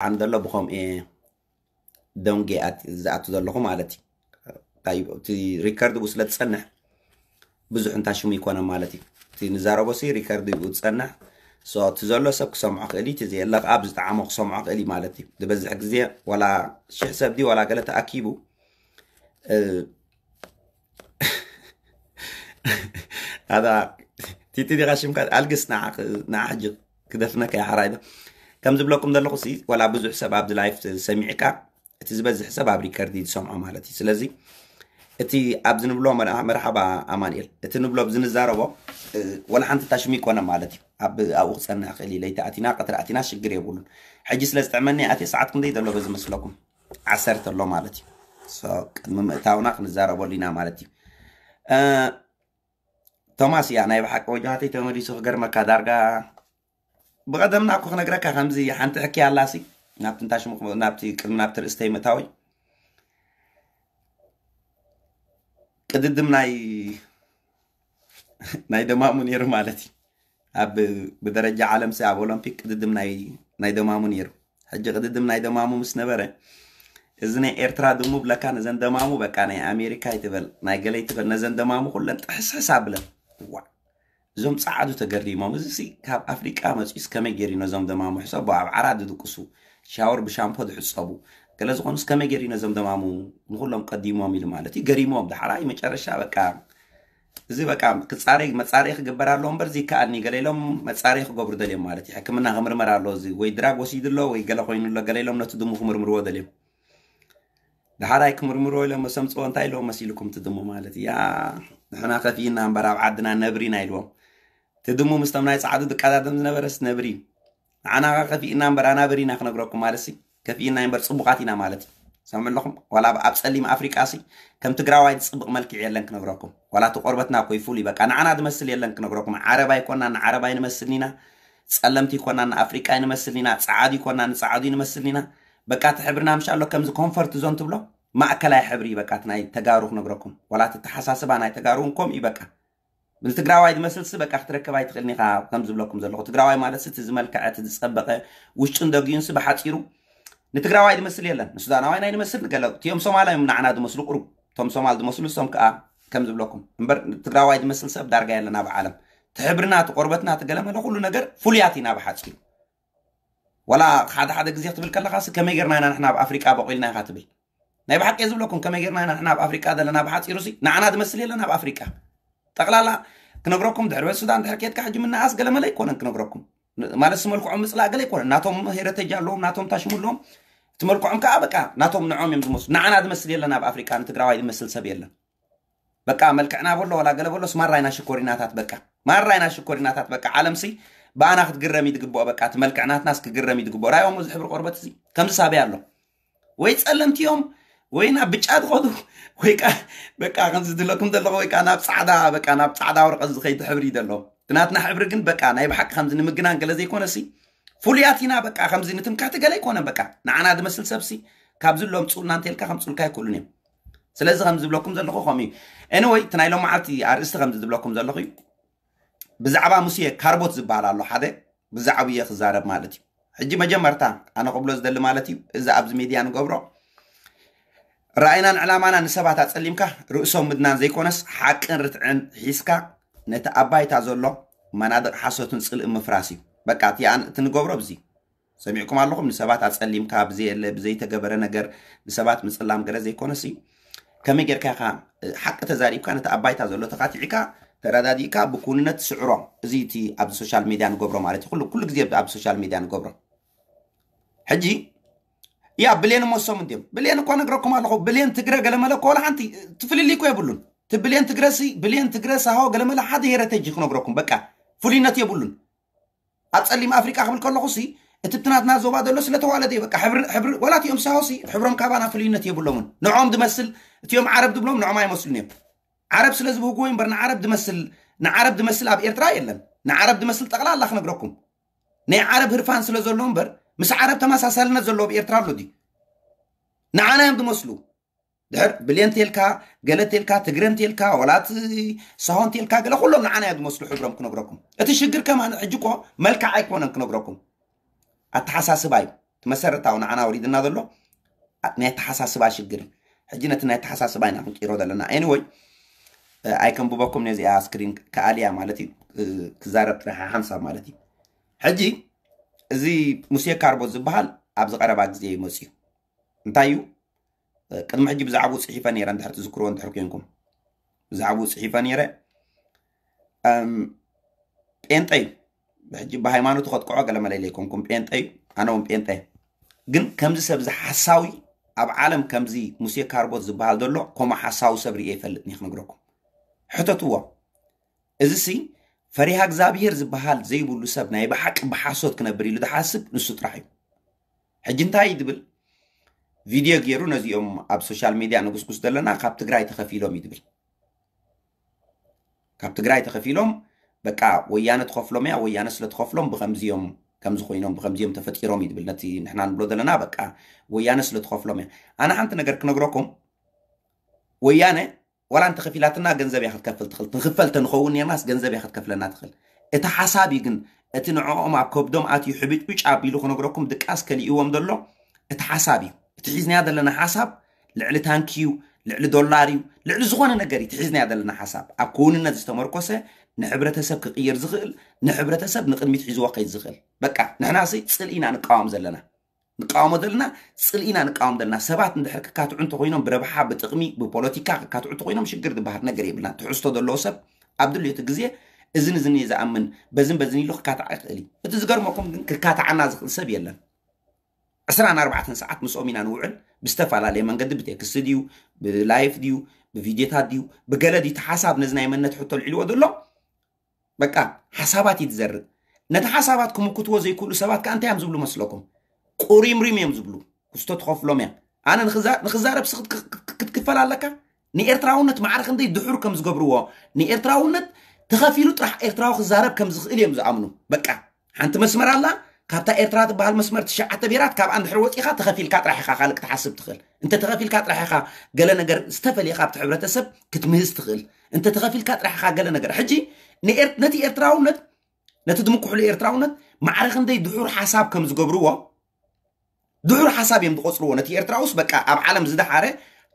ኣነ ዘሎ ብኸምኡ እየ ደንጌ ኣት- ዝኣቱ ዘለኹ ማለት እዩ። እንታይ እዩ፣ እቲ ሪከርድ ብኡ ስለ ትጸንሕ ብዙሕ እንታሽሙ ይኮነ ማለት እዩ። እቲ ንዛረቦ ሲ ሪከርድ ብኡ ዝጸንሕ። So፣ እቲ ዘሎ ሰብ ክሰምዖ ክእል እዩ፣ እቲ ዘየለ ከዓ ብዝጠዓሞ ክሰምዖ ክእል እዩ ማለት እዩ። ዝበዝሕ ግዜ ዋላ ሽሕ ሰብ ድዩ ዋላ ገለ ተኣኪቡ፣ እ፣ ኣታ ቲቲ ዲኻ ሽምካ? ኣልግስ ንዓ ክ- ንዓ ሕጂ ክደፍነካ እየ ሓራይ ዶ። ከም ዝብለኩም ዘለኹ ሲ ዋላ ብዙሕ ሰብ ኣብዚ ላይፍ ሰሚዕካ፣ እቲ ዝበዝሕ ሰብ ኣብ ሪከርድ እዩ ዝሰምዖ ማለት እዩ። ስለዚ እቲ ኣብዚ ንብሎ መር- መርሓባ ኣማንኤል፣ እቲ ንብሎ ኣብዚ ንዛረቦ፣ እ፣ ወላ ሓንቲ ታሽሙ ይኮነ ማለት እዩ። ኣብ ኣብኡ ክጸንሕ ክእል እዩ። ለይቲ ኣቲና ቀትሪ ኣቲና ሽግር የብሉን። ሕጂ ስለ ዝጥዕመኒ ኣትየ፣ ሰዓት ክንደይ ዘሎ በዚ መስለኩም? ዓሰርተ ኣሎ ማለት እዩ። So፣ ቅድሚ ምእታውና ክንዛረበሉ ኢና ማለት እዩ። እ፣ ቶማስ እያ ናይ ብሓቂ ወጃሃተይ ተመሊሱ ክገርመካ ዳርጋ ብቐደምና እኮ ክነግረካ ከምዚ ሓንቲ ሕኪ ኣላሲ ናብቲ እንታሽሙ ናብቲ ቅድሚ ናብቲ ርእስተይ ምእታወይ ቅድድም ናይ ናይ ደማሙ ነይሩ ማለት እዩ። ኣብ ብደረጃ ዓለም ሲ ኣብ ኦሎምፒክ ቅድድም ናይ ናይ ደማሙ ነይሩ። ሕጂ ቅድድም ናይ ደማሙ ምስ ነበረ እዚ ናይ ኤርትራ ድሙ ብለካ ነዘን ደማሙ በቃ ናይ ኣሜሪካ ይትበል ናይ ገለ ይትበል ነዘን ደማሙ ኩለን ጥሕስሕስ ኣብለን። ዋ እዞም ጸዓዱ ተገሪሞም፣ እዚ ሲ ካብ ኣፍሪቃ መጺኡስ ከመይ ገይሩ ነዞም ደማሙ ሕሰቦ ኣብ ዓራት ዝድቅሱ ሻወር ብሻምፖ ዝሕጸቡ ገለ ዝኾኑስ ከመይ ገይሩ ነዞም ደማሙ ንኹሎም ቀዲሞም ኢሉ ማለት እዩ። ገሪሞም ዳሕራይ መጨረሻ በቃ እዚ በቃ ክጻረይ መጻረይ ክግበር ኣለዎ እምበር ዘይከኣልኒ ገለ ኢሎም መጻረይ ክገብሩ ደልዮም ማለት እዩ። ሕክምና ክምርመር ኣለዎ እዚ ወይ ድራግ ወሲዱ ኣሎ ወይ ገለ ኮይኑ ኣሎ ገለ ኢሎም ነቲ ድሙ ክምርምርዎ ደልዮም። ዳሕራይ ክምርምርዎ ኢሎም መሰምፅዎ እንታይ ኢሎም መሲልኩም ትድሙ ማለት እያ። ንሕና ከፊእና እምበር ኣብ ዓድና ነብሪና ኢልዎም። ትድሙ ምስቶም ናይ ጻዕዱ ዝቀዳደም ዝነበረስ ነብሪ እዩ። ንዓና ከፊእና እምበር ኣናብር ኢና ክነግረኩም ማለት ሲ ከፊእና እምበር ጽቡቃት ኢና ማለት እዩ። ሰምዑ ኣለኹም ዋላ ኣብ ጸሊም ኣፍሪቃ ሲ ከም ትግራዋይ ዝጽብቕ መልክዕ የለን ክነግረኩም። ዋላ እቲ ቆርበትና እኮ ይፉል እዩ በቃ ንዓና ዝመስል የለን ክነግረኩም። ዓረብ ኣይኮና ንዓረብ ኣይንመስልን ኢና። ጸለምቲ ይኮና ንኣፍሪቃ ኣይንመስልን ኢና። ጸዓዱ ይኮና ንጸዓዱ ይንመስልን ኢና። በቃ እቲ ሕብርና ምሻሎ ከምዚ ኮንፈርት ዞን ትብሎ ማእከላይ ሕብሪ በቃ እቲ ናይ ተጋሩ ክነግረኩም ዋላ እቲ ተሓሳስባ ናይ ተጋሩ እውን ከምኡ እዩ በቃ ንትግራዋይ ዝመስል ሲ በቃ ክትረከብ ኣይትኽእልን ኢኻ። ከም ዝብለኩም ዘለኹ ትግራዋይ ማለት ሲ እቲ ዝመልከዐ እቲ ዝፀበቐ ውሽጡን ደጊኡን ሲ ብሓፂሩ ንትግራዋይ ዝመስል የለን። ንሱዳናዋይ ናይ ዝመስል ንገለ እቲኦም ሶማል እዮም ንዓና ዝመስሉ ቁሩብ እቶም ሶማል ዝመስሉ እሶም ከዓ ከም ዝብለኩም እምበር ትግራዋይ ዝመስል ሰብ ዳርጋ የለን ኣብ ዓለም። እቲ ሕብርና እቲ ቆርበትና እቲ ገለመለ ኩሉ ነገር ፍሉያት ኢና ብሓፂሩ። ዋላ ሓደ ሓደ ግዜ ክትብል ከለኻ ሲ ከመይ ጌርና ኢና ንሕና ኣብ ኣፍሪቃ በቂልና ኢኻ ትብል ናይ ብሓቂ ዝብለኩም ከመይ ጌርና ኢና ንሕና ኣብ ኣፍሪቃ ዘለና ብሓፂሩ ሲ ንዓና ዝመስል የለን ኣብ ኣፍሪቃ ጠቕላላ ክነግረኩም ድሕሪ ቤት ሱዳን ድሕሪ ኬድካ ሕጂ ምናኣስ ገለመለ ኣይኮነን ክነግረኩም ማለት ስመልክዖም ምፅላእ ገለ ኣይኮነን ናቶም ሄረተጅ ኣለዎም ናቶም ታሽሙ ኣለዎም እቲ መልክዖም ከዓ በቃ ናቶም ንዖም እዮም ዝመስሉ ንዓና ዝመስል የለን ኣብ ኣፍሪቃ ንትግራዋይ ዝመስል ሰብ የለን በቃ መልክዕና በሎ ዋላ ገለ በሎስ ማራ ኢና ሽኮሪናታት በቃ ማራ ኢና ሽኮሪናታት በቃ ዓለም ሲ ብኣና ክትግረም እዩ ዝግብኦ በቃ እቲ መልክዕናትናስ ክግረም እዩ ዝግብኦ ራይዎም እዚ ሕብሪ ቆርበት እዚ ከምዚ ሳበይ ኣሎ ወይ ጸለምቲ እዮም ወይ ናብ ብጫ ዝኸዱ ወይ ካ በቃ ከምዚ ዝለኩም ዘለኹ ወይ ካ ናብ ጻዕዳ በቃ ናብ ጻዕዳ ወረቀት ዝኸይድ ሕብሪ እዩ ዘሎ እቲ ናትና ሕብሪ ግን በቃ ናይ ብሓቂ ከምዚ ንምግናን ገለ ዘይኮነ ሲ ፍሉያት ኢና በቃ ከምዚ ንትምክሕቲ ገለ ኣይኮነን በቃ ንዓና ዝመስል ሰብሲ ካብ ዝሎም ጽኡልና እንተልካ ከምጽኡልካ ኣይክእሉን እዮም ስለዚ ከም ዝብለኩም ዘለኹ ከምኡ እዩ anyway እቲ ናይ ሎም መዓልቲ ኣርእስቲ ከም ዝብለኩም ዘለኹ እዩ ብዛዕባ ሙሴ ካርቦት ዝበሃል ኣሎ ሓደ ብዛዕባ እየ ክዛረብ ማለት እዩ ሕጂ መጀመርታ ኣነ ክብሎ ዝደሊ ማለት እዩ እዚ ኣብዚ ሚድያ ንገብሮ ራእይናን ዕላማና ንሰባት ኣጸሊምካ ርእሶም ምድናን ዘይኮነስ ሓቅን ርትዕን ሒዝካ ነቲ ኣብ ባይታ ዘሎ መናድቕ ሓሶትን ጽልእን ምፍራስ እዩ በቃ እቲ ንገብሮ ብዚ ሰሚዕኩም ኣለኹም ንሰባት ኣጸሊምካ ብዘየለ ብዘይተገበረ ነገር ንሰባት ምጽላም ገለ ዘይኮነሲ ከመይ ጌርካ ኢኻ ሓቂ ተዛሪብካ ነቲ ኣብ ባይታ ዘሎ ተኻቲዕካ ተረዳዲእካ ብኩንነት ስዕሮ እዚ እቲ ኣብዚ ሶሻል ሚድያ ንገብሮ ማለት እዩ ኩሉ ግዜ ኣብዚ ሶሻል ሚድያ ንገብሮ ሕጂ ያ ብሌን ሞሶም እንዲም ብሌን እኮ ነግረኩም ኣለኹ ብሌን ትግረ ገለመለ እኮ ወላ ሓንቲ ትፍልልይ እኮ የብሉን ትብሌን ትግረሲ ብሌን ትግረ ሳሆ ገለመለ ሓደ ሄረተጅ ክነግረኩም በቃ ፍሉይነት የብሉን ኣብ ጸሊም ኣፍሪቃ ክብል ከለኹ ሲ እቲ ብትናትና ዞባ ዘሎ ስለተዋለደ በቃ ሕብሪ ሕብሪ ወላ እቲኦም ሳሆ ሲ ሕብሮም ካባና ፍልይነት የብሎምን ንዖም ዝመስል እቲኦም ዓረብ ዝብሎም ንዖም ኣይመስሉን እዮም ዓረብ ስለ ዝብህጉ ወይ እምበር ንዓረብ ዝመስል ንዓረብ ዝመስል ኣብ ኤርትራ የለን ንዓረብ ዝመስል ጠቕላላ ክነግረኩም ናይ ዓረብ ህርፋን ስለ ዘሎ እምበር ምስ ዓረብ ተመሳሳልነት ዘለዎ ኣብ ኤርትራ ኣሎ ድዩ ንዓና እዮም ዝመስሉ ድሕር ብሌን ቴልካ ገለ ቴልካ ትግረን ቴልካ ወላት ሳሆን ቴልካ ገለ ኩሎም ንዓና እዮም ዝመስሉ ሕብሮም ክነግረኩም እቲ ሽግር ከማን ሕጂ እኮ መልክዕ ኣይኮነን ክነግረኩም ኣተሓሳስባ እዩ እቲ መሰረታዊ ንዓና ወሪድና ዘሎ ናይ ኣተሓሳስባ ሽግር እዩ። ሕጂ ነቲ ናይ ኣተሓሳስባ ኢና ክንቂሮ ዘለና። Anyway፣ ኣይከንብበኩም ነዚኣ ስክሪን ክኣልያ ማለት እዩ። ክዛረብ ጥራሕ ሓንሳብ ማለት እዩ። ሕጂ እዚ ሙሴ ካርቦት ዝበሃል ኣብዚ ቀረባ ግዜ ይመፅዩ እንታይ እዩ? ቅድሚ ሕጂ ብዛዕባኡ ፅሒፈ ነይረ፣ እንድሕር ትዝክርዎ እንድሕር ኮንኩም ብዛዕባኡ ፅሒፈ ነይረ። ጴንጠ እዩ። ሕጂ ብሃይማኖቱ ከጥቅዖ ገለ መለለ ኣይኮንኩም። ጴንጠ እዩ። ኣነ እውን ጴንጠ። ግን ከምዚ ሰብ እዚ ሓሳዊ ኣብ ዓለም ከምዚ ሙሴ ካርቦት ዝበሃል ዘሎ ከምኡ ሓሳዊ ሰብ ርእየ ይፈልጥ እየ ክነግረኩም። ሕተትዎ። እዚ ሲ ፈሪሃ እግዚኣብሄር ዝበሃል ዘይብሉ ሰብ ናይ ብሓቂ ብሓሶት ክነብር ኢሉ ዝሓስብ ንሱ ጥራሕ እዩ። ሕጂ እንታይ እዩ ዝብል? ቪድዮ ገይሩ ነዚኦም ኣብ ሶሻል ሚድያ ንጉስጉስ ዘለና ካብ ትግራይ ተኸፊሎም እዩ ዝብል። ካብ ትግራይ ተኸፊሎም በቃ ወያነ ትኸፍሎም እያ፣ ወያነ ስለ ትኸፍሎም ብኸምዚኦም ከምዚ ኮይኖም ብኸምዚኦም ተፈጢሮም እዩ ዝብል። ነቲ ንሕና ንብሎ ዘለና በቃ ወያነ ስለ ትኸፍሎም እያ። ኣነ ሓንቲ ነገር ክነግረኩም፣ ወያነ ዋላ እንተኸፊላትና ገንዘብ እያ ክትከፍል ትኽእል። ክንክፈል ተንኸውን ኔርናስ ገንዘብ እያ ክትከፍለና ትኽእል። እቲ ሓሳብ እዩ ግን፣ እቲ ንዕኦም ኣብ ከብዶም ኣትዩ ሕብጭብጭ ኣቢሉ ክነግረኩም ድቃስ ከሊእዎም ዘሎ እቲ ሓሳብ እዩ። እቲ ሒዝናዮ ዘለና ሓሳብ ልዕሊ ታንኪ እዩ፣ ልዕሊ ዶላር እዩ፣ ልዕሊ ዝኾነ ነገር እዩ እቲ ሒዝናዮ ዘለና ሓሳብ። ኣብ ክውንነት ዝተመርኮሰ፣ ንሕብረተሰብ ክቕይር ዝኽእል፣ ንሕብረተሰብ ንቕድሚት ሒዝዎ ከይድ ዝኽእል። በቃ ንሕና ሲ ፅልኢ ኢና ንቃወም ዘለና። ንቃወሞ ዘለና፣ ፅልኢና ንቃወም ዘለና። ሰባት እንድሕር ክካትዑ እንተኮይኖም ብረብሓ ብጥቕሚ ብፖለቲካ ክካትዑ እንተኮይኖም ሽግር ዝበሃል ነገር የብልና። ትሕዝቶ ዘለዎ ሰብ ኣብ ድልዮቱ ግዜ እዝን እዝን እየ ዝኣምን፣ በዝን በዝን ኢሉ ክካትዓ ይኽእል እዩ። እቲ ዝገርመኩም ግን ክካትዓና ዝኽእል ሰብ የለን። ዕስራን ኣርባዕተን ሰዓት ምስኦም ኢና ንውዕል። ብዝተፈላለየ መንገዲ ብቴክስት ድዩ፣ ብላይፍ ድዩ፣ ብቪድዮታት ድዩ፣ ብገለ ድዩ፣ እቲ ሓሳብ ነዚ ናይ መንነት ሕቶ ልዕልዎ ዘሎ በቃ ሓሳባት እዩ ዝዘርእ። ነቲ ሓሳባት ክምክትዎ ዘይክእሉ ሰባት ከኣ እንታይ እዮም ዝብሉ መስለኩም? ቁሪምሪም እዮም ዝብሉ። ክስቶ ትኸፍሎም እያ። ኣነ ንኽዛረብ ክትክፈል ኣለካ። ንኤርትራውነት ማዕረ ክንደይ ድሑር ከም ዝገብርዎ፣ ንኤርትራውነት ተኸፊሉ ጥራሕ ኤርትራዊ ክዛረብ ከም ዝኽእል እዮም ዝኣምኑ። በቃ ሓንቲ መስመር ኣላ። ካብታ ኤርትራ ትበሃል መስመር ትሽዓተ ብሄራት ካብኣ እንድሕር ወፂኻ ተኸፊልካ ጥራሕ ኢኻ ካልእ ክትሓስብ ትኽእል። እንተ ተኸፊልካ ጥራሕ ኢኻ ገለ ነገር ዝተፈልየ ካብቲ ሕብረተሰብ ክትምህዝ ትኽእል። እንተ ተኸፊልካ ጥራሕ ኢኻ ገለ ነገር። ሕጂ ነቲ ኤርትራውነት፣ ነቲ ድምኩሕሉ ኤርትራውነት ማዕረ ክንደይ ድሑር ሓሳብ ከም ዝገብርዎ፣ ድሑር ሓሳብ እዮም ዝቆፅርዎ። ነቲ ኤርትራውስ በቃ ኣብ ዓለም ዝደሓረ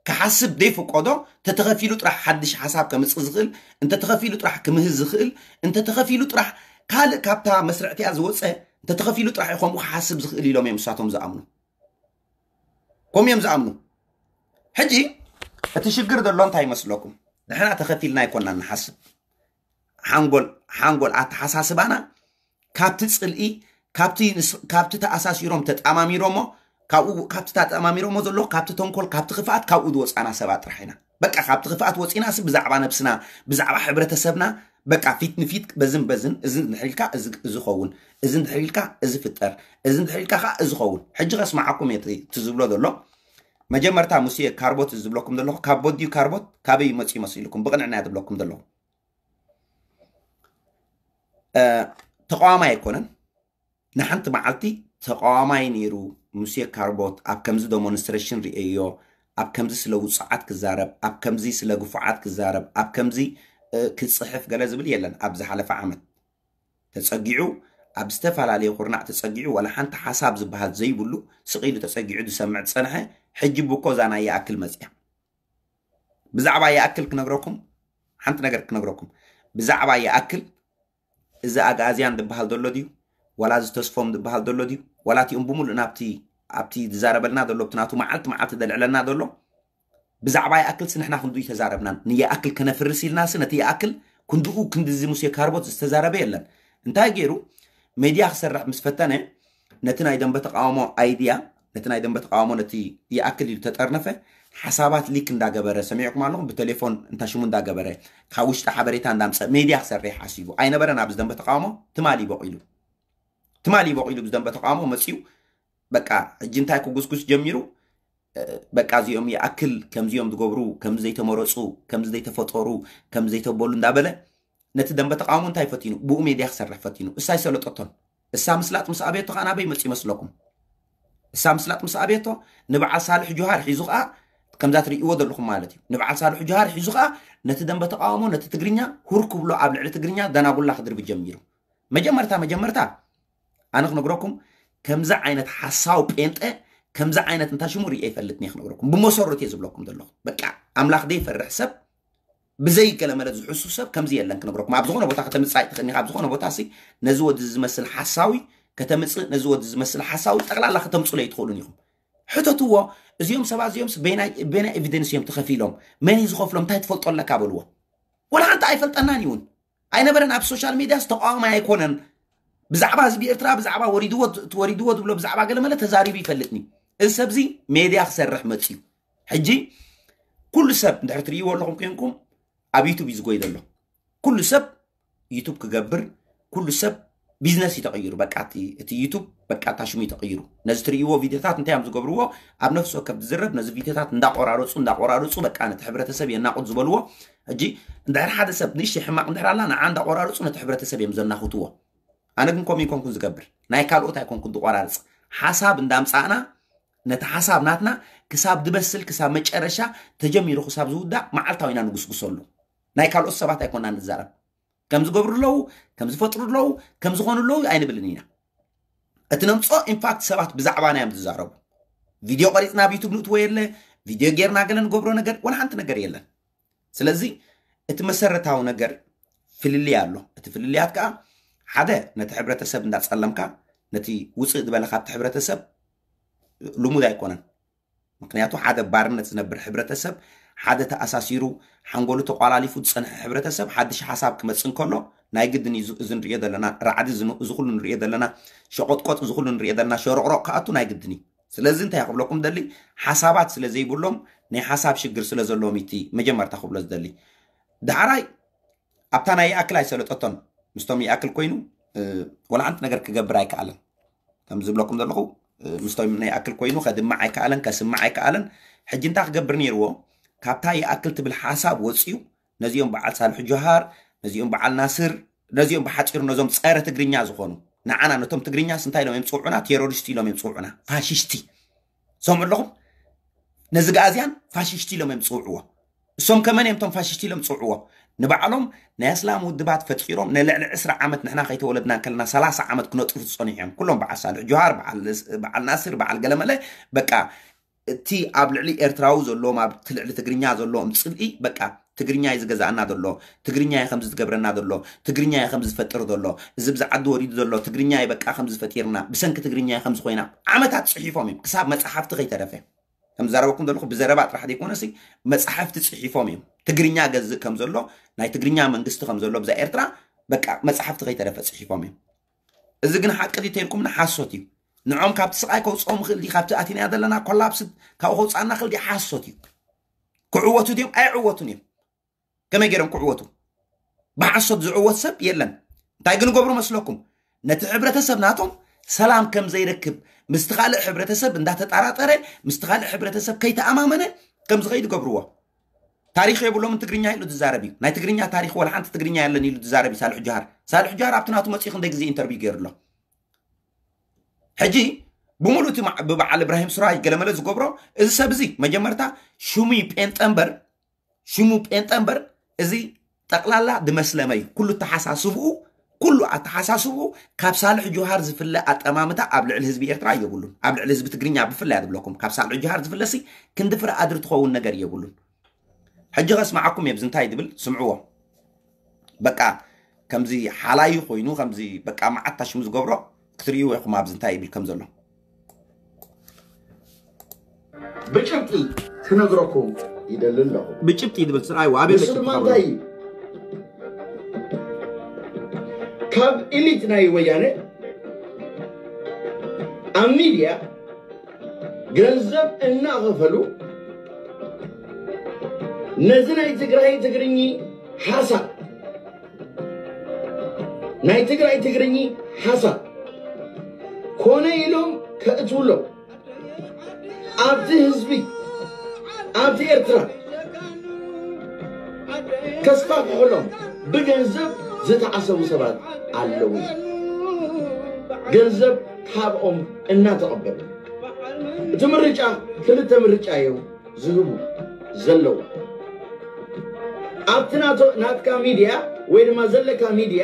ክሓስብ ዘይፍቀዶ፣ እንተተኸፊሉ ጥራሕ ሓድሽ ሓሳብ ከምፅእ ዝኽእል፣ እንተተኸፊሉ ጥራሕ ክምህዝ ዝኽእል፣ እንተተኸፊሉ ጥራሕ ካልእ ካብታ መስርዕቲያ ዝወፀ፣ እንተተኸፊሉ ጥራሕ እዩ ከምኡ ክሓስብ ዝኽእል ኢሎም እዮም ንሳቶም ዝኣምኑ። ከምኡ እዮም ዝኣምኑ። ሕጂ እቲ ሽግር ዘሎ እንታይ ይመስለኩም? ንሕና ተኸፊልና ኣይኮናን ንሓስብ። ሓንጎል ሓንጎል ኣተሓሳስባና ካብቲ ፅልኢ፣ ካብቲ ንስ-፣ ካብቲ ተኣሳሲሮም ተጣማሚሮሞ፣ ካብኡ፣ ካብቲ ተጣማሚሮሞ ዘሎ፣ ካብቲ ተንኮል፣ ካብቲ ክፍኣት፣ ካብኡ ዝወፃና ሰባት ጥራሕ ኢና። በቃ ካብቲ ክፍኣት ወፂና ሲ ብዛዕባ ነብስና፣ ብዛዕባ ሕብረተሰብና፣ በቃ ፊት ንፊት በዝን በዝን፣ እዚ እንድሕር ኢልካ እዚ፣ እዚ ኸውን፣ እዚ እንድሕር ኢልካ እዚ ፍጠር፣ እዚ እንድሕር ኢልካ ከዓ እዚ ኸውን። ሕጂ ከስማዓኩም እየ እቲ፣ እቲ ዝብሎ ዘሎ። መጀመርታ ሙሴ ካርቦት ዝብለኩም ዘለኹ፣ ካርቦት ድዩ ካርቦት? ካበይ መፅኡ መሲልኩም? ብቕንዕና እየ ዝብለኩም ዘለኹ። እ፣ ተቃዋማይ ኣይኮነን። ንሓንቲ መዓልቲ ተቃዋማይ ነይሩ ሙሴ ካርቦት ኣብ ከምዚ ደሞንስትሬሽን ርእየዮ፣ ኣብ ከምዚ ስለ ውጹዓት ክዛረብ፣ ኣብ ከምዚ ስለ ግፉዓት ክዛረብ፣ ኣብ ከምዚ፣ እ፣ ክጽሕፍ ገለ ዝብል የለን። ኣብ ዝሓለፈ ዓመት ተጸጊዑ፣ ኣብ ዝተፈላለየ ኩርናዕ ተጸጊዑ፣ ዋላ ሓንቲ ሓሳብ ዝበሃል ዘይብሉ ስቕ ኢሉ ተጸጊዑ ዝሰምዕ ዝጸንሐ፣ ሕጂ ብኮ እዛ ናይ ይኣክል መጽያ። ብዛዕባ ይኣክል ክነግረኩም፣ ሓንቲ ነገር ክነግረኩም። ብዛዕባ ይኣክል እዚ ኣግኣዝያን ዝበሃል ዘሎ ድዩ? ዋላ እዚ ተስፎም ዝበሃል ዘሎ ድዩ? ዋላ እቲኦም ብምሉእ ናብቲ፣ ኣብቲ ዝዛረበልና ዘሎ፣ ኣብቲ ናቱ መዓልቲ መዓልቲ ዘልዕለና ዘሎ? ብዛዕባ ይኣክልሲ ንሕና ክንዱ ተዛረብናን፣ ንይኣክል ከነፍርስ ኢልናሲ ነቲ ይኣክል ክንድኡ ክንዲ እዚ ሙሴ ካርቦት ዝተዛረበ የለን። እንታይ ገይሩ? ሜድያ ክሰርሕ ምስ ፈተነ፣ ነቲ ናይ ደንበ ተቃውሞ ኣይድያ፣ ነቲ ናይ ደንበ ተቃውሞ ነቲ ይኣክል ኢሉ ተጠርነፈ፣ ሓሳባት ሊክ እንዳገበረ፣ ሰሚዕኩም ኣለኹም፣ ብቴሌፎን እንታ ሽሙ እንዳገበረ፣ ካብ ውሽጢ ሓበሬታ እንዳምጸ፣ ሜድያ ክሰርሕ ሓሲቡ ኣይነበረን። ኣብዚ ደንበ ተቃውሞ ትማሊ በቂሉ፣ ትማሊ በቂሉ ብዚ ደንበ ተቃውሞ መጺኡ፣ በቃ፣ ሕጂ እንታይ ክጉስጉስ ጀሚሩ፣ እ፣ በቃ፣ እዚኦም ይኣክል፣ ከምዚኦም ዝገብሩ፣ ከምዚ ዘይተመረጹ፣ ከምዚ ዘይተፈጠሩ፣ ከምዚ ዘይተበሉ እንዳበለ፣ ነቲ ደንበ ተቃውሞ እንታይ ፈቲኑ? ብኡ ሜድያ ክሰርሕ ፈቲኑ። እሳ ኣይሰለጠቶን። እሳ ምስላጥ ምስ ኣበየቶ ከኣ ናበይ መጽእ ይመስለኩም? እሳ ምስላጥ ምስ ኣበየቶ ንበዓል ሳልሕ ጁሃር ሒዙ ከኣ፣ ከምዛ ትርእይዎ ዘለኹም ማለት እዩ። ንበዓል ሳልሕ ጁሃር ሒዙ ከኣ ነቲ ደንበ ተቃውሞ፣ ነቲ ትግርኛ ሁር ክብሎ፣ ኣብ ልዕሊ ትግርኛ ደናጉላ ክድርቢ ጀሚሩ። መጀመርታ፣ መጀመርታ ኣነ ክነግረኩም፣ ከምዚ ዓይነት ሓሳዊ ጴንጠ ከምዚ ዓይነት እንታ ሽሙ ርእየ ይፈልጥኒ እየ ክነግረኩም። ብመሰረቱ እየ ዝብለኩም ዘለኹ። በቃ ኣምላኽ ዘይፈርሕ ሰብ፣ ብዘይ ገለ መለ ዝሕሱ ሰብ ከምዚ የለን ክነግረኩም። ኣብ ዝኾነ ቦታ ከተምጽእ ኣይትኽእልን ኢኻ። ኣብ ዝኾነ ቦታ ሲ ነዚ ወዲ ዝመስል ሓሳዊ ከተምጽእ፣ ነዚ ወዲ ዝመስል ሓሳዊ ጠቕላላ ከተምጽሉ ኣይትኽእሉን ኢኹም። ሕተትዎ፣ እዚኦም ሰባት እዚኦም በየናይ ኤቪደንስ እዮም ተኸፊሎም፣ መን እዩ ዝኸፍሎም፣ እንታይ ትፈልጦ ኣለካ በልዎ። ወላ ሓንቲ ኣይፈልጠናን ይውን ኣይነበረን። ኣብ ሶሻል ሚድያ ዝተቃወመ ኣይኮነን። ብዛዕባ ህዝቢ ኤርትራ ብዛዕባ ወሪድዎ ወሪድዎ ዝብሎ ብዛዕባ ገለ መለ ተዛሪቡ ይፈልጥኒ። እዚ ሰብዚ ሜድያ ክሰርሕ መፅዩ። ሕጂ ኩሉ ሰብ እንድሕር ትርእይዎ ኣለኹም ኮንኩም ኣብ ዩቱብ እዩ ዝጎይ ዘሎ። ኩሉ ሰብ ዩቱብ ክገብር፣ ኩሉ ሰብ ቢዝነስ እዩ ተቐይሩ። በቃ እቲ እቲ ዩቱብ በቃ እታ ሽሙ እዩ ተቐይሩ። ነዚ ትርእይዎ ቪድዮታት እንታይ እዮም ዝገብርዎ? ኣብ ነፍሲ ወከፍ ዝዝረብ ነዚ ቪድዮታት እንዳቆራረፁ እንዳቆራረፁ በቃ ነቲ ሕብረተሰብ የናቑት ዝበልዎ። ሕጂ እንድሕር ሓደ ሰብ ንእሽተይ ሕማቕ እንድሕር ኣላ ንዓ እንዳቆራረፁ ነቲ ሕብረተሰብ እዮም ዘናኹትዎ። ኣነ ግን ከምኡ ኣይኮንኩን ዝገብር፣ ናይ ካልኦት ኣይኮንኩን ዝቆራርፅ። ሓሳብ እንዳምፃእና ነቲ ሓሳብ ናትና ክሳብ ድበስል ክሳብ መጨረሻ ተጀሚሩ ክሳብ ዝውዳእ መዓልታዊ ኢና ንጉስጉሰሉ። ናይ ካልኦት ሰባት ኣይኮና ንዛረብ። ከም ዝገብሩ ኣለዉ፣ ከም ዝፈጥሩ ኣለዉ፣ ከም ዝኾኑ ኣለዉ ኣይንብልን ኢና። እቲ ነምፅኦ ኢንፋክት ሰባት ብዛዕባና እዮም ዝዛረቡ። ቪድዮ ቀሪፅና ኣብ ዩቱብ ንእትዎ የለ፣ ቪድዮ ጌርና ገለ ንገብሮ ነገር ወላ ሓንቲ ነገር የለን። ስለዚ እቲ መሰረታዊ ነገር ፍልልይ ኣሎ። እቲ ፍልልያት ከዓ ሓደ ነቲ ሕብረተሰብ እንዳፀለምካ ነቲ ውፅእ ዝበለ ካብቲ ሕብረተሰብ ልሙድ ኣይኮነን። ምክንያቱ ሓደ ባርነት ዝነብር ሕብረተሰብ፣ ሓደ ተኣሳሲሩ ሓንጎሉ ተቋላሊፉ ዝፀንሐ ሕብረተሰብ ሓድሽ ሓሳብ ክመፅእ እንከሎ ናይ ግድን እዩ። እዚ ንሪኦ ዘለና ራዕዲ፣ እዚ ን- እዚ ኩሉ ንሪኦ ዘለና ሸቆጥቆጥ፣ እዚ ኩሉ ንሪኦ ዘለና ሸሮቕሮቕ ክኣቱ ናይ ግድን እዩ። ስለዚ እንታይ ክብለኩም ደሊ፣ ሓሳባት ስለ ዘይብሎም ናይ ሓሳብ ሽግር ስለ ዘለዎም እቲ መጀመርታ ክብሎ ዝደሊ። ዳሕራይ ኣብታ ናይ ይኣክል ኣይሰለጠቶን። ምስቶም ይኣክል ኮይኑ እ፣ ወላ ሓንቲ ነገር ክገብር ኣይከኣለን። ከም ዝብለኩም ዘለኹ እ፣ ምስቶም ናይ ይኣክል ኮይኑ ከድምዕ ኣይከኣለን፣ ከስምዕ ኣይከኣለን። ሕጂ እንታይ ክገብር ነይርዎ? ካብታ ይኣክል ትብል ሓሳብ ወፅዩ ነዚኦም በዓል ሳልሕ ጆሃር፣ ነዚኦም በዓል ናስር፣ ነዚኦም ብሓፂሩ ነዞም ፀረ ትግርኛ ዝኾኑ ንዓና ነቶም ትግርኛስ እንታይ ኢሎም እዮም ዝፅውዑና? ቴሮሪስት ኢሎም እዮም ዝፅውዑና። ፋሽስቲ ሰምዑ ኣለኹም? ነዚ ጋእዝያን ፋሽስቲ ኢሎም እዮም ዝፅውዕዎ። እሶም ከመን እዮም እቶም ፋሽስቲ ኢሎም ዝፅውዕዎ? ንባዕሎም ናይ ኣስላም ውድባት ፈጢሮም ንልዕሊ ዕስራ ዓመት ንሕና ከይተወለድና እንከለና ሰላሳ ዓመት ክነጥፉ ዝፀኒሑ እዮም። ኩሎም በዓል ሳልሕ ጆሃር፣ በዓል በዓል ናስር፣ በዓል ገለመለ በቃ እቲ ኣብ ልዕሊ ኤርትራዊ ዘለዎም ኣብቲ ልዕሊ ትግርኛ ዘለዎም ፅልኢ በቃ ትግርኛ እዩ ዝገዛእና ዘሎ፣ ትግርኛ እዩ ከምዚ ዝገብረና ዘሎ፣ ትግርኛ እዩ ከምዚ ዝፈጥር ዘሎ፣ እዚ ብዚ ዓዲ ወሪዱ ዘሎ ትግርኛ እዩ በቃ ከምዚ ፈጢርና፣ ብሰንኪ ትግርኛ እዩ ከምዚ ኮይና። ዓመታት ፅሒፎም እዮም ክሳብ መፅሓፍቲ ከይተረፈ። ከም ዝዛረበኩም ዘለኹ ብዘረባ ጥራሕ ዘይኮነሲ መፅሓፍቲ ፅሒፎም እዮም። ትግርኛ ገዝእ ከም ዘሎ፣ ናይ ትግርኛ መንግስቲ ከም ዘሎ ብዛ ኤርትራ በቃ መፅሓፍቲ ከይተረፈ ፅሒፎም እዮም። እዚ ግን ሓቂ ድዩ ተይልኩምና ሓሶት እዩ። ንዖም ካብቲ ስቓይ ከውፅኦም ይኽእል ድዩ? ካብቲ ኣቲናዮ ዘለና ኮላፕስ ካብኡ ከውፅኣና ይኽእል ድዩ? ሓሶት እዩ። ክዕወቱ ድዮም? ኣይዕወቱን እዮም። ከመይ ገይሮም ክዕወቱ? ብሓሶት ዝዕወት ሰብ የለን። እንታይ ግን ገብሩ መስለኩም? ነቲ ሕብረተሰብ ናቶም ሰላም ከም ዘይረክብ፣ ምስቲ ካልእ ሕብረተሰብ እንዳተጠራጠረ፣ ምስቲ ካልእ ሕብረተሰብ ከይተኣማመነ ከም ዝኸይድ ገብርዎ። ታሪኽ የብሎምን ትግርኛ ኢሉ ዝዛረብ እዩ። ናይ ትግርኛ ታሪኽ ወላ ሓንቲ ትግርኛ የለን ኢሉ ዝዛረብ እዩ ሳልሕ ጆሃር። ሳልሕ ጆሃር ኣብቲ ናቱ መፅኡ ክንደይ ግዜ ኢንተርቪው ገይሩ ኣሎ። ሕጂ ብምሉእ እቲ ብበዓል እብራሂም ሱራይ ገለመለ ዝገብሮ እዚ ሰብ እዚ መጀመርታ ሽሙ እዩ ጴንጠ እምበር ሽሙ ጴንጠ እምበር እዚ ጠቕላላ ድመስለመ እዩ። ኩሉ ኣተሓሳስብኡ ኩሉ ኣተሓሳስብኡ ካብ ሳልሕ ጆሃር ዝፍለ ኣጠማምታ ኣብ ልዕሊ ህዝቢ ኤርትራ የብሉን። ኣብ ልዕሊ ህዝቢ ትግርኛ ብፍላይ እያ ዝብለኩም። ካብ ሳልሕ ጆሃር ዝፍለሲ ክንዲ ፍረ ኣድሪ ትኸውን ነገር የብሉን። ሕጂ ከስምዓኩም እየ ብዚ እንታይ ድብል ስምዕዎ። በቃ ከምዚ ሓላዩ ኮይኑ ከምዚ በቃ መዓት ታሽሙ ዝገብሮ ክትርእይዎ ኢኹም ኣብዚ እንታይ ይብል ከም ዘሎ። ብጭብጢ ክነግረኩም ይደሊ ኣለኹ። ብጭብጢ ድብል ስርኣይዎ ኣበይ ንሱ ድማ እንታይ እዩ? ካብ ኢሊት ናይ ወያነ ኣብ ሚድያ ገንዘብ እናኸፈሉ ነዚ ናይ ትግራይ ትግርኚ ሓሳብ ናይ ትግራይ ትግርኚ ሓሳብ ኮነ ኢሎም ከእትውሎም ኣብቲ ህዝቢ ኣብቲ ኤርትራ ከስፋፍሕሎም ብገንዘብ ዝተዓሰቡ ሰባት ኣለዉ። ገንዘብ ካብኦም እናተቐበሉ እቲ ምርጫ ክልተ ምርጫ እዮም ዝህቡ ዘለዉ። ኣብቲ ናትካ ሚድያ ወይ ድማ ዘለካ ሚድያ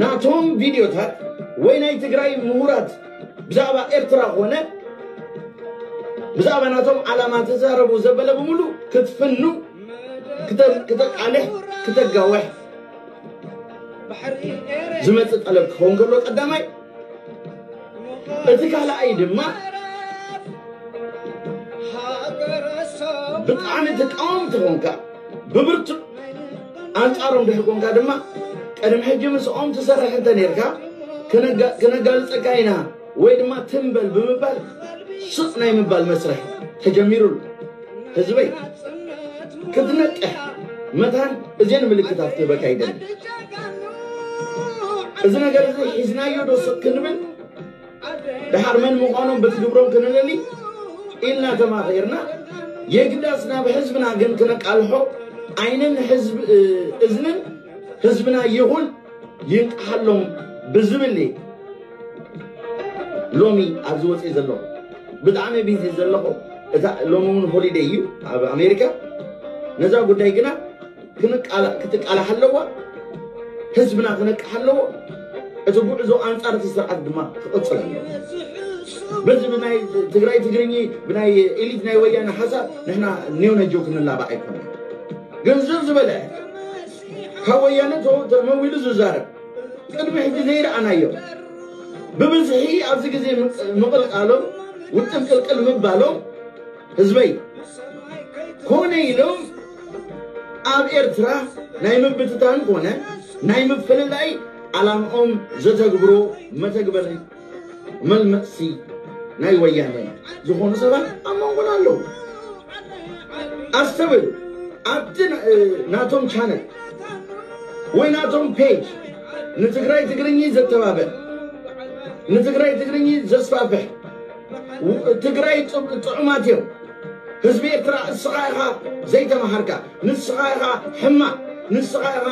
ናቶም ቪድዮታት ወይ ናይ ትግራይ ምሁራት ብዛዕባ ኤርትራ ኮነ ብዛዕባ ናቶም ዓላማ ተዛረቡ ዘበለ ብምሉ ክትፍኑ፣ ክተ- ክተቃልሕ፣ ክተጋውሕ ዝመጽእ ጠለብ ክኸውን ከሎ ቀዳማይ፣ እቲ ካልኣይ ድማ ብጣዕሚ ተቃወምቲ ኮንካ ብብርቱዕ ኣንጻሮም ድሕር ኮንካ ድማ ቅድሚ ሕጂ ምስኦም ትሰርሕ እንተ ነርካ ክነጋ- ክነጋልጸካ ኢና ወይ ድማ ትንበል ብምባል ስቕ ናይ ምባል መስርሕ ተጀሚሩሉ። ህዝበይ ክትነቅሕ መታን እዚን ምልክታት ክህበካ ይደሊ። እዚ ነገር እዚ ሒዝናዮ ዶ ስቕ ክንብል ድሓር መን ምዃኖም በቲ ግብሮም ክንለሊ ኢልና ተማኺርና፣ የግዳስ ናብ ህዝብና ግን ክነቃልሖ ዓይንን ህዝብ እዝንን ህዝብና ይኹን ይንቅሓሎም ብዝብል ሎሚ ኣብዚ ወፅኢ ዘለኹ ብጣዕሚ ቢዚ ዘለኹ። እታ ሎሚ እውን ሆሊደይ እዩ ኣብ ኣሜሪካ። ነዛ ጉዳይ ግና ክትቃላሕ ኣለዋ። ህዝብና ክነቅሕ ኣለዎ። እቲ ጉዕዞ ኣንጻር እቲ ስርዓት ድማ ክቕጽል ኣለዎ። በዚ ብናይ ትግራይ ትግርኚ ብናይ ኤሊት ናይ ወያነ ሓሳብ ንሕና ኔው ነጆ ክንላባዕ ኣይኮነ። ገንዘብ ዝበለ ካብ ወያነ ተመዊሉ ዝዛረብ ቅድሚ ሕጂ ዘይረኣናዮ ብብዝሒ ኣብዚ ግዜ ምቕልቃሎም ውጥም ቅልቅል ምባሎም ህዝበይ ኮነ ኢሎም ኣብ ኤርትራ ናይ ምብትታን ኮነ ናይ ምፍልላይ ዓላምኦም ዘተግብሮ መተግበሪ መልመፅሲ ናይ ወያነ ዝኾኑ ሰባት ኣብ መንጎና ኣለዉ። ኣስተውል፣ ኣብቲ ናቶም ቻነል ወይ ናቶም ፔጅ ንትግራይ ትግርኚ ዘተባብዕ ንትግራይ ትግርኚ ዘስፋፍሕ ትግራይ ጥዑማት እዮም። ህዝቢ ኤርትራ እስኻ ኢኻ ዘይተማሃርካ፣ ንስኻ ኢኻ ሕማቕ፣ ንስኻ ኢኻ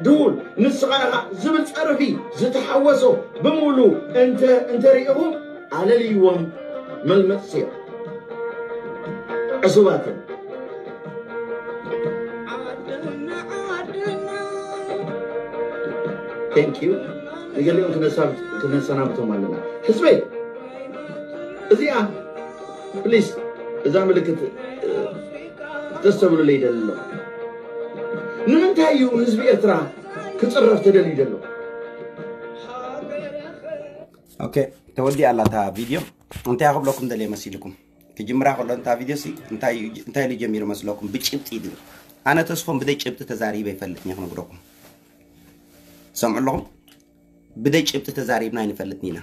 ድውል፣ ንስኻ ኢኻ ዝብል ጸርፊ ዝተሓወሶ ብምሉ እንተ እንተሪእኹም ኣለልይዎም። መልመጽቲ እዮም። ዕሱባት እዮም። Thank you። ንገሊኦም ክነሰናብቶም ኣለና። ህዝበይ እዚኣ ፕሊስ እዛ ምልክት ክተስተብሉለይ ይደሊ ኣለኹ። ንምንታይ እዩ ህዝቢ ኤርትራ ክፅረፍ ተደልዩ ዘሎ? ኦኬ፣ ተወዲኣ ኣላ እታ ቪድዮ። እንታይ ክብለኩም ደልየ መሲልኩም? ክጅምራ ከሎ እታ ቪድዮ ሲ እንታይ ኢሉ ጀሚሩ መስለኩም? ብጭብጢ ድብል ኣነ ተስፎም ብደይ ጭብጢ ተዛሪበ ይፈልጥ እየ ክነግረኩም። ሰምዑ ኣለኹም? ብደይ ጭብጢ ተዛሪብና ኣይንፈልጥን ኢና።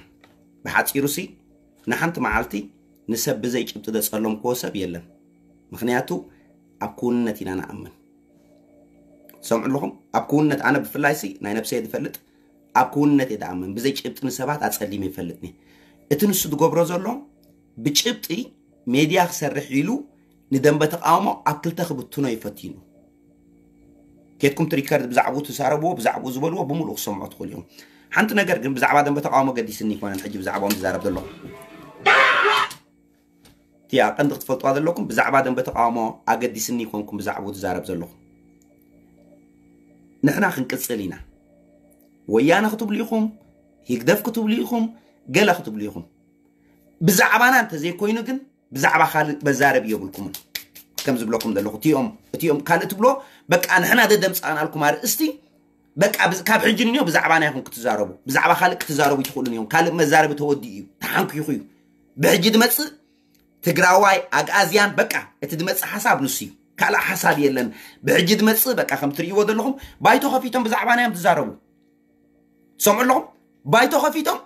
ብሓፂሩ ሲ ንሓንቲ መዓልቲ ንሰብ ብዘይ ጭብጢ ዘፀለምክዎ ሰብ የለን። ምክንያቱ ኣብ ክውንነት ኢና ንኣምን። ሰምዑ ኣለኹም? ኣብ ክውንነት ኣነ ብፍላይ ሲ ናይ ነብሰይ ዝፈልጥ ኣብ ክውንነት እየ ዝኣምን። ብዘይ ጭብጢ ንሰባት ኣፀሊመ ይፈልጥኒ። እቲ ንሱ ዝገብሮ ዘሎ ብጭብጢ ሜድያ ክሰርሕ ኢሉ ንደንበ ተቃውሞ ኣብ ክልተ ክብትኖ ይፈቲኑ። ኬድኩም ትሪከርድ ብዛዕባኡ ትዛረብዎ ብዛዕባኡ ዝበልዎ ብምሉእ ክሰምዖ ትኽእሉ እዮም። ሓንቲ ነገር ግን ብዛዕባ ደንበ ተቃውሞ ገዲስኒ ይኮነን ሕጂ ብዛዕባኦም ዝዛረብ ዘለኹ። እቲኣ ቀንዲ ክትፈልጥዋ ዘለኩም ብዛዕባ ደንበ ተቃውሞ ኣገዲስኒ ይኮንኩም ብዛዕባኡ ትዛረብ ዘለኹ። ንሕና ክንቅፅል ኢና። ወያነ ክትብሉ ኢኹም፣ ሂግደፍ ክትብሉ ኢኹም፣ ገለ ክትብሉ ኢኹም። ብዛዕባና እንተዘይኮይኑ ግን ብዛዕባ ካልእ መዛረቢ የብልኩምን። ከም ዝብለኩም ዘለኹ እቲኦም እቲኦም ካልእ ትብሎ በቃ ንሕና ደደምፃእናልኩም ኣርእስቲ በቃ ካብ ሕጂ ንዮ ብዛዕባና ኢኹም ክትዛረቡ፣ ብዛዕባ ካልእ ክትዛረቡ ይትኽእሉን እዮም። ካልእ መዛረቢ ተወዲኡ እዩ፣ ተሓንኪኹ እዩ። ብሕጂ ዝመፅእ ትግራዋይ ኣግኣዝያን በቃ እቲ ዝመፅእ ሓሳብ ንሱ እዩ። ካልእ ሓሳብ የለን። ብሕጂ ዝመፅእ በቃ ከም ትርእይዎ ዘለኹም ባይቶ ከፊቶም ብዛዕባና እዮም ትዛረቡ። ሰምዑ ኣለኹም? ባይቶ ከፊቶም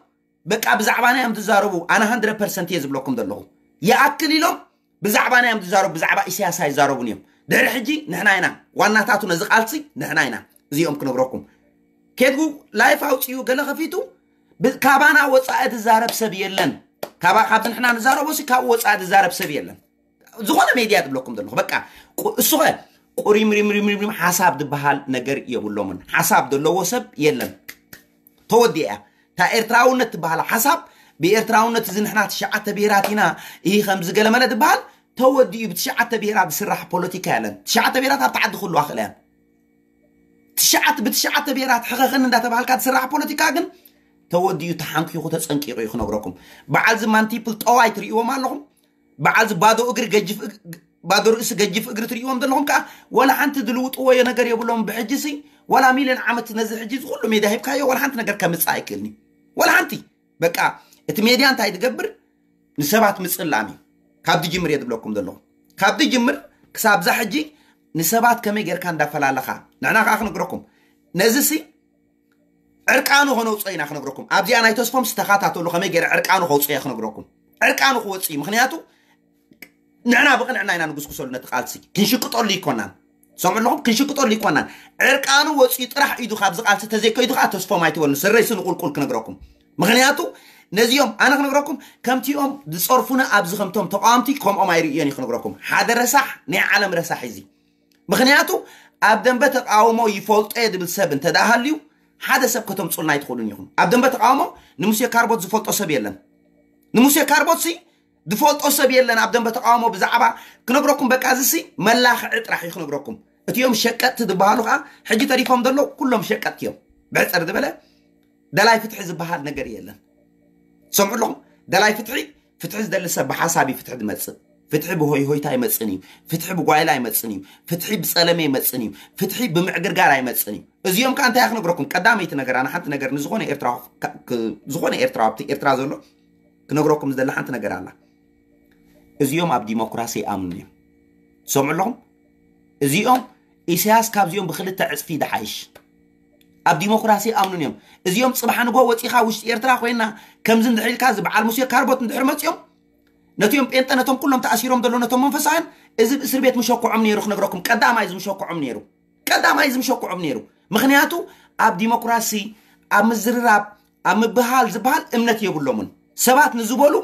በቃ ብዛዕባና እዮም ትዛረቡ። ኣነ ሃንድረድ ፐርሰንት እየ ዝብለኩም ዘለኹ። ይኣክል ኢሎም ብዛዕባና እዮም ዝዛረቡ። ብዛዕባ ኢሳያስ ኣይዛረቡን እዮም። ድሕሪ ሕጂ ንሕና ኢና ዋናታቱ ነዚ ቃልሲ ንሕና ኢና። እዚኦም ክነግረኩም ኬድጉ ላይፍ ኣውፅኡ ገለ ከፊቱ ካባና ወፃኢ ዝዛረብ ሰብ የለን። ካብዚ ንሕና ንዛረቦ ሲ ካብኡ ወፃኢ ዝዛረብ ሰብ የለን። ዝኾነ ሜድያ ትብለኩም ዘለኹ በቃ እሱኸ ቁሪምሪምሪምሪም ሓሳብ ዝበሃል ነገር የብሎምን። ሓሳብ ዘለዎ ሰብ የለን። ተወዲኣ እያ። እታ ኤርትራውነት ትበሃል ሓሳብ ብኤርትራውነት እዚ ንሕና ትሽዓተ ብሄራት ኢና ይህ ከምዚ ገለመለ ዝበሃል ተወዲኡ። ብትሽዓተ ብሄራት ዝስራሕ ፖለቲካ የለን። ትሽዓተ ብሄራት ኣብቲ ዓዲ ክህልዋ ክእላ እየን። ትሽዓት ብትሽዓተ ብሄራት ሕኸኽን እንዳተባሃልካ ዝስራሕ ፖለቲካ ግን ተወዲኡ ተሓንኪኹ ተጸንቂቑ እዩ ክነግረኩም። በዓል እዚ ማንቲፕል ጠዋይ ትርእይዎም ኣለኹም። በዓል እዚ ባዶ እግሪ ገጅፍ እግ- ባዶ ርእሲ ገጅፍ እግሪ ትርእይዎም ዘለኹም ከዓ ወላ ሓንቲ ዝልውጥዎ ነገር የብሎም። ብሕጂ ሲ ወላ ሚልዮን ዓመት ነዚ ሕጂ እዚ ኩሉ ሜድያ ሂብካዮ ወላ ሓንቲ ነገር ከምፅእ ኣይክእልኒ። ወላ ሓንቲ በቃ እቲ ሜድያ እንታይ ትገብር ንሰባት ምፅላም እዩ። ካብ ድጅምር እየ ዝብለኩም ዘለኹ። ካብ ድጅምር ክሳብ ዛ ሕጂ ንሰባት ከመይ ጌርካ እንዳፈላለኻ ንሕና ከዓ ክነግረኩም ነዚ ሲ ዕርቃኑ ከነውፅኦ ኢና ክነግረኩም። ኣብዚኣ ናይ ተስፎም ዝተኻታተሉ ከመይ ገይረ ዕርቃኑ ከውፅኦ እየ ክነግረኩም። ዕርቃኑ ክወፅእ እዩ። ምክንያቱ ንሕና ብቕንዕና ኢና ንጉስጉሰሉ ነቲ ቃልሲ። ክንሽቅጠሉ ይኮናን። ሰምዑ ኣለኹም? ክንሽቅጠሉ ይኮናን። ዕርቃኑ ወፅኡ ጥራሕ ኢዱ ካብዚ ቃልሲ ተዘይከይዱ ከዓ ተስፎም ኣይትበሉ። ስረይሲ ንቁልቁል ክነግረኩም። ምክንያቱ ነዚኦም ኣነ ክነግረኩም ከምቲኦም ዝፀርፉና ኣብዚ ከምቶም ተቃወምቲ ከምኦም ኣይርእዮን እዩ ክነግረኩም። ሓደ ረሳሕ ናይ ዓለም ረሳሕ እዚ ምክንያቱ ኣብ ደንበ ተቃውሞ ይፈልጦ እየ ዝብል ሰብ እንተ ደኣ ሃልዩ ሓደ ሰብ ከተምፁልና ኣይትኽእሉን ኢኹም። ኣብ ደንበ ተቃውሞ ንሙሴ ካርቦት ዝፈልጦ ሰብ የለን። ንሙሴ ካርቦት ሲ ዝፈልጦ ሰብ የለን ኣብ ደንበ ተቃውሞ ብዛዕባ ክነግረኩም በቃ እዚ ሲ መላኽዒ ጥራሕ እዩ ክነግረኩም። እቲኦም ሸቀጥቲ ዝበሃሉ ከዓ ሕጂ ተሪፎም ዘለዉ ኩሎም ሸቀጥቲ እዮም። ብሕፅር ዝበለ ደላይ ፍትሒ ዝበሃል ነገር የለን። ሰምዑ ኣለኹም? ደላይ ፍትሒ ፍትሒ ዝደሊ ሰብ ብሓሳብ እዩ ፍትሒ ዝመፅእ። ፍትሒ ብሆይ ሆይታ ኣይመፅን እዩ። ፍትሒ ብጓይላ ኣይመፅን እዩ። ፍትሒ ብፀለመ ኣይመፅን እዩ። ፍትሒ ብምዕግርጋር ኣይመፅን እዩ። እዚኦም ከዓ እንታይ ክነግረኩም? ቀዳመይቲ ነገር ኣነ ሓንቲ ነገር ንዝኾነ ኤርትራ ዝኾነ ኤርትራ ኣብቲ ኤርትራ ዘሎ ክነግረኩም ዝደሊ ሓንቲ ነገር ኣላ። እዚኦም ኣብ ዲሞክራሲ ይኣምኑ እዮም። ሰምዑ ኣለኹም? እዚኦም ኢሳያስ ካብዚኦም ብክልተ ዕፅፊ ይድሓይሽ። ኣብ ዲሞክራሲ ይኣምኑን እዮም። እዚኦም ፅባሕ ንጎ ወፂኻ ውሽጢ ኤርትራ ኮይና ከምዚ እንድሕር ኢልካ እዚ በዓል ሙሴ ካርቦት እንድሕር መፂኦም ነቲኦም ጴንጠ ነቶም ኩሎም ተኣሲሮም ዘሎ ነቶም መንፈሳውያን እዚ እስር ቤት ምሸኩዖም ነይሩ ክነግረኩም። ቀዳማይ እዚ ምሸኩዖም ነይሩ። ቀዳማይ እዚ ምሸኩዖም ነይሩ። ምክንያቱ ኣብ ዲሞክራሲ ኣብ ምዝርራብ ኣብ ምብሃል ዝበሃል እምነት የብሎምን። ሰባት ንዝበሉ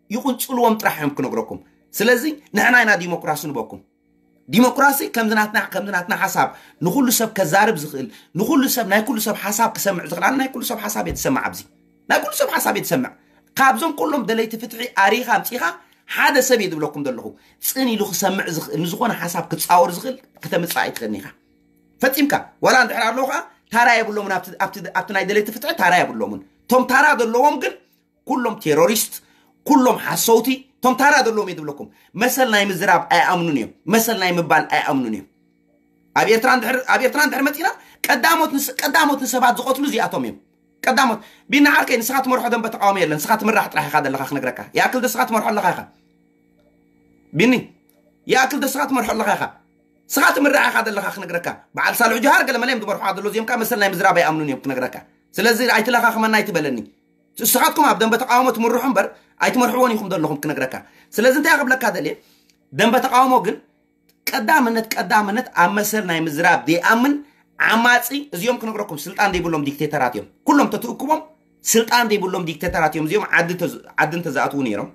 ይቁንፅልዎም ጥራሕ እዮም ክነግረኩም። ስለዚ ንሕና ኢና ዲሞክራሲ ንበኩም። ዲሞክራሲ ከምዚ ናትና ከምዚ ናትና ሓሳብ ንኩሉ ሰብ ከዛርብ ዝኽእል ንኩሉ ሰብ ናይ ኩሉ ሰብ ሓሳብ ክሰምዕ ዝኽእል ኣነ ናይ ኩሉ ሰብ ሓሳብ እየ ዝሰምዕ ኣብዚ ናይ ኩሉ ሰብ ሓሳብ እየ ዝሰምዕ። ካብዞም ኩሎም ደለይቲ ፍትሒ ኣሪኻ ኣምፂኻ ሓደ ሰብ እየ ዝብለኩም ዘለኹ። ፅን ኢሉ ክሰምዕ ዝኽእል ንዝኾነ ሓሳብ ክፃወር ዝኽእል ክተምፅእ ኣይትኽእልን ኢኻ። ፈፂምካ ዋላ እንድሕር ኣለዉ ከዓ ታራ የብሎምን። ኣብቲ ናይ ደለይቲ ፍትሒ ታራ የብሎምን። እቶም ታራ ዘለዎም ግን ኩሎም ቴሮሪስት ኩሎም ሓሰውቲ። እቶም ታራ ዘለዎም እየ ዝብለኩም። መሰል ናይ ምዝራብ ኣይኣምኑን እዮም። መሰል ናይ ምባል ኣይኣምኑን እዮም። ኣብ ኤርትራ እንድሕር መፂና ቀዳሞት ንሰባት ዝቐትሉ እዚኣቶም እዮም። ቀዳሞት ቢና ዓርከይ ንስኻ ትመርሖ ደንበ ተቃውሞ የለን። ንስኻ ትምራሕ ጥራሕ ኢኻ ዘለኻ ክነግረካ። ይኣክል ዶ ንስኻ ትመርሖ ኣለኻ ኢኻ ቢኒ? ይኣክል ዶ ንስኻ ትመርሖ ኣለኻ ኢኻ? ንስኻ ትምራሕ ኢኻ ዘለኻ ክነግረካ። በዓል ሳልሑ ጀሃር ገለ መለ እዮም ዝመርሖ ዘለዉ እዚኦም ከዓ መሰል ናይ ምዝራብ ኣይኣምኑን እዮም ክነግረካ። ስለዚ ኣይትለኻኽመና ኣይትበለኒ። ንስኻትኩም ኣብ ደንበ ተቃውሞ ትምርሑ እምበር ኣይትመርሕዎን ኢኹም ዘለኹም ክነግረካ። ስለዚ እንታይ ክብለካ ደልየ ደንበ ተቃውሞ ግን ቀዳምነት ቀዳምነት ኣብ መሰል ናይ ምዝራብ ዘይኣምን ዓማፂ እዚኦም ክነግረኩም ስልጣን ዘይብሎም ዲክቴተራት እዮም። ኩሎም ተትእክቦም ስልጣን ዘይብሎም ዲክቴተራት እዮም። እዚኦም ዓዲ እንተዝኣትዉ ነይሮም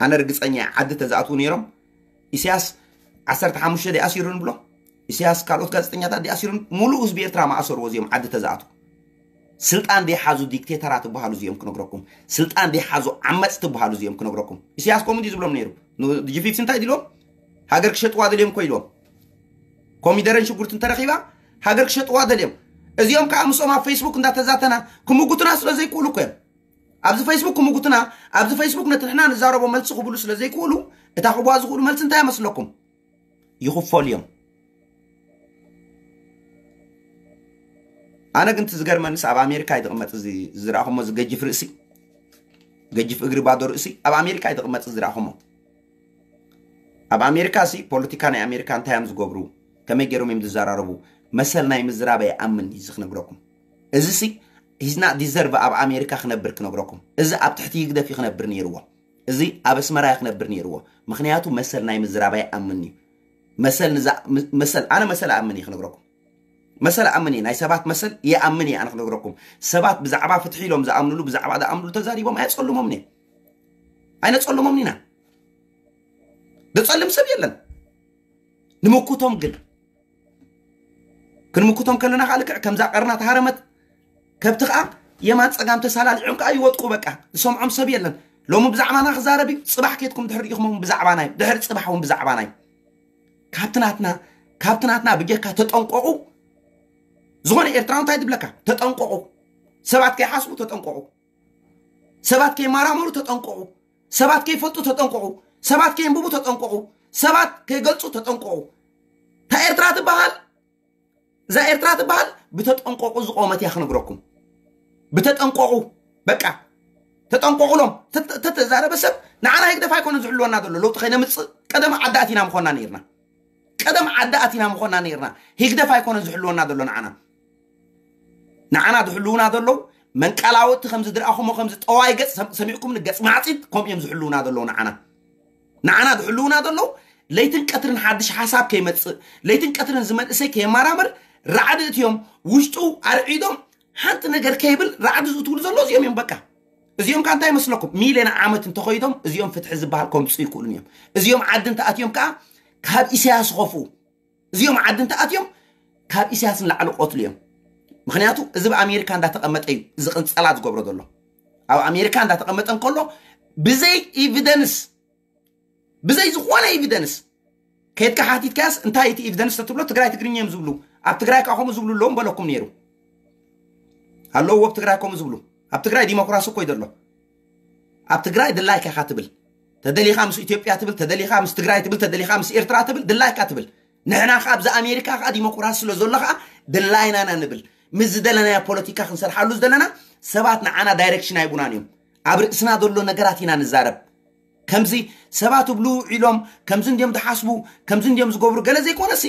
ኣነ ርግፀኛ ዓዲ ተዝኣትዉ ነይሮም ኢሳያስ ዓሰርተ ሓሙሽተ ዲኣሲሩ ንብሎ ኢሳያስ ካልኦት ጋዜጠኛታት ዲኣሲሩ ሙሉእ ህዝቢ ኤርትራ ማእሰሩ እዚኦም ዓዲ ተዝኣትዉ። ስልጣን ዘይሓዙ ዲክቴተራት ዝበሃሉ እዚኦም ክነግረኩም። ስልጣን ዘይሓዙ ዓመፅ ትበሃሉ እዚኦም ክነግረኩም። ኢሳያስ ከምኡ እንዲ ዝብሎም ነይሩ። ጂ ፊፍቲ እንታይ ድልዎም ሃገር ክሸጥዋ ደልዮም እኮ ኢልዎም። ኮሚደረን ሽጉርቲ እንተረኺባ ሃገር ክሸጥዋ ደልዮም። እዚኦም ከዓ ምስኦም ኣብ ፌስቡክ እንዳተዛተና ክምጉትና ስለ ዘይክእሉ እኮ እዮም። ኣብዚ ፌስቡክ ክምጉትና ኣብዚ ፌስቡክ ነቲ ንሕና ንዛረቦ መልሲ ክብሉ ስለ ዘይክእሉ እታ ክብዋ ዝኽእሉ መልሲ እንታይ መስለኩም? ይኽፈሉ እዮም። ኣነ ግን እቲ ዝገርመንስ ኣብ ኣሜሪካ ይትቕመጥ እዚ ዝረኣኹሞ እዚ ገጅፍ ርእሲ ገጅፍ እግሪ ባዶ ርእሲ ኣብ ኣሜሪካ ይትቕመጥ ዝረኣኹሞ። ኣብ ኣሜሪካ ሲ ፖለቲካ ናይ ኣሜሪካ እንታይ እዮም ዝገብሩ ከመይ ገይሮም እዮም ዝዘራረቡ መሰል ናይ ምዝራብ ኣይኣምን እዩ እዚ ክነግረኩም። እዚ ሲ ሂዝና ዲዘርቭ ኣብ ኣሜሪካ ክነብር ክነግረኩም። እዚ ኣብ ትሕቲ ይግደፍ እዩ ክነብር ነይርዎ። እዚ ኣብ ኣስመራ እዩ ክነብር ነይርዎ። ምክንያቱ መሰል ናይ ምዝራብ ኣይኣምን እዩ። መሰል ንዛ መሰል ኣነ መሰል ኣኣምን እየ ክነግረኩም። መሰል ኣኣምን እየ ናይ ሰባት መሰል ይኣምን እየ ኣነ ክነግረኩም። ሰባት ብዛዕባ ፍትሒ ኢሎም ዝኣምንሉ ብዛዕባ ዝኣምንሉ ተዛሪቦም ኣየፀልሞምን እየ ኣይነፀልሞምን ኢና። ዘፀልም ሰብ የለን። ንምኩቶም ግን ክንምኩቶም ከለና ከዓ ልክዕ ከምዛ ቀርና ተሃረመት ከብቲ ከዓ የማን ፀጋም ተሳላልዖም ከዓ ይወጥቁ። በቃ ዝሰምዖም ሰብ የለን። ሎሚ ብዛዕባና ክዛረብ እዩ። ፅባሕ ኬድኩም ድሕር ኢኹም እውን ብዛዕባና እዩ። ድሕር ፅባሕ እውን ብዛዕባና እዩ። ካብቲ ናትና ካብቲ ናትና ብጀካ ተጠንቀቑ። ዝኾነ ኤርትራዊ እንታይ ትብለካ? ተጠንቀቑ። ሰባት ከይሓስቡ ተጠንቀቑ። ሰባት ከይመራመሩ ተጠንቀቑ። ሰባት ከይፈልጡ ተጠንቀቑ። ሰባት ከየንብቡ ተጠንቀቑ። ሰባት ከይገልጹ ተጠንቀቑ። እታ ኤርትራ ትበሃል፣ እዛ ኤርትራ ትበሃል ብተጠንቀቑ ዝቆመት እያ ክነግረኩም። ብተጠንቀቑ፣ በቃ ተጠንቀቑሎም። ተተ- ተተዛረበ ሰብ ንዓና ህግደፍ ኣይኮነ ዝሕልወና ዘሎ። ለውጢ ከይነምጽእ ቀደም ዓዲ ኣቲና ምኾና ነይርና። ቀደም ዓዲ ኣቲና ምኾና ነይርና። ህግደፍ ኣይኮነ ዝሕልወና ዘሎ ንዓና። ንዓና ዝሕልውና ዘለዉ መንቀላወጥቲ ከምዚ ድረኣኹሞ ከምዚ ጠዋይ ገጽ ሰም- ሰሚዕኩም ንገጽ ማዕጺት ከምኡ እዮም ዝሕልውና ዘለዉ ንዓና። ንዓና ዝሕልውና ዘለዉ ለይትን ቀትርን ሓድሽ ሓሳብ ከይመጽእ፣ ለይትን ቀትርን ዝመንእሰይ ከየማራምር ራዕዲ እትዮም ውሽጡ ኣርዒዶም ሓንቲ ነገር ከይብል ራዕዲ ዝእትውሉ ዘሎ እዚኦም እዮም። በቃ እዚኦም ከ እንታይ ይመስለኩም? ሚልዮን ዓመት እንተኸይዶም እዚኦም ፍትሒ ዝበሃል ከምፅኡ ይክእሉን እዮም። እዚኦም ዓዲ እንተኣትዮም ከዓ ካብ ኢሳያስ ዝኸፍኡ፣ እዚኦም ዓዲ እንተኣትዮም ካብ ኢሳያስ ንላዕሊ ቆትሉ እዮም። ምክንያቱ እዚ ብኣሜሪካ እንዳተቐመጠ እዩ እዚ ቅንፀላ ዝገብሮ ዘሎ። ኣብ ኣሜሪካ እንዳተቐመጠ እንከሎ ብዘይ ኤቪደንስ፣ ብዘይ ዝኾነ ኤቪደንስ ከይድካ ሓቲትካያስ እንታይ እቲ ኤቪደንስ ተትብሎ ትግራይ ትግርኛ እዮም ዝብሉ። ኣብ ትግራይ ከዓ ከምኡ ዝብሉ ኣለዎም በለኩም ነይሩ። ኣለዎ ኣብ ትግራይ ከምኡ ዝብሉ። ኣብ ትግራይ ዲሞክራሲ እኮ እዩ ዘሎ። ኣብ ትግራይ ድላይካ ኢኻ ትብል፣ ተደሊኻ ምስ ኢትዮጵያ ትብል፣ ተደሊኻ ምስ ትግራይ ትብል፣ ተደሊኻ ምስ ኤርትራ ትብል፣ ድላይካ ትብል። ንሕና ከዓ ኣብዚ ኣሜሪካ ከዓ ዲሞክራሲ ስለ ዘሎ ከዓ ድላይና ኢና ንብል። ምስ ዝደለናዮ ፖለቲካ ክንሰርሓሉ ዝደለና ሰባት ንዓና ዳይሬክሽን ኣይቡናን እዮም። ኣብ ርእስና ዘሎ ነገራት ኢና ንዛረብ። ከምዚ ሰባት እብሉ ውዒሎም ከምዚ እንዲዮም ዝሓስቡ ከምዚ እንዲዮም ዝገብሩ ገለ ዘይኮነሲ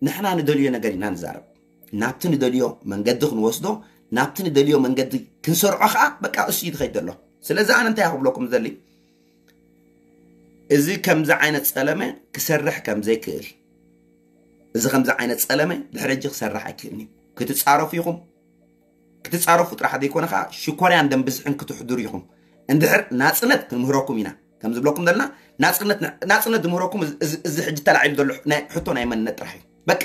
ንሕና ንደልዮ ነገር ኢና ንዛረብ። ናብቲ ንደልዮ መንገዲ ክንወስዶ፣ ናብቲ ንደልዮ መንገዲ ክንሰርዖ ከዓ በቃ እሱ እዩ ዝኸይድ ዘሎ። ስለዚ ኣነ እንታይ ክብለኩም ዘሊ፣ እዚ ከምዚ ዓይነት ጸለመ ክሰርሕ ከም ዘይክእል፣ እዚ ከምዚ ዓይነት ጸለመ ድሕሪ ሕጂ ክሰርሕ ኣይክእልን እዩ። ክትጻረፉ ኢኹም፣ ክትጻረፉ ጥራሕ ዘይኮነ ከዓ ሽኮርያን ደም ብዝሕን ክትሕድሩ ኢኹም። እንድሕር ናጽነት ክንምህረኩም ኢና ከም ዝብለኩም ዘለና፣ ናጽነት ናጽነት ዝምህረኩም እዚ- እዚ እዚ ሕጂ ተላዒሉ ዘሎ ናይ ሕቶ ናይ መንነት ጥራሕ እዩ። በቃ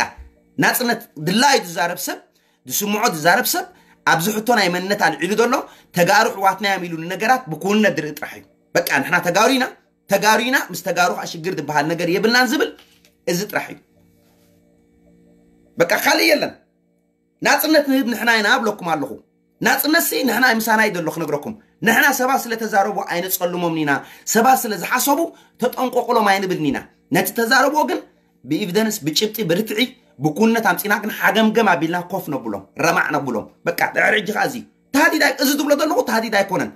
ናጽነት ድላዩ ዝዛረብ ሰብ፣ ዝስምዖ ዝዛረብ ሰብ ኣብዚ ሕቶ ናይ መንነት ኣልዒሉ ዘሎ ተጋሩ ኣሕዋትና እዮም ኢሉ ንነገራት ብኩውንነት ዝርኢ ጥራሕ እዩ። በቃ ንሕና ተጋሩ ኢና፣ ተጋሩ ኢና፣ ምስ ተጋሩ ከዓ ሽግር ዝበሃል ነገር የብልናን ዝብል እዚ ጥራሕ እዩ። በቃ ካልእ የለን። ናጽነት ንህብ ንሕና ኢና እብለኩም ኣለኹ። ናጽነት ሲ ንሕና ምሳና እዩ ዘሎ ክነግረኩም። ንሕና ሰባት ስለ ተዛረቡ ኣይነጸልሞምን ኢና። ሰባት ስለ ዝሓሰቡ ተጠንቀቁሎም ኣይንብልን ኢና። ነቲ ተዛረብዎ ግን ብኤቪደንስ፣ ብጭብጢ፣ ብርትዒ፣ ብኩነት ኣምጺና ግን ሓገምገም ኣቢልና ኮፍ ነብሎም፣ ረማዕ ነብሎም። በቃ ድሕሪ ሕጂ ከኣ እዚ ታህዲድ ኣይ- እዚ ዝብሎ ዘለኹ ታህዲድ ኣይኮነን።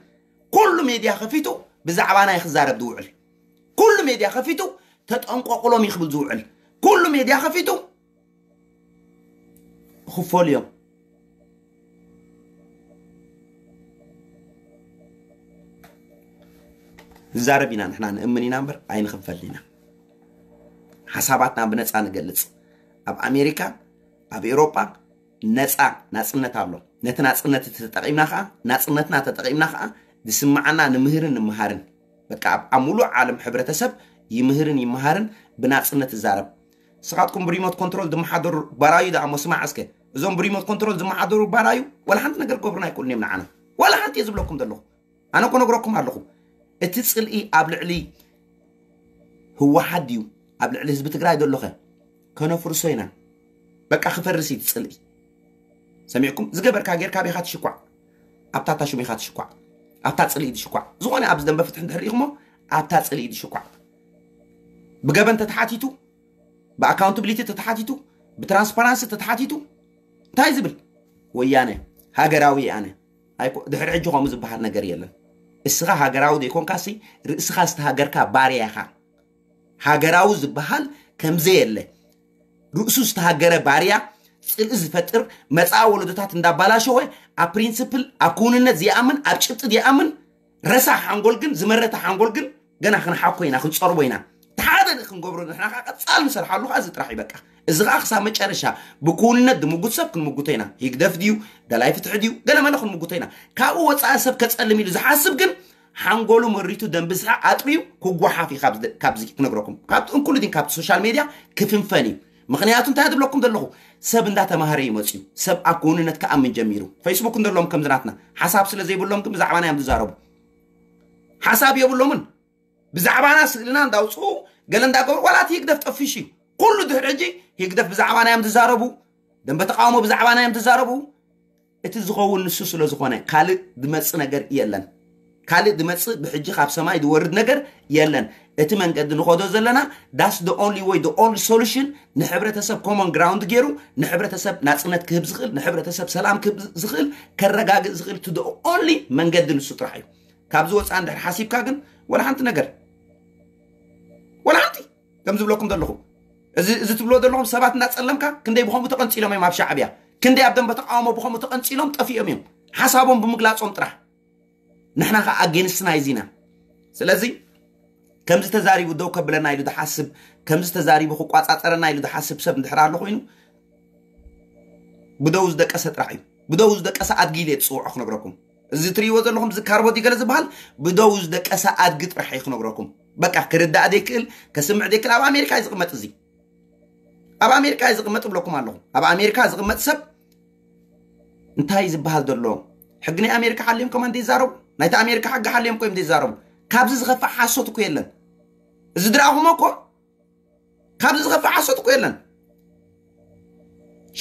ኩሉ ሜድያ ከፊቱ ብዛዕባና እዩ ክዛረብ ዝውዕል። ኩሉ ሜድያ ከፊቱ ተጠንቀቁሎም እዩ ክብል ዝውዕል። ኩሉ ሜድያ ከፊቱ ክፈሉ እዮም። ንዛረብ ኢና ንሕና ንእምን ኢና እምበር ኣይንኽንፈልን ኢና። ሓሳባትና ብነፃ ንገልፅ። ኣብ ኣሜሪካ ኣብ ኤውሮጳ ነፃ ናፅነት ኣሎ። ነቲ ናፅነት እቲ ተጠቒምና ከዓ ናፅነትና ተጠቒምና ከዓ ዝስምዓና ንምህርን ንምሃርን በቃ ኣብ ኣብ ሙሉእ ዓለም ሕብረተሰብ ይምህርን ይመሃርን ብናፅነት ይዛረብ። ንስኻትኩም ብሪሞት ኮንትሮል ዝመሓደሩ ባራዩ ደኣ እሞ ስማዕ እስከ። እዞም ብሪሞት ኮንትሮል ዝመሓደሩ ባራዩ ዋላ ሓንቲ ነገር ክገብሩና ኣይክእሉን እዮም ንዓና። ዋላ ሓንቲ እየ ዝብለኩም ዘለኹ። ኣነ እኮ ነግረኩም ኣለኹ። እቲ ፅልኢ ኣብ ልዕሊ ህወሓት ድዩ ኣብ ልዕሊ ህዝቢ ትግራይ ዘሎ ኸ? ከነፍርሶ ኢና። በቃ ክፈርስ እዩ እቲ ፅልኢ። ሰሚዕኩም ዝገበርካ ጌርካ ቤኻ ትሽኳዕ። ኣብታ ታሹም ኢኻ ትሽኳዕ። ኣብታ ፅልኢ ትሽኳዕ። ዝኾነ ኣብዚ ደንበ ፍትሒ እንድሕር ኢኹሞ ኣብታ ፅልኢ ትሽኳዕ። ብገበን ተተሓቲቱ፣ ብኣካውንታብሊቲ ተተሓቲቱ፣ ብትራንስፓራንሲ ተተሓቲቱ እንታይ ዝብል? ወያነ ሃገራዊ ኣነ ኣይኮ- ድሕሪ ሕጂ ከምኡ ዝበሃል ነገር የለን። እስኻ ሃገራዊ ዘይኮንካሲ ርእስኻ ዝተሃገርካ ባርያ ኢኻ። ሃገራዊ ዝበሃል ከምዘየለ ርእሱ ዝተሃገረ ባርያ ፅልኢ ዝፈጥር መፃኢ ወለዶታት እንዳባላሸወ ኣብ ፕሪንስፕል ኣብ ክውንነት ዘይኣምን ኣብ ጭብጢ ዘይኣምን ረሳሕ ሓንጎል ግን ዝመረተ ሓንጎል ግን ገና ክንሓኮ ኢና ክንፀርቦ ኢና። ሓደ ክንገብሮ ንሕና ከዓ ቀፃል ንሰርሓሉ ከዓ እዚ ጥራሕ እዩ በቃ። እዚ ከዓ ክሳብ መጨረሻ ብክውንነት ዝምጉት ሰብ ክንምጉቶ ኢና። ህግደፍ ድዩ ደላይ ፍትሒ ድዩ ገለመለ ክንምጉቶ ኢና። ካብኡ ወፃኢ ሰብ ከፀልም ኢሉ ዝሓስብ ግን ሓንጎሉ መሪቱ ደንብዝሓ ኣጥርዩ ክጓሓፍ እዩ። ካብዚ ክነግረኩም ካብቲ እንኩሉዲን ካብቲ ሶሻል ሜድያ ክፍንፈን እዩ። ምክንያቱ እንታይ ዝብለኩም ዘለኹ ሰብ እንዳተማሃረ እዩ መፅዩ። ሰብ ኣብ ክውንነት ክኣምን ጀሚሩ። ፌስቡክ እንደሎም ከምዚ ናትና ሓሳብ ስለ ዘይብሎም ግን ብዛዕባና እዮም ዝዛረቡ። ሓሳብ የብሎምን። ብዛዕባና ስእልና እንዳውፅኡ ገለ እንዳገበሩ ዋላ እቲ ህግደፍ ጠፊሽ እዩ። ኩሉ ድሕሪ ሕጂ ህግደፍ ብዛዕባና እዮም ዝዛረቡ። ደንበ ተቃውሞ ብዛዕባና እዮም ዝዛረቡ። እቲ ዝኸውን ንሱ ስለ ዝኾነ ካልእ ዝመጽእ ነገር የለን። ካልእ ዝመጽእ ብሕጂ ካብ ሰማይ ዝወርድ ነገር የለን። እቲ መንገዲ ንኸዶ ዘለና that's the only way, the only solution ንሕብረተሰብ common ground ገይሩ ንሕብረተሰብ ናጽነት ክህብ ዝኽእል ንሕብረተሰብ ሰላም ክህብ ዝኽእል ከረጋግእ ዝኽእል to the only መንገዲ ንሱ ጥራሕ እዩ። ካብዚ ወፃ እንድሕር ሓሲብካ ግን ወላ ሓንቲ ነገር ወላ ሓንቲ ከም ዝብለኩም ዘለኹ እዚ እዚ ትብሎ ዘለኹም ሰባት እናፀለምካ ክንደይ ብኸምኡ ተቐንፂሎም እዮም ኣብ ሻዕብያ ክንደይ ኣብ ደንበ ተቃውሞ ብኸምኡ ተቐንፂሎም ጠፊኦም እዮም ሓሳቦም ብምግላፆም ጥራሕ ንሕና ከዓ ኣጌንስትና ይዚና ስለዚ ከምዚ ተዛሪቡ ደው ከብለና ኢሉ ዝሓስብ ከምዚ ተዛሪቡ ክቋፃፀረና ኢሉ ዝሓስብ ሰብ እንድሕር ኣሎ ኮይኑ ብደው ዝደቀሰ ጥራሕ እዩ ብደው ዝደቀሰ ኣድጊ ኢለ ዝፅውዖ ክነግረኩም እዚ ትሪእዎ ዘለኹም እዚ ካርቦ ገለ ዝበሃል ብደው ዝደቀሰ ኣድጊ ጥራሕ እዩ ክነግረኩም በቃ ክርዳእ ዘይክእል ከስምዕ ዘይክእል ኣብ ኣሜሪካ እዩ ዝቕመጥ እዚ ኣብ ኣሜሪካ እዩ ዝቕመጥ እብለኩም ኣለኹ ኣብ ኣሜሪካ ዝቕመጥ ሰብ እንታይ ዝበሃል ዘሎ ሕጊ ናይ ኣሜሪካ ሓልዮም ከማን ዘይዛረቡ ናይቲ ኣሜሪካ ሕጊ ሓልዮም ኮይም ዘይዛረቡ ካብዚ ዝኸፍእ ሓሶት እኮ የለን እዚ ድረኣኹሞ እኮ ካብዚ ዝኸፍእ ሓሶት እኮ የለን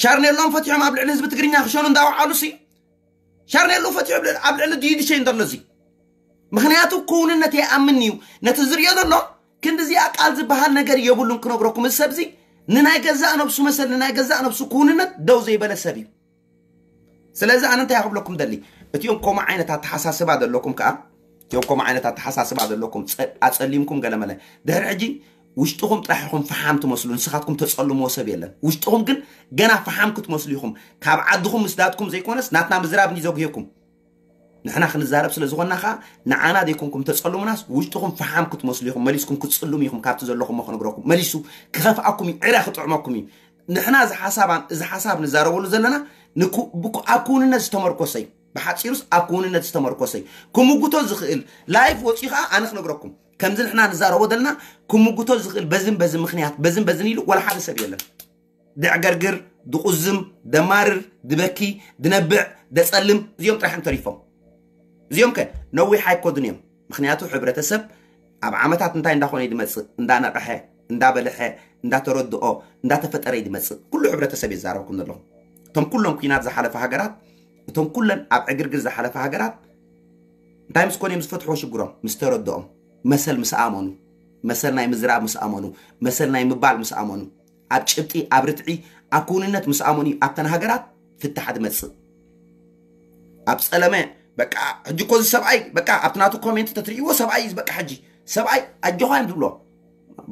ሻርኔሎም ፈትሖም ኣብ ልዕሊ ህዝቢ ትግርኛ ክሸኑ እንዳወዓሉ ሲ ሻርኔሎ ፈትሑ ኣብ ልዕሊ ድዩ ድሸይ እንተሎ እዚ ምክንያቱ ክውንነት የኣምን እዩ ነቲ ዝሪኦ ዘሎ ክንድዚኣ ቃል ዝበሃል ነገር የብሉን ክነግረኩም እዚ ሰብዚ ንናይ ገዛእ ነብሱ መሰል ንናይ ገዛእ ነብሱ ክውንነት ደው ዘይበለ ሰብ እዩ ስለዚ ኣነ እንታይ ክብለኩም ደሊ እቲኦም ከምኡ ዓይነት ኣተሓሳስባ ዘለኩም ከዓ እቲኦም ከምኡ ዓይነት ኣተሓሳስባ ዘለኩም ኣፀሊምኩም ገለመለ ድሕሪ ሕጂ ውሽጥኹም ጥራሕ ኢኹም ፈሓም ትመስሉ ንስኻትኩም ተፀልምዎ ሰብ የለን ውሽጥኹም ግን ገና ፈሓም ክትመስሉ ኢኹም ካብ ዓድኹም ምስዳድኩም ዘይኮነስ ናትና ምዝራብ እንዲ ዘጉህየኩም ንሕና ክንዛረብ ስለ ዝኾንና ከዓ ንዓና ዘይኮንኩም ተፀልሙናስ ውሽጥኹም ፈሓም ክትመስሉ ኢኹም መሊስኩም ክትፅልሙ ኢኹም ካብቲ ዘለኹም ክነግረኩም መሊሱ ክኸፍኣኩም እዩ ዕረ ክጥዕመኩም እዩ ንሕና እዚ ሓሳብ እዚ ሓሳብ ንዛረበሉ ዘለና ኣብ ክውንነት ዝተመርኮሰ እዩ ብሓፂሩስ ኣብ ክውንነት ዝተመርኮሰ እዩ ክምጉቶ ዝኽእል ላይፍ ወፂኡ ከዓ ኣነ ክነግረኩም ከምዚ ንሕና ንዛረቦ ዘለና ክምጉቶ ዝኽእል በዝን በዚ ምኽንያት በዝን በዝን ኢሉ ወላ ሓደ ሰብ የለን ድዕገርግር ድቁዝም ደማርር ድበኪ ድነብዕ ደፀልም እዚኦም ጥራሕ እንተሪፎም እዚኦም ከ ነዊሕ ኣይኮዱን እዮም ምክንያቱ ሕብረተሰብ ኣብ ዓመታት እንታይ እንዳኾነ ድመፅእ እንዳነቐሐ እንዳበልሐ እንዳተረድኦ እንዳተፈጠረ ድመፅእ ኩሉ ሕብረተሰብ የዛረብኩም ዘለኹም እቶም ኩሎም ኩናት ዝሓለፈ ሃገራት እቶም ኩለን ኣብ ዕግርግር ዝሓለፈ ሃገራት እንታይ ምስ ኮነ እዮም ዝፈትሕዎ ሽግሮም ምስ ተረድኦም መሰል ምስ ኣመኑ መሰል ናይ ምዝራብ ምስ ኣመኑ መሰል ናይ ምባል ምስ ኣመኑ ኣብ ጭብጢ ኣብ ርትዒ ኣብ ክውንነት ምስ ኣመኑ ኣብተን ሃገራት ፍታሕ ዝመፅእ ኣብ ፀለመ በቃ ሕጂ እኮ እዚ ሰብኣይ በቃ ኣብቲ ናቱ ኮሜንት ተትርእይዎ ሰብኣይ እዩ በቃ ሕጂ ሰብኣይ ኣጆኻ እዮም ዝብሎ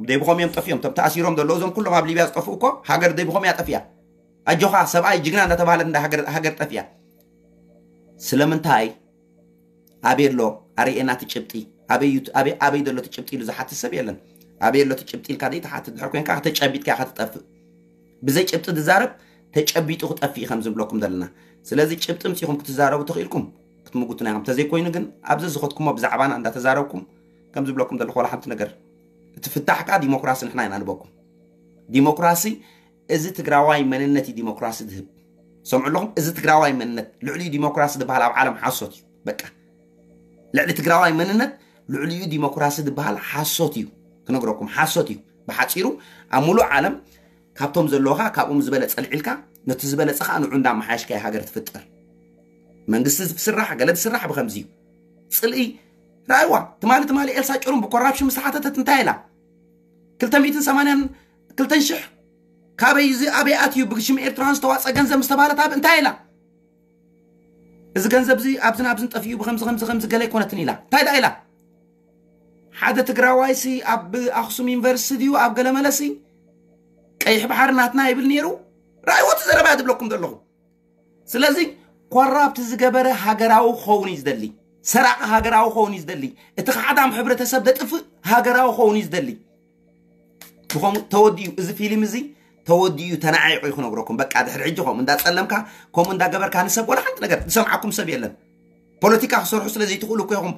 ደይብኾም እዮም ጠፊኦም ቶም ተኣሲሮም ዘሎ እዞም ኩሎም ኣብ ሊብያ ዝጠፍኡ እኮ ሃገር ደይብኾም እያ ጠፊያ ኣጆኻ ሰብኣይ ጅግና እንዳተባሃለ እንዳ ሃገር ጠፊያ ስለምንታይ ኣበይ ኣሎ ኣርእየና እቲ ጭብጢ ኣበይ ኣሎ እቲ ጭብጢ ኢሉ ዝሓትት ሰብ የለን ኣበይ ኣሎ እቲ ጭብጢ ኢልካ ደይ ትሓትት ድሕር ኮይንካ ተጨቢጥካ ኢኻ ትጠፍእ ብዘይ ጭብጢ ዝዛረብ ተጨቢጡ ክጠፍእ ከም ዝብለኩም ዘለና ስለዚ ጭብጢ ምፂኹም ክትዛረቡ ተኽኢልኩም ክትምጉቱና ኢኹም ተዘይኮይኑ ግን ኣብዚ ዝኸድኩሞ ብዛዕባና እንዳተዛረብኩም ከም ዝብለኩም ዘለኹ ዋላ ሓንቲ ነገር እቲ ፍታሕ ከዓ ዲሞክራሲ ንሕና ኢና ንበኩም ዲሞክራሲ እዚ ትግራዋይ መንነት እዩ ዲሞክራሲ ዝህብ ሰምዑ ኣለኹም እዚ ትግራዋይ መንነት ልዕሊኡ ዲሞክራሲ ዝበሃል ኣብ ዓለም ሓሶት እዩ በቃ ልዕሊ ትግራዋይ መንነት ልዕሊኡ ዲሞክራሲ ዝበሃል ሓሶት እዩ ክነግረኩም ሓሶት እዩ ብሓፂሩ ኣብ ሙሉእ ዓለም ካብቶም ዘለውካ ካብኦም ዝበለፀ ልዒልካ ነቲ ዝበለፀ ከዓ ንዑ እንዳመሓየሽካ ሃገር ትፍጠር መንግስቲ ዝስራሕ ገለ ዝስራሕ ብከምዚ እዩ ፅልኢ ራይዋ ትማሊ ትማሊ ኤልሳ ጭሩም ብኮራፕሽን ዝተሓተተት እንታይ ኢላ ክልተ ሚእትን ሰማንያን ክልተን ሽሕ ካበይ እዚ ኣበይ ኣትዩ ብሽም ኤርትራን ዝተዋፀ ገንዘብ ዝተባለት ኣብ እንታይ ኢላ እዚ ገንዘብ እዚ ኣብዝን ኣብዝን ጠፊኡ ብከምዚ ከምዚ ከምዚ ገለ ኣይኮነትን ኢላ እንታይ ዳ ኢላ ሓደ ትግራዋይሲ ኣብ ኣክሱም ዩኒቨርሲቲ ድዩ ኣብ ገለመለሲ ቀይሕ ባሕሪ ናትና ይብል ነይሩ ራእይዎ እቲ ዘረባ ድብለኩም ዘለኹ ስለዚ ኮራፕት ዝገበረ ሃገራዊ ክኸውን እዩ ዝደሊ ሰራቂ ሃገራዊ ክኸውን እዩ ዝደሊ እቲ ከሓዳም ሕብረተሰብ ደጥፍእ ሃገራዊ ክኸውን እዩ ዝደሊ ብኸምኡ ተወዲኡ እዚ ፊልም እዚ ተወዲኡ ተናዒቑ እዩ ክነግረኩም በቃ ድሕሪ ሕጂ ከምኡ እንዳፀለምካ ከምኡ እንዳገበርካ ንሰብ ወላ ሓንቲ ነገር ዝሰምዓኩም ሰብ የለን ፖለቲካ ክሰርሑ ስለ ዘይትኽእሉ እኮ ኢኹም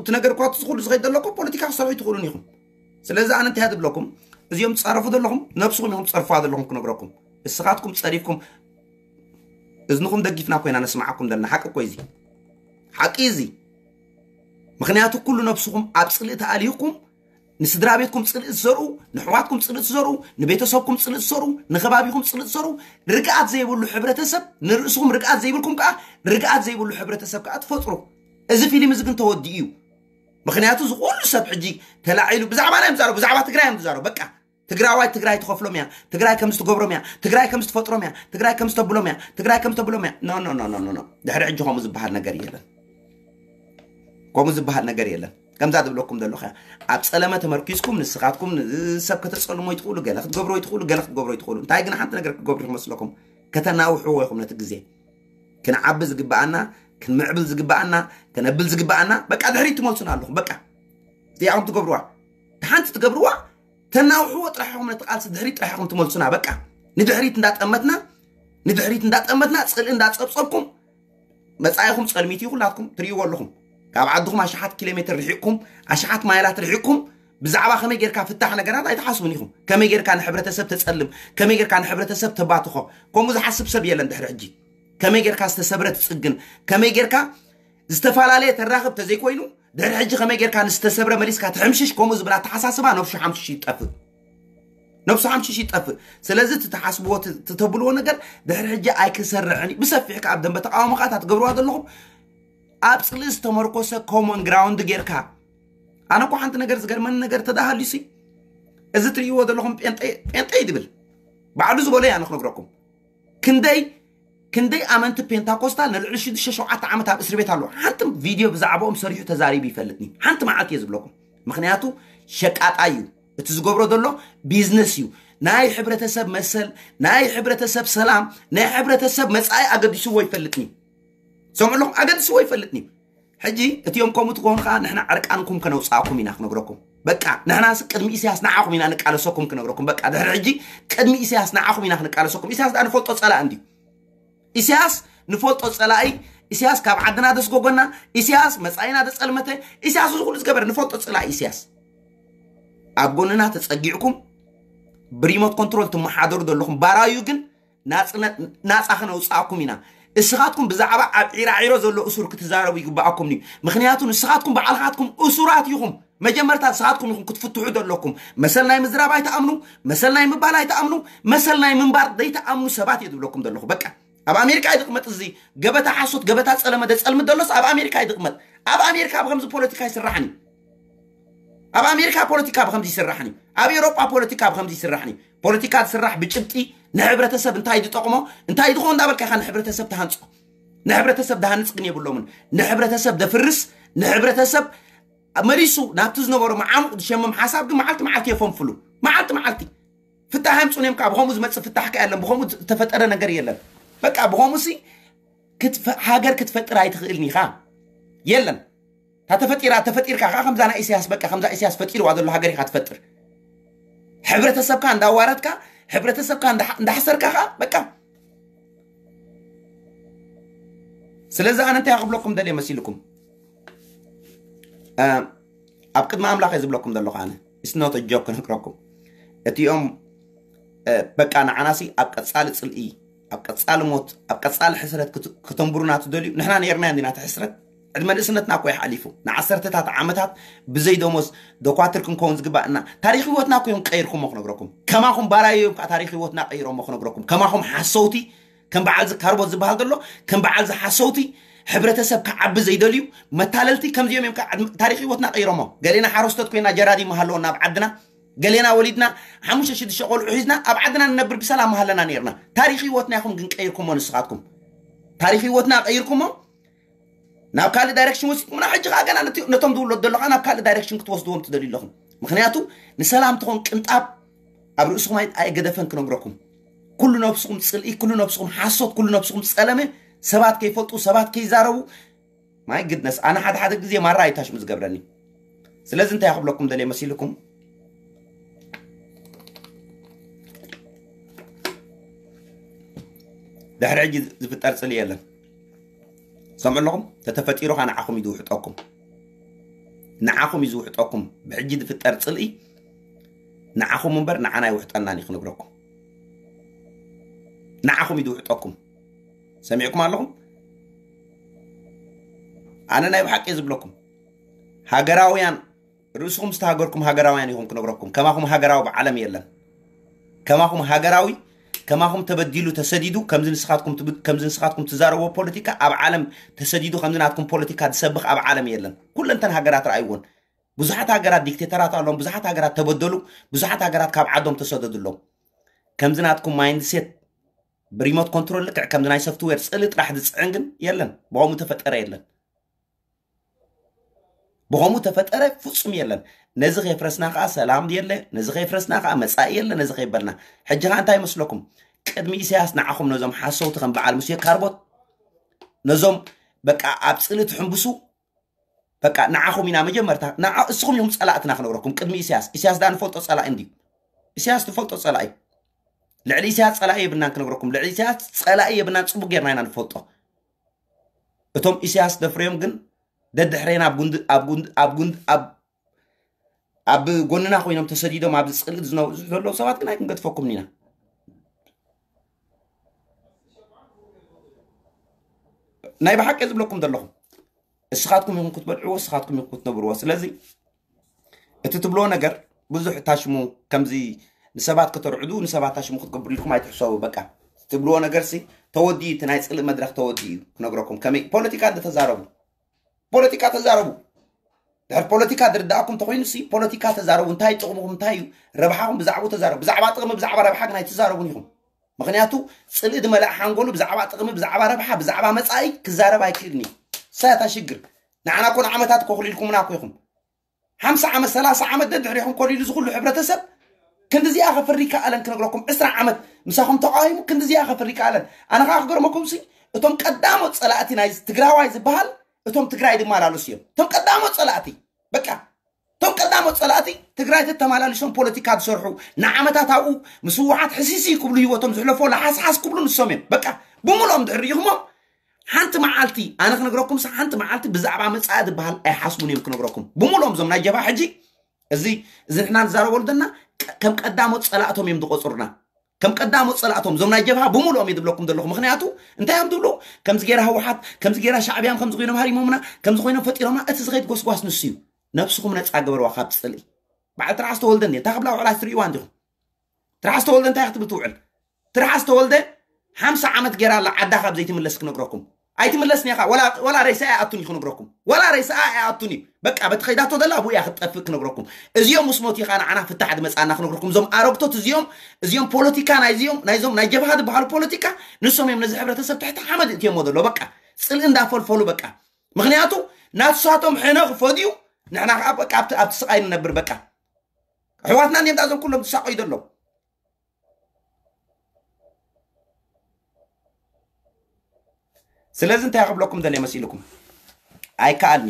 እቲ ነገር እኳ ትኽእሉ ዝኸይድ ዘለኩም ፖለቲካ ክሰርሑ ይትኽእሉን ኢኹም ስለዚ ኣነ እንታይ ዝብለኩም እዚኦም ትፃረፉ ዘለኹም ነብስኹም ኢኹም ትፀርፉዋ ዘለኹም ክነግረኩም እስኻትኩም ፀሪፍኩም እዝንኹም ደጊፍና ኮይና ነስምዓኩም ዘለና ሓቂ እኮ እዚ ሓቂ እዚ ምክንያቱ ኩሉ ነብስኹም ኣብ ፅልኢ ተኣሊኹም ንስድራ ቤትኩም ጽልኢ ትዘርኡ፣ ንሕዋትኩም ጽልኢ ትዘርኡ፣ ንቤተሰብኩም ጽልኢ ትዘርኡ፣ ንኸባቢኹም ጽልኢ ትዘርኡ፣ ርግኣት ዘይብሉ ሕብረተሰብ፣ ንርእስኹም ርግኣት ዘይብልኩም ከኣ ርግኣት ዘይብሉ ሕብረተሰብ ከኣ ትፈጥሩ። እዚ ፊልም እዚ ግን ተወዲኡ እዩ። ምኽንያቱ እዚ ኩሉ ሰብ ሕጂ ተላዒሉ ብዛዕባ ናይ ምዛረቡ፣ ብዛዕባ ትግራይ እዮም ዝዛረቡ። በቃ ትግራዋይ ትግራይ ትኸፍሎም እያ፣ ትግራይ ከምዚ ትገብሮም እያ፣ ትግራይ ከምዚ ትፈጥሮም እያ፣ ትግራይ ከምዚ ተብሎም እያ፣ ትግራይ ከምዚ ተብሎም እያ። ኖ ኖ ኖ ኖ ኖ። ድሕሪ ሕጂ ከምኡ ዝበሃል ነገር የለን። ከምኡ ዝበሃል ነገር የለን። ከምዛ ዝብለኩም ዘለኹ እያ። ኣብ ጸለመ ተመርኪዝኩም ንስኻትኩም ን- ሰብ ከተጸልሞ ይትኽእሉ፣ ገለ ክትገብሮ ይትኽእሉ፣ ገለ ክትገብሮ ይትኽእሉ። እንታይ ግን ሓንቲ ነገር ክትገብሩ ይመስለኩም? ከተናውሕዎ ኢኹም ነቲ ግዜ። ክንዓቢ ዝግብኣና፣ ክንምዕብል ዝግብኣና፣ ከነብል ዝግብኣና በቃ ድሕሪት ትመልሱና ኣለኹም። በቃ እዚኣኹም ትገብርዋ፣ ሓንቲ ትገብርዋ፣ ተናውሕዎ ጥራሕ ኢኹም ነቲ ቃልሲ ድሕሪት ጥራሕ ኢኹም ትመልሱና። በቃ ንድሕሪት እንዳጠመትና ንድሕሪት እንዳጠመትና ጽልኢ እንዳጸብጸብኩም መጻኢኹም ጸልሚት እዩ። ኩላትኩም ትርእይዎ ኣለኹም። ካብ ዓድኹም ኣሽሓት ኪሎ ሜትር ርሒቕኩም፣ ኣሽሓት ማይላት ርሒቕኩም ብዛዕባ ከመይ ጌርካ ፍታሕ ነገራት ኣይትሓስቡን ኢኹም። ከመይ ጌርካ ንሕብረተሰብ ተጸልም፣ ከመይ ጌርካ ንሕብረተሰብ ተባትኾ፣ ከምኡ ዝሓስብ ሰብ የለን ድሕሪ ሕጂ። ከመይ ጌርካ ዝተሰብረ ትጽግን፣ ከመይ ጌርካ ዝተፈላለየ ተራኽብ ተዘይኮይኑ ድሕሪ ሕጂ ከመይ ጌርካ ንዝተሰብረ መሊስካ ትሕምሽሽ፣ ከምኡ ዝብል ኣተሓሳስባ ነብሱ ሓምሽሽ ይጠፍእ። ነብሱ ሓምሽሽ ይጠፍእ። ስለዚ እቲ ትሓስብዎ እቲ- እቲ ተብልዎ ነገር ድሕሪ ሕጂ ኣይክሰርዕን እዩ። ብሰፊሕ ከኣ ኣብ ደንበ ተቃውሞ ከኣ እታ ትገብርዋ ዘለኹም ኣብ ጽልኢ ዝተመርኮሰ ኮመን ግራውንድ ጌርካ። ኣነ እኮ ሓንቲ ነገር ዝገርመኒ ነገር ተዳሃልዩሲ፣ እዚ ትርእይዎ ዘለኹም ጴንጤ ጴንጤ እዩ ዝብል ባዕሉ ዝበሎ እየ ኣነ ክነግረኩም። ክንደይ ክንደይ ኣመንቲ ፔንታኮስታል ንልዕሊ ሽዱሽተ ሸውዓተ ዓመት ኣብ እስር ቤት ኣለዉ። ሓንቲ ቪድዮ ብዛዕባኦም ሰሪሑ ተዛሪቡ ይፈልጥኒ። ሓንቲ መዓልቲ እየ ዝብለኩም። ምክንያቱ ሸቃጣ እዩ። እቲ ዝገብሮ ዘሎ ቢዝነስ እዩ። ናይ ሕብረተሰብ መሰል፣ ናይ ሕብረተሰብ ሰላም፣ ናይ ሕብረተሰብ መጻኢ ኣገዲስዎ ይፈልጥኒ። ሰምዑ ኣለኹም? ኣገዲስዎ ይፈልጥኒ። ሕጂ እቲኦም ከምኡ ትኾኑ ከዓ ንሕና ዕርቃንኩም ከነውፅኣኩም ኢና ክነግረኩም። በቃ ንሕናስ ቅድሚ ኢሳያስ ንዓኹም ኢና ንቃለሰኩም ክነግረኩም። በቃ ድሕሪ ሕጂ ቅድሚ ኢሳያስ ንዓኹም ኢና ክንቃለሰኩም። ኢሳያስ ደኣ ንፈልጦ ጸላእ እንዲ ኢሳያስ ንፈልጦ ጸላኢ። ኢሳያስ ካብ ዓድና ደስጎጎና፣ ኢሳያስ መጻኢና ደጸልመተ፣ ኢሳያስ እዚ ኩሉ ዝገበረ ንፈልጦ ጸላኢ ኢሳያስ ኣብ ጎንና ተጸጊዕኩም ብሪሞት ኮንትሮል ትመሓደሩ ዘለኹም ባራዩ ግን ናጽነት ናጻ ክነውጽኣኩም ኢና። እስኻትኩም ብዛዕባ ኣብ ዒራዒሮ ዘሎ እሱር ክትዛረቡ ይግብኣኩም እዩ። ምክንያቱ ንስኻትኩም ባዕልኻትኩም እሱራት ኢኹም። መጀመርታ ንስኻትኩም ኢኹም ክትፍትሑ ዘለኩም። መሰል ናይ ምዝራብ ኣይትኣምኑ፣ መሰል ናይ ምባል ኣይትኣምኑ፣ መሰል ናይ ምንባር ዘይትኣምኑ ሰባት እየ ዝብለኩም ዘለኹ። በቃ ኣብ ኣሜሪካ እዩ ዝቕመጥ እዚ ገበታ ሓሶት፣ ገበታ ጸለመ ደጸልምት ደሎስ ኣብ ኣሜሪካ እዩ ዝቕመጥ። ኣብ ኣሜሪካ ብከምዚ ፖለቲካ ይስራሕን እዩ። ኣብ ኣሜሪካ ፖለቲካ ብከምዚ ይስራሕን እዩ። ኣብ ኤውሮጳ ፖለቲካ ብከምዚ ይስራሕን እዩ። ፖለቲካ ዝስራሕ ብጭብጢ ንሕብረተሰብ እንታይ ዝጠቕሞ እንታይ ዝኸውን እንዳበልካ ኢኻ ንሕብረተሰብ ትሃንጾ። ንሕብረተሰብ ዝሃንጽ ግን የብሎምን። ንሕብረተሰብ ዘፍርስ፣ ንሕብረተሰብ መሊሱ ናብቲ ዝነበሮ መዓሙቕ ዝሸምም ሓሳብ ግን መዓልቲ መዓልቲ የፈንፍሉ። መዓልቲ መዓልቲ ፍታሕ ኣምጹን እዮም። ካብ ብኸምኡ ዝመጽእ ፍታሕ ከ የለን። ብኸምኡ ዝተፈጠረ ነገር የለን። በቃ ብኸምኡ ሲ ክትፈ- ሃገር ክትፈጥር ኣይትኽእልን ኢኻ። የለን። እታ ተፈጢራ ተፈጢርካ ከዓ ከምዛ ናይ ኢሳያስ በቃ ከምዛ ኢሳያስ ፈጢርዋ ዘሎ ሃገር ኢኻ ትፈጥር። ሕብረተሰብካ እንዳዋረድካ፣ ሕብረተሰብካ እንዳ- እንዳሕሰርካ ከዓ በቃ። ስለዚ ኣነ እንታይ ክብለኩም ደልየ መሲልኩም? እ፣ ኣብ ቅድሚ ኣምላኽ እየ ዝብለኩም ዘለኹ። ኣነ it's not a joke ክነግረኩም። እቲኦም እ፣ በቃ ንዓናሲ ኣብ ቀጻሊ ጽልኢ፣ ኣብ ቀጻሊ ሞት፣ ኣብ ቀጻሊ ሕስረት ክት- ክተንብሩና ትደልዩ? ንሕና ነይርና እንዲና እቲ ሕስረት? ዕድመ ንእስነትና እኮ እዩ ሓሊፉ። ንዓሰርተታት ዓመታት ብዘይ ደሞዝ ደኳትር ክንከውን ዝግባእና። ታሪኽ ህይወትና እኮ እዮም ቀይርኩሞ ክነግረኩም። ከማኹም ባራዩ እዮም ከዓ ታሪኽ ህይወትና ቀይሮሞ ክነግረኩም። ከማኹም ሓሰውቲ፣ ከም በዓል እዚ ካርቦት ዝበሃል ዘሎ፣ ከም በዓል እዚ ሓሰውቲ፣ ሕብረተሰብ ክዓቢ ዘይደልዩ መታለልቲ ከምዚኦም እዮም ከዓ ዕድመ- ታሪኽ ህይወትና ቀይሮሞ። ገሌና ሓረስቶት ኮይና ጀራዲ መሃለወና ኣብ ዓድና። ገሌና ወሊድና ሓሙሽተ ሽዱሽተ ቆልዑ ሒዝና ኣብ ዓድና ንነብር ብሰላም መሃለና ነይርና። ታሪኽ ህይወትና ኢኹም ግን ቀይርኩሞ ንስኻትኩም። ታሪኽ ህይወትና ቀይርኩሞ ናብ ካልእ ዳይሬክሽን ወሲድኩምና። ሕጂ ከዓ ገና ነቲ- ነቶም ዝውለዱ ዘለኻ ናብ ካልእ ዳይሬክሽን ክትወስድዎም ትደልዩ ኣለኹም። ምክንያቱ ንሰላም ትኾን ቅንጣብ ኣብ ርእስኹም ኣይ- ኣይገደፈን ክነግረኩም። ኩሉ ነብስኹም ጽልኢ፣ ኩሉ ነብስኹም ሓሶት፣ ኩሉ ነብስኹም ጸለመ፣ ሰባት ከይፈልጡ፣ ሰባት ከይዛረቡ። ማይ ግድነስ ኣነ ሓደ ሓደ ግዜ ማራ ኣይታሽሙ ዝገብረኒ። ስለዚ እንታይ ክብለኩም ደልየ መሲልኩም? ድሕሪ ሕጂ ዝፍጠር ጽልኢ የለን። ሰምዑ ኣለኹም? ተተፈጢሩ ኸ ንዓኹም እዩ ዝውሕጠኩም። ንዓኹም እዩ ዝውሕጠኩም። ብሕጂ ዝፍጠር ጽልኢ ንዓኹም እምበር ንዓና ኣይውሕጠናን እዩ ክነግረኩም። ንዓኹም እዩ ዝውሕጠኩም። ሰሚዕኩም ኣለኹም? ኣነ ናይ ብሓቂ እየ ዝብለኩም። ሃገራውያን ርእስኹም ዝተሃገርኩም ሃገራውያን ኢኹም ክነግረኩም። ከማኹም ሃገራዊ ብዓለም የለን። ከማኹም ሃገራዊ፣ ከማኹም ተበዲሉ ተሰዲዱ፣ ከምዚ ንስኻትኩም ትብ-፣ ከምዚ ንስኻትኩም ትዛረብዎ ፖለቲካ ኣብ ዓለም ተሰዲዱ፣ ከምዚ ናትኩም ፖለቲካ ዝሰብኽ ኣብ ዓለም የለን። ኩለንተን ሃገራት ረኣይዎን። ብዙሓት ሃገራት ዲክቴተራት ኣለዎም፣ ብዙሓት ሃገራት ተበደሉ፣ ብዙሓት ሃገራት ካብ ዓዶም ተሰደዱ ኣለዎም። ከምዚ ናትኩም ማይንድሴት ብሪሞት ኮንትሮል ልክዕ ከምዚ ናይ ሶፍትዌር ጽሊ ጥራሕ ዝጽዕን ግን የለን። ብኸምኡ ተፈጠረ የለን። ብኸምኡ ተፈጠረ ፍጹም የለን። ነዚ ከየፍረስና ከኣ ሰላም የለ፣ ነዚ ከየፍረስና ከኣ መጻኢ የለ፣ ነዚ ከይበልና። ሕጂ ከኣ እንታይ ይመስለኩም? ቅድሚ ኢሳያስ ንዓኹም ነዞም ሓሰውቲ ከም በዓል ሙሴ ካርቦት፣ ነዞም በቃ ኣብ ጽሊ ትሕንብሱ፣ በቃ ንዓኹም ኢና መጀመርታ፣ ንዓ-፣ እስኹም ኢኹም ጸላእትና ክነግረኩም ቅድሚ ኢሳያስ። ኢሳያስ ደኣ ንፈልጦ ጸላኢ እንድዩ። ኢሳያስ ንፈልጦ ጸላኢ። ልዕሊ ኢሳያስ ጸላኢ የብልናን ክነግረኩም። ልዕሊ ኢሳያስ ጸላኢ የብልናን፣ ጽቡቅ ጌርና ኢና ንፈልጦ። እቶም ኢሳያስ ደፍረዮም ግን ደድሕሬና ኣብ ጉንዲ-፣ ኣብ ጉንዲ-፣ ኣብ ጉንዲ-፣ ኣብ፣ ኣብ ጎንና ኮይኖም ተሰዲዶም ኣብዚ ጽልኢ ዝነብሩ ዘለዉ ሰባት ግን ኣይክንገድፈኩምን ኢና። ናይ ብሓቂ ዝብለኩም ዘለኹም። እስኻትኩም ኢኹም ክትበልዕዎ፣ እስኻትኩም ኢኹም ክትነብርዎ። ስለዚ እቲ ትብልዎ ነገር ብዙሕ ታሽሙ፣ ከምዚ ንሰባት ከተርዕዱ፣ ንሰባት ታሽሙ ክትገብሩ ኢልኩም ኣይትሕሰቡ። በቃ ትብልዎ ነገርሲ ተወዲኡ፣ እቲ ናይ ጽልኢ መድረኽ ተወዲኡ እዩ ክነግረኩም። ከመይ ፖለቲካ እንተተዛረቡ፣ ፖለቲካ ተዛረቡ። ድሕር ፖለቲካ ዝርዳእኩም እንተኾይኑ ሲ ፖለቲካ ተዛረቡ። እንታይ ጥቕምኹም፣ እንታይ እዩ ረብሓኹም፣ ብዛዕባኡ ተዛረቡ። ብዛዕባ ጥቕሚ፣ ብዛዕባ ረብሓ ግን ኣይትዛረቡን ኢኹም። ምኽንያቱ ጽልኢ ዝመልኣ ሓንጎሉ ብዛዕባ ጥቕሚ፣ ብዛዕባ ረብሓ፣ ብዛዕባ መጻኢ ክዛረብ ኣይክእልን እዩ። እሳ እታ ሽግር። ንዓና እኮ ንዓመታት እኮ ክልኢልኩምና እኮ ኢኹም። ሓምሳ ዓመት፣ ሰላሳ ዓመት ደድሕሪኹም ኮሊሉ እዚ ኩሉ ሕብረተሰብ ክንድዚኣ ከፍሪ ከኣለን ክነግረኩም። ዕስራ ዓመት ምሳኹም ተቃዊሙ ክንድዚኣ ከፍሪ ከኣለን። ኣነ ከኣ ክገርመኩም ሲ እቶም ቀዳሞት ጸላእቲ ናይ ትግራዋይ ዝበሃል እቶም ትግራይ ዝመላለሱ እዮም። እቶም ቀዳሞት ጸላእቲ በቃ እቶም ቀዳሞት ጸላእቲ ትግራይ ተተመላሊሶም ፖለቲካ ዝሰርሑ ንዓመታት ኣብኡ ምስ ህወሓት ሕሲሲ ክብሉ ህይወቶም ዝሕለፎ ለሓስሓስ ክብሉ ንሶም እዮም። በቃ ብምልኦም ድሕሪ ሪኢኹሞም ሓንቲ መዓልቲ ኣነ ክነግረኩም ሳ ሓንቲ መዓልቲ ብዛዕባ መጻኢ ዝበሃል ኣይሓስቡን እዮም ክነግረኩም። ብምልኦም እዞም ናይ ጀብሃ ሕጂ እዚ እዚ ንሕና ንዛረበሉ ዘለና ቀ-፣ ከም ቀዳሞት ጸላእቶም እዮም ዝቆጽሩና። ከም ቀዳሞት ጸላእቶም እዞም ናይ ጀብሃ ብምልኦም እየ ዝብለኩም ዘለኹ። ምኽንያቱ እንታይ እዮም ዝብሉ? ከምዚ ገይራ ህወሓት፣ ከምዚ ገይራ ሻዕብያን ከምዚ ኮይኖም ሃሪሞምና፣ ከምዚ ኮይኖም ፈጢሮምና። እቲ ዝኸይድ ጎስጓስ ንሱ እዩ። ነብስኹም ነጻ ገበርዋ ካብ ጽልኢ። በዓል ትርሓስ ተወልደ እንዴ እንታይ ክብላ ውዕላ ትርእይዋ እንዲኹም? ትርሓስ ተወልደ እንታይ ክትብል ትውዕል? ትርሓስ ተወልደ ሓምሳ ዓመት ገይራ ኣላ ዓዳ ካብ ዘይትምለስ ክነግረኩም። ኣይትምለስን እያ። ወላ፣ ወላ ሬሳ ኣይኣቱን እዩ ክነግረኩም። ወላ ሬሳ ኣይኣቱን እዩ። በቃ በቲ ከይዳቶ ዘላ ኣብኡ እያ ክትጠፍእ ክነግረኩም። እዚኦም ምስ ሞት ኢኻ ንዓና ፍታሕ ዝመጻና ክነግረኩም። እዞም ኣረግቶት እዚኦም፣ እዚኦም ፖለቲካ ናይዚኦም፣ ናይዞም ናይ ጀብሃ ዝበሃሉ ፖለቲካ ንሶም እዮም ነዚ ሕብረተሰብ ትሕቲ ሓመድ እትዮሞ ዘሎ። በቃ ጽልኢ እንዳፈልፈሉ በቃ። ምኽንያቱ ናትሳቶም ሕነ ክፈድዩ ንሕና ከዓ በቃ ኣብቲ፣ ኣብቲ ስቃይ ንነብር በቃ። ኣሕዋትና እንዲኦም ዳዞም ኩሎም ዝሳቀዩ ዘለዉ። ስለዚ እንታይ ክብለኩም ደልየ መሲልኩም? ኣይከኣልኒ።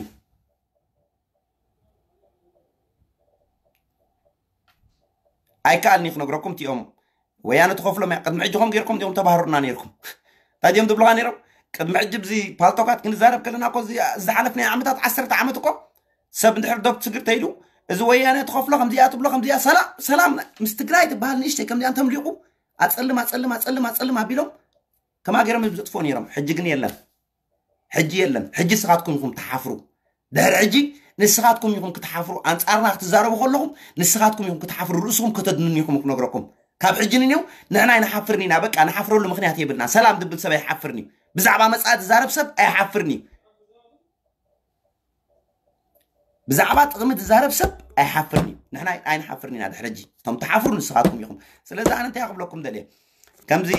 ኣይከኣልኒ ክነግረኩም። እቲኦም ወያነ ትኸፍሎም እያ። ቅድሚ ሕጂ ከም ገይርኩም ዲኹም ተባህሩና ነይርኩም? እንታይ ድዮም ትብሉኻ ነይሮም? ቅድሚ ሕጂ ብዚ ፓልቶካት ክንዛረብ ከለና እኮ እዚ ዝሓለፍናዮ ዓመታት፣ ዓሰርተ ዓመት እኮ ሰብ እንድሕር ዶብ ትግር ተይሉ፣ እዚ ወያነ ትኸፍሎ ከምዚኣ ትብሎ ከምዚኣ፣ ሰላም፣ ሰላም ምስ ትግራይ ትበሃል ንእሽተይ ከምዚኣ እንተምሊቑ፣ ኣጸልም፣ ኣጸልም፣ ኣጸልም፣ ኣጸልም ኣቢሎም ከማ ገይሮም እዮም ዘጥፍኡ ነይሮም። ሕጂ ግን የለን። ሕጂ የለን። ሕጂ ንስኻትኩም ኢኹም ትሓፍሩ። ድሕሪ ሕጂ ንስኻትኩም ኢኹም ክትሓፍሩ። ኣንጻርና ክትዛረቡ ከለኹም ንስኻትኩም ኢኹም ክትሓፍሩ። ርእስኹም ከተድንኑ ኢኹም ክነግረኩም። ካብ ሕጂ ንኔው ንሕና ኣይንሓፍርን ኢና። በቃ ንሓፍረሉ ምኽንያት የብልና። ሰላም ዝብል ሰብ ኣይሓፍርን እዩ። ብዛዕባ መጻኢ ዝዛረብ ሰብ ኣይሓፍርን እዩ። ብዛዕባ ጥቕሚ ዝዛረብ ሰብ ኣይሓፍርን እዩ። ንሕና ኣይንሓፍርን ኢና። ድሕሪ ሕጂ እቶም ትሓፍሩ ንስኻትኩም ኢኹም። ስለዚ ኣነ እንታይ ክብለኩም ደልየ? ከምዚ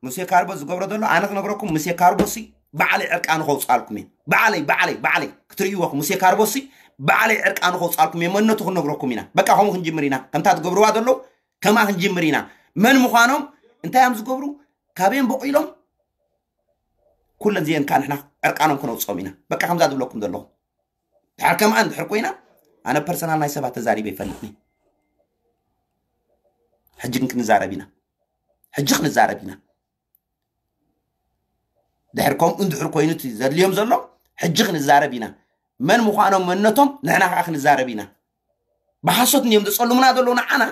ሙሴ ካርቦ ዝገብሮ ዘሎ ኣነ ክነግረኩም፣ ሙሴ ካርቦ ሲ ባዕለይ ዕርቃኑ ከውፅኣልኩም እየ። ባዕለይ፣ ባዕለይ፣ ባዕለይ ክትርእይዎ ኢኹም። ሙሴ ካርቦ ሲ ባዕለይ ዕርቃኑ ከውፅኣልኩም እየ። መንነቱ ክንነግረኩም ኢና። በቃ ከምኡ ክንጅምር ኢና። ከምታ ትገብርዋ ዘለዉ ከምኣ ክንጅምር ኢና። መን ምዃኖም፣ እንታይ እዮም ዝገብሩ፣ ካበዮም በቑሎም፣ ኩለን እዚአን ከዓ ንሕና ዕርቃኖም ክነውፅኦም ኢና። በቃ ከምዛ ዝብለኩም ዘለኹ። ድሓር ከምኣ እንድሕር ኮይና፣ ኣነ ፐርሰናል ናይ ሰባት ተዛሪበ ይፈልጥኒ። ሕጂ ግን ክንዛረብ ኢና። ሕጂ ክንዛረብ ኢና። ድሕር ከምኡ እንድሕር ኮይኑ እቲ ዘድልዮም ዘሎ፣ ሕጂ ክንዛረብ ኢና። መን ምዃኖም፣ መንነቶም ንሕና ከዓ ክንዛረብ ኢና። ብሓሶት እንድዮም ዘጸልሙና ዘለዉ ንዓና፣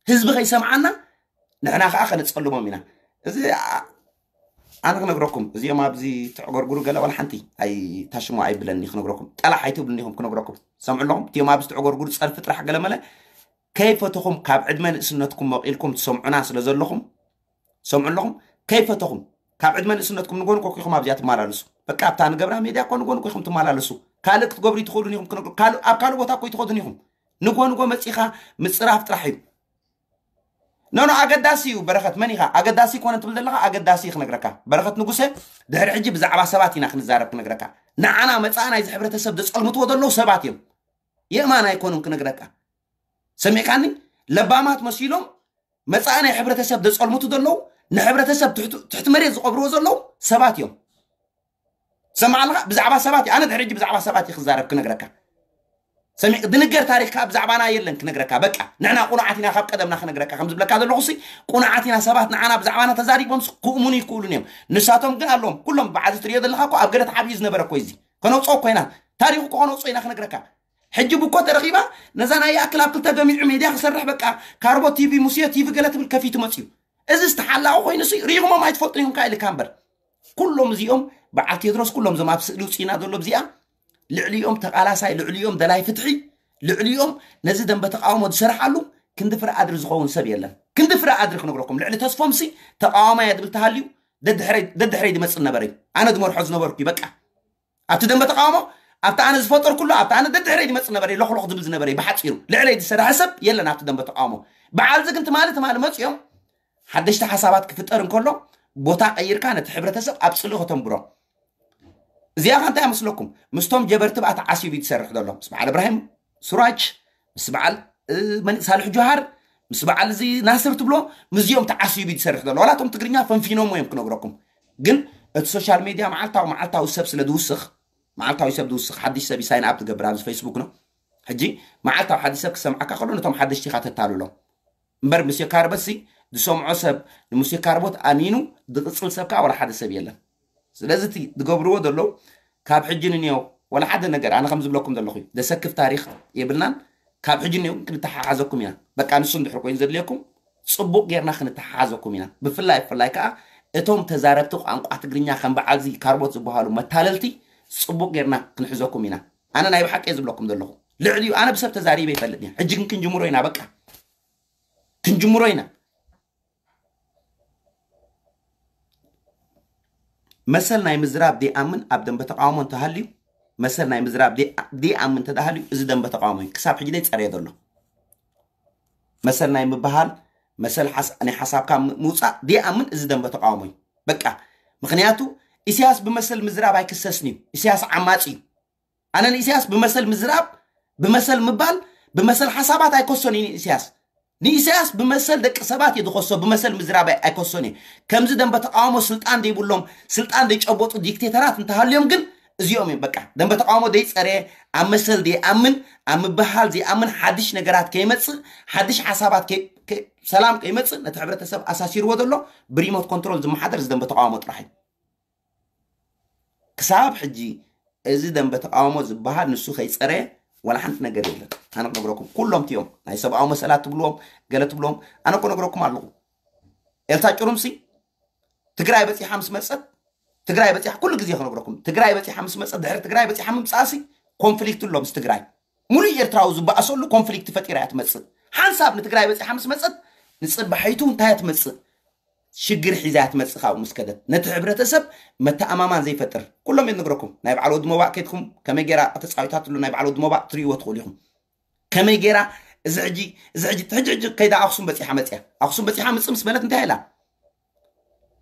ህዝቢ ከይሰምዓና ንሕና ከዓ ከነጸልሞም ኢና። እዚ፣ ኣ-፣ ኣነ ክነግረኩም፣ እዚኦም ኣብዚ ትዕገርግሩ ገለ ዋላ ሓንቲ ኣይታሽሙ ኣይብለኒ። ክነግረኩም፣ ጠላሕ ኣይትብሉኒ ኢኹም። ክነግረኩም፣ ሰምዑ ኣለኹም። እቲኦም ኣብዚ ትዕገርግሩ ጸርፊ ጥራሕ ገለ መለ ከይፈተኹም፣ ካብ ዕድመ ንእስነትኩም መቒልኩም ትሰምዑና ስለ ዘለኹም፣ ሰምዑ ኣለኹም። ከይፈተኹም፣ ካብ ዕድመ ንእስነትኩም ንጎን ኮኪኹም ኣብዚኣ ትመላለሱ። በቃ ኣብታ ንገብራ ሜድያ ኮ ንጎን ኮኹም ትመላለሱ። ካልእ ክትገብሩ ይትኽእሉን ኢኹም። ክነግሩ- ካልእ- ኣብ ካልእ ቦታ እኮ ይትኸዱን ኢኹም። ንጎ ንጎ መጺኻ ምጽራፍ ጥራሕ እዩ። ኖ ኖ፣ ኣገዳሲ እዩ። በረኸት፣ መን ኢኻ? ኣገዳሲ ኮነ ትብል ዘለኻ፣ ኣገዳሲ እዩ ክነግረካ። በረኸት ንጉሰ፣ ድሕሪ ሕጂ ብዛዕባ ሰባት ኢና ክንዛረብ ክነግረካ። ንዓና መጻእ ናይዚ ሕብረተሰብ ዘጸልምትዎ ዘለዉ ሰባት እዮም። የእማን ኣይኮኑን ክነግረካ። ሰሚዕካኒ? ለባማት መሲሎም መጻእ ናይ ሕብረተሰብ ዘጸልምቱ ዘለዉ፣ ንሕብረተሰብ ትሕቲ- ትሕቲ መሬት ዝቐብርዎ ዘለዉ ሰባት እዮም። ሰማዕ ኣለኻ? ብዛዕባ ሰባት እዩ። ኣነ ድሕሪ ሕጂ ብዛዕባ ሰባት እዩ ክዛረብ ክነግረካ። ሰሚዕ ድንገር ታሪኽ ከዓ ብዛዕባና የለን ክነግረካ። በቃ ንሕና ቁኑዓት ኢና ካብ ቀደምና ክነግረካ። ከም ዝብለካ ዘለኹ ሲ ቁኑዓት ኢና። ሰባት ንዓና ብዛዕባና ተዛሪቦም ስ- ክእምኑ ይክእሉን እዮም። ንሳቶም ግን ኣለዎም። ኩሎም በዓል እዚ ትሪኦ ዘለኻ እኮ ኣብ ገለ ተሓቢኡ ዝነበረ እኮ እዩ እዚ። ከነውፅኦ እኮ ኢና። ታሪኹ እኮ ከነውፅኦ ኢና ክነግረካ። ሕጂ ብኮ ተረኺባ ነዛ ናይ ይኣክል ኣብ ክልተ ገሚዑ ሜድያ ክሰርሕ በቃ ካርቦ ቲቪ ሙሴ ቲቪ ገለ ትብል ከፊቱ መፅዩ። እዚ ዝተሓላቑ ኮይኑ ሲ ርኢኹሞም ኣይትፈልጡን ኢኹም ከኣ ኢልካ እምበር። ኩሎም እዚኦም በዓል ቴድሮስ ኩሎም እዞም ኣብ ስእሊ ውፅኢና ዘሎ እዚኣ ልዕሊኦም ተቓላሳይ ልዕሊኦም ደላይ ፍትሒ ልዕሊኦም ነዚ ደንበ ተቃውሞ ዝሰርሓሉ ክንዲ ፍረ ኣድሪ ዝኸውን ሰብ የለን። ክንዲ ፍረ ኣድሪ ክነግረኩም ልዕሊ ተስፎም ሲ ተቃዋማይ እየ ዝብል ተሃልዩ ደድሕረይ ደድሕረይ ዝመፅእ ነበረ እዩ። ኣነ ዝመርሖ ዝነበርኩ እዩ በቃ። ኣብቲ ደንበ ተቃውሞ ኣብቲ ኣነ ዝፈጠርኩሉ ኣብቲ ኣነ ደድሕረይ ዝመፅእ ነበረ እዩ። ሎኽሎኽ ዝብል ዝነበረ እዩ። ብሓፂሩ ልዕለይ ዝሰርሐ ሰብ የለን ኣብቲ ደንበ ተቃውሞ። በዓል እዚ ግን ትማሊ ትማሊ መፅኦም ሓደሽቲ ሓሳባት ክፍጠር እንከሎ ቦታ ቀይርካ ነቲ ሕብረተሰብ ኣብ ፅልኢ ከተንብሮ። እዚኣ ከ እንታይ ኣመስለኩም? ምስቶም ጀበርቲ ብኣ ተዓሲቡ እዩ ዝሰርሕ ዘሎ። ምስ በዓል እብራሂም ሱራጅ፣ ምስ በዓል እ፣ መን ሳልሕ ጆሃር፣ ምስ በዓል እዚ ናስር ትብሎ፣ ምስዚኦም ተዓሲቡ እዩ ዝሰርሕ ዘሎ። ዋላ እቶም ትግርኛ ፈንፊኖሞ እዮም ክነግረኩም። ግን እቲ ሶሻል ሜድያ መዓልታዊ መዓልታዊ ሰብ ስለ ዝውስኽ፣ መዓልታዊ ሰብ ዝውስኽ፣ ሓድሽ ሰብ ሳይን ኣፕ ትገብር ኣብዚ ፌስቡክ ነው። ሕጂ መዓልታዊ ሓድሽ ሰብ ክሰምዓካ ከሎ ነቶም ሓደሽቲ ኢኻ ተታልሎም። እምበር ሙሴ ካርቦት ሲ ዝሰምዖ ሰብ ንሙሴ ካርቦት ኣሚኑ ዝቕጽል ሰብ ከዓ ዋላ ሓደ ሰብ የለን። ስለዚ እቲ ዝገብርዎ ዘለዉ ካብ ሕጂ ንንየው ዋላ ሓደ ነገር ኣነ ከም ዝብለኩም ዘለኹ እዩ። ዘሰክፍ ታሪኽ የብልናን። ካብ ሕጂ ንንየው ክንተሓሓዘኩም ኢና። በቃ ንሱ እንድሕር ኮይኑ ዘድልየኩም ጽቡቕ ጌርና ክንተሓሓዘኩም ኢና። ብፍላይ ብፍላይ ከዓ እቶም ተዛረብቲ ቋንቋ ትግርኛ ከም በዓል እዚ ካርቦት ዝበሃሉ መታለልቲ ጽቡቕ ጌርና ክንሕዘኩም ኢና። ኣነ ናይ ብሓቂ እየ ዝብለኩም ዘለኹ። ልዕሊኡ ኣነ ብሰብ ተዛሪበ ይፈልጥ እየ። ሕጂ ግን ክንጅምሮ ኢና በቃ። ክንጅምሮ ኢና። መሰል ናይ ምዝራብ ዘይኣምን ኣብ ደንበ ተቃውሞ እንተሃልዩ መሰል ናይ ምዝራብ ዘይኣምን እንተሃልዩ እዚ ደንበ ተቃውሞ እዩ ክሳብ ሕጂ ዘይፀረየ ዘሎ። መሰል ናይ ምበሃል መሰል ናይ ሓሳብካ ምውፃእ ዘይኣምን እዚ ደንበ ተቃውሞ እዩ በቃ። ምክንያቱ ኢሳያስ ብመሰል ምዝራብ ኣይክሰስን እዩ። ኢሳያስ ዓማፂ እዩ። ኣነ ንኢሳያስ ብመሰል ምዝራብ ብመሰል ምባል ብመሰል ሓሳባት ኣይኮሶን እዩ ንኢሳያስ። ንኢሳያስ ብመሰል ደቂ ሰባት እየ ዝኸሶ። ብመሰል ምዝራብ ኣይኮሶን እየ። ከምዚ ደንበ ተቃውሞ ስልጣን ዘይብሎም ስልጣን ዘይጨበጡ ዲክቴተራት እንተሃልዮም ግን እዚኦም እዮም በቃ። ደንበ ተቃውሞ ዘይፀረየ ኣብ መሰል ዘይኣምን ኣብ ምብሃል ዘይኣምን ሓድሽ ነገራት ከይመፅእ ሓድሽ ሓሳባት ሰላም ከይመፅእ ነቲ ሕብረተሰብ ኣሳሲርዎ ዘሎ ብሪሞት ኮንትሮል ዝመሓደር እዚ ደንበ ተቃውሞ ጥራሕ እዩ። ክሳብ ሕጂ እዚ ደንበ ተቃውሞ ዝበሃል ንሱ ከይፀረየ ዋላ ሓንቲ ነገር የለን። ኣነ ክነግረኩም ኩሎም እዮም ናይ ሰብኣዊ መሰላት ትብልዎም ገለ ትብልዎም ኣነ ክነግረኩም ኣለኹ። ኤልሳ ጭሩምሲ ትግራይ በፂሓ ምስ መፀት ትግራይ በፂሓ ኩሉ ግዜ ክነግረኩም ትግራይ በፂሓ ምስ መፀት ድሕሪ ትግራይ በፂሓ ምምፃእሲ ኮንፍሊክት ኣሎ ምስ ትግራይ። ሙሉእ ኤርትራዊ ዝበኣሰሉ ኮንፍሊክት ፈጢራ እያ ትመፅእ። ሓንሳብ ንትግራይ በፂሓ ምስ መፀት ንፅባሒቱ እንታይ እያ ትመፅእ? ሽግር ሒዛ እያ ትመፅእ። ካብኡ ምስ ከደት ነቲ ሕብረተሰብ መተኣማማን ዘይፈጥር ኩሎም እየ ዝነግረኩም። ናይ በዓል ወዲ ሞባእ ከድኩም ከመይ ገይራ ተፃዊታትሉ ናይ በዓል ወዲ ሞባእ ትርእይዎ ትኽእሉ ኢኹም። ከመይ ገይራ እዚ ሕጂ እዚ ሕጂ ሕጂ ሕጂ ከይዳ ኣኽሱም በፂሓ መፅያ ኣኽሱም በፂሓ ምፅእ ምስ በለት እንታይ ኢላ?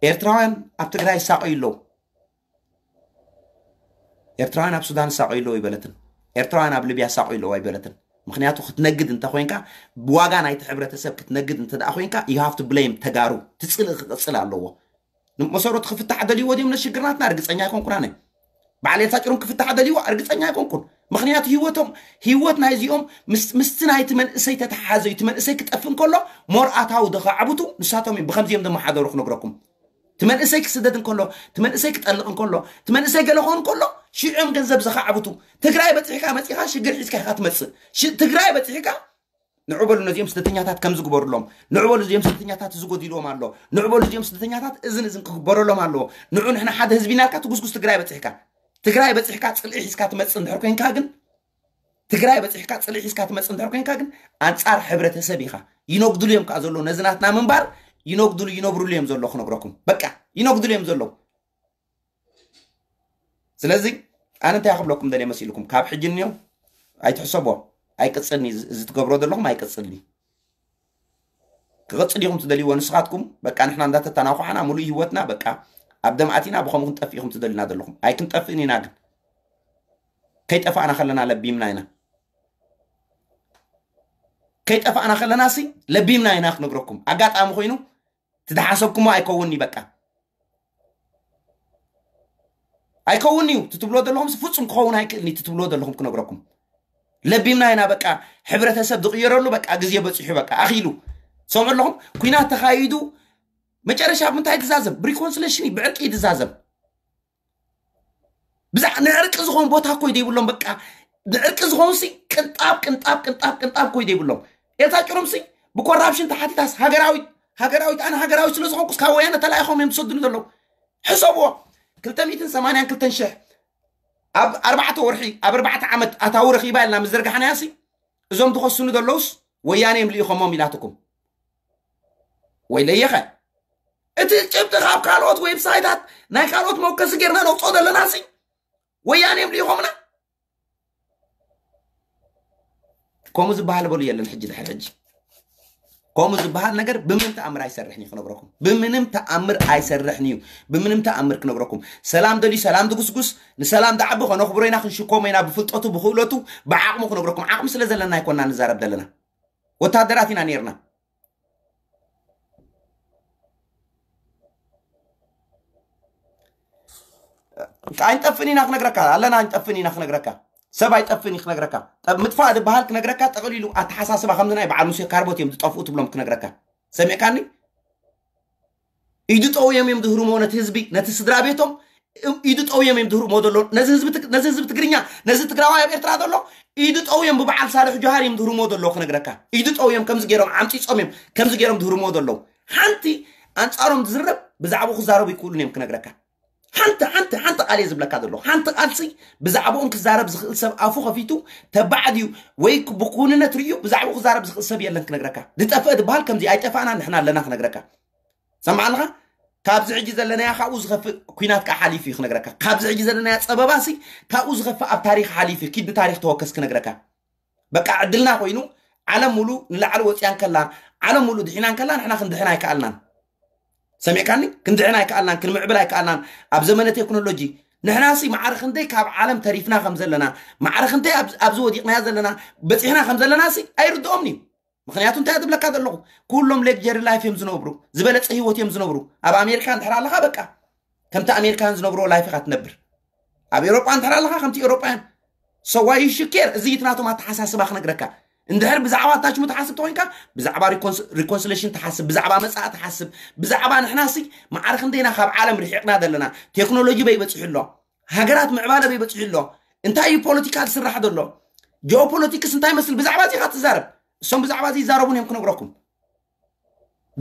ኤርትራውያን ኣብ ትግራይ ይሳቐዩ ኣለዉ። ኤርትራውያን ኣብ ሱዳን ይሳቐዩ ኣለዉ ኣይበለትን። ኤርትራውያን ኣብ ሊብያ ይሳቐዩ ኣለዉ ኣይበለትን። ምክንያቱ ክትነግድ እንተ ኮይንካ ብዋጋ ናይቲ ሕብረተሰብ ክትነግድ እንተ ደኣ ኮይንካ you have to blame ተጋሩ ትፅልእ ክቕፅል ኣለዎ። መሰረቱ ክፍታሕ ደልይዎ ድዮም ነሽግርናትና ርግፀኛ ኣይኮንኩን ኣነ። በዓል ኤልሳ ጭሩም ክፍታሕ ደልይዎ ርግፀኛ ኣይኮንኩን። ምክንያቱ ህይወቶም ህይወት ናይዚኦም ምስቲ ናይቲ መንእሰይ ተተሓሓዘ እዩ። እቲ መንእሰይ ክጠፍእ እንከሎ ሞርኣታዊ ዘኻዕብቱ ንሳቶም እዮም። ብከምዚኦም ዘመሓደሩ ክነግረኩም እቲ መንእሰይ ክስደድ እንከሎ እቲ መንእሰይ ክጠልቕ እንከሎ እቲ መንእሰይ ገለ ክኾን እንከሎ ሽዑም ገንዘብ ዘኻዕብቱ። ትግራይ በፂሕካ መፂኻ ሽግር ሒዝካ ኢኻ ትመፅእ። ትግራይ በፂሕካ ንዑ በሉ ነዚኦም ስደተኛታት ከም ዝግበሩሎም፣ ንዑ በሉ እዚኦም ስደተኛታት እዚ ጎዲልዎም ኣሎ፣ ንዑ በሉ እዚኦም ስደተኛታት እዝን እዝን ክግበረሎም ኣለዎ። ንዑ ንሕና ሓደ ህዝቢ ኢና ኢልካ ትጉስጉስ ትግራይ በፂሕካ፣ ትግራይ በፂሕካ ፅልኢ ሒዝካ ትመፅእ እንድሕር ኮይንካ ግን ትግራይ በፂሕካ ፅልኢ ሒዝካ ትመፅእ እንድሕር ኮይንካ ግን ኣንፃር ሕብረተሰብ ኢኻ። ይነጉድሉ እዮም ከዓ ዘለዉ ነዚ ናትና ምንባር ይነጉድሉ ይነብርሉ እዮም ዘለዉ ክነግረኩም። በቃ ይነጉድሉ እዮም ዘለዉ። ስለዚ ኣነ እንታይ ክብለኩም ደልየ መሲልኩም ካብ ሕጂ እኒኦ ኣይትሕሰቦ። ኣይቅፅልኒ እዚ ትገብሮ ዘለኹም ኣይቅፅልኒ። ክቕፅል ኢኹም ትደልይዎ ንስኻትኩም በቃ ንሕና እንዳተተናኳዕና ሙሉእ ህይወትና በቃ ኣብ ደምኣት ኢና ብኸምኡ ክንጠፍእ ኢኹም ትደልዩና ዘለኹም ኣይክንጠፍእን ኢና ግን ከይጠፋእና ከለና ለቢምና ኢና ከይጠፋእና ከለና ሲ ለቢምና ኢና ክነግረኩም ኣጋጣሚ ኮይኑ ትደሓሰብኩሞ ኣይከውንኒ በቃ ኣይከውንኒ እዩ ትትብሎ ዘለኹም ፍፁም ክኸውን ኣይክእልኒ ትትብሎ ዘለኹም ክነግረኩም ለቢምና ኢና በቃ ሕብረተሰብ ዝቕየረሉ በቃ ግዜ በፂሑ በቃ ኣኺሉ ሰምዑ ኣለኹም ኩናት ተኻይዱ መጨረሻ ብምንታይ ትዛዘም ብሪኮንስሌሽን እዩ ብዕርቂ እዩ ትዛዘም ብዛዕ ንዕርቂ ዝኾን ቦታ እኮ ይደይብሎም በቃ ንዕርቂ ዝኾን ሲ ቅንጣብ ቅንጣብ ቅንጣብ ቅንጣብ እኮ ይደይብሎም ኤልሳ ጭሩም ሲ ብኮራፕሽን ተሓቲታስ ሃገራዊት ሃገራዊት ኣነ ሃገራዊት ስለ ዝኾንኩስ ካብ ወያነ ተላኢኾም እዮም ዝሰዱኒ ዘለዉ ሕሰብዎ ክልተ ሚእትን ሰማንያን ክልተን ሽሕ ኣብ ኣርባዕተ ወርሒ ኣብ ኣርባዕተ ዓመት ኣታዊ ረኺባ ኢልና ምስ ዘርጋሕናያ ሲ እዞም ዝኸሱኒ ዘለውስ ወያነ እዮም ልኢኾሞም ኢላትኩም ወይ ለየኸ እቲ ጭብጢ ካብ ካልኦት ዌብሳይታት ናይ ካልኦት መወከሲ ጌርና ነውፅኦ ዘለና ሲ ወያነ እዮም ልኢኾምና ከምኡ ዝበሃል በሉ የለን ሕጂ ድሕሪ ሕጂ ከምኡ ዝበሃል ነገር ብምንም ተኣምር ኣይሰርሕን እዩ ክነግረኩም ብምንም ተኣምር ኣይሰርሕን እዩ ብምንም ተኣምር ክነግረኩም ሰላም ደልዩ ሰላም ድጉስጉስ ንሰላም ዳዓቢ ከነኽብሮ ኢና ክንሽኮሞ ኢና ብፍልጠቱ ብክእለቱ ብዓቕሙ ክነግረኩም ዓቕሚ ስለ ዘለና ኣይኮና ንዛረብ ዘለና ወታደራት ኢና ነርና ኣይንጠፍእን ኢና ክነግረካ ኣለና ኣይንጠፍእን ኢና ክነግረካ ሰብ ኣይጠፍእን እዩ ክነግረካ ምጥፋእ ዝበሃል ክነግረካ ጠቕሊሉ ኣተሓሳስባ ከምዚ ናይ በዓል ሙሴ ካርቦት እዮም ዝጠፍኡ ትብሎም ክነግረካ ሰሚዕካኒ ኢዱ ጠውዮም እዮም ዝህርሞ ነቲ ህዝቢ ነቲ ስድራ ቤቶም ኢዱ ጠውዮም እዮም ዝህርሞ ዘሎ ነዚ ህዝቢ ትግርኛ ነዚ ትግራዋይ ኣብ ኤርትራ ዘሎ ኢዱ ጠውዮም ብበዓል ሳልሕ ጆሃር እዮም ዝህርሞ ዘሎ ክነግረካ ኢዱ ጠውዮም ከምዚ ገይሮም ዓምፂፆም እዮም ከምዚ ገይሮም ዝህርሞ ዘለዉ ሓንቲ ኣንፃሮም ዝዝረብ ብዛዕባኡ ክዛረቡ ይክእሉን እዮም ክነግረካ ሓንቲ ሓንቲ ሓንቲ ቃል እየ ዝብለካ ዘለኹ ሓንቲ ቃልሲ ብዛዕባኦም ክዛረብ ዝኽእል ሰብ ኣፉ ከፊቱ ተባዕ ድዩ ወይ ብኩንነት ርእዩ ብዛዕባኡ ክዛረብ ዝኽእል ሰብ የለን ክነግረካ ዝጠፍአ ዝበሃል ከምዚ ኣይጠፋእና ንሕና ኣለና ክነግረካ ሰምዓ ኣለኻ ካብዚ ሕጂ ዘለናያ ካብኡ ዝኸፍእ ኩናት ከዓ ሓሊፉ እዩ ክነግረካ ካብዚ ሕጂ ዘለናያ ፀበባሲ ካብኡ ዝኸፍእ ኣብ ታሪክ ሓሊፉ እዩ ኪድ ብታሪክ ተወከስ ክነግረካ በቃ ዕድልና ኮይኑ ዓለም ሙሉ ንላዕሊ ወፅያ እንከላ ዓለም ሙሉ ድሒና እንከላ ንሕና ክንድሕን ኣይከኣልናን ሰሚዕካኒ ክንድሕን ኣይከኣልናን ክንምዕብል ኣይከኣልናን ኣብ ዘመነ ቴክኖሎጂ ንሕናሲ ማዕረ ክንደይ ካብ ዓለም ተሪፍና ከም ዘለና ማዕረ ክንደይ ኣብዚ ወዲቕናዮ ዘለና በፂሕና ከም ዘለናሲ ኣይርድኦምን እዩ ምኽንያቱ እንታይ ዝብለካ ዘለኹ ኩሎም ሌግጀሪ ላይፍ እዮም ዝነብሩ ዝበለፀ ህይወት እዮም ዝነብሩ ኣብ ኣሜሪካ እንድሕር ኣለኻ በቃ ከምቲ ኣሜሪካን ዝነብርዎ ላይፍ ኢኻ ትነብር ኣብ ኤሮጳ እንድሕር ኣለኻ ከምቲ ኤሮጳያን ሰዋይ ሽኬር እዚ እቲ ናቶም ኣተሓሳስባ ክነግረካ እንድሕር ብዛዕባ ኣታችሙ ትሓስብ ተኮይንካ ብዛዕባ ሪኮንስሌሽን ትሓስብ ብዛዕባ መፃእ ትሓስብ ብዛዕባ ንሕናሲ ማዕረ ክንደይና ካብ ዓለም ርሒቕና ዘለና ቴክኖሎጂ በይበፂሑ ኣሎ ሃገራት ምዕባለ በይበፂሑ ኣሎ እንታይ እዩ ፖለቲካ ዝስራሕ ዘሎ ጂኦፖለቲክስ እንታይ መስል ብዛዕባ እዚ ኢኻ ትዛረብ እሶም ብዛዕባ እዚ ይዛረቡን እዮም ክነግረኩም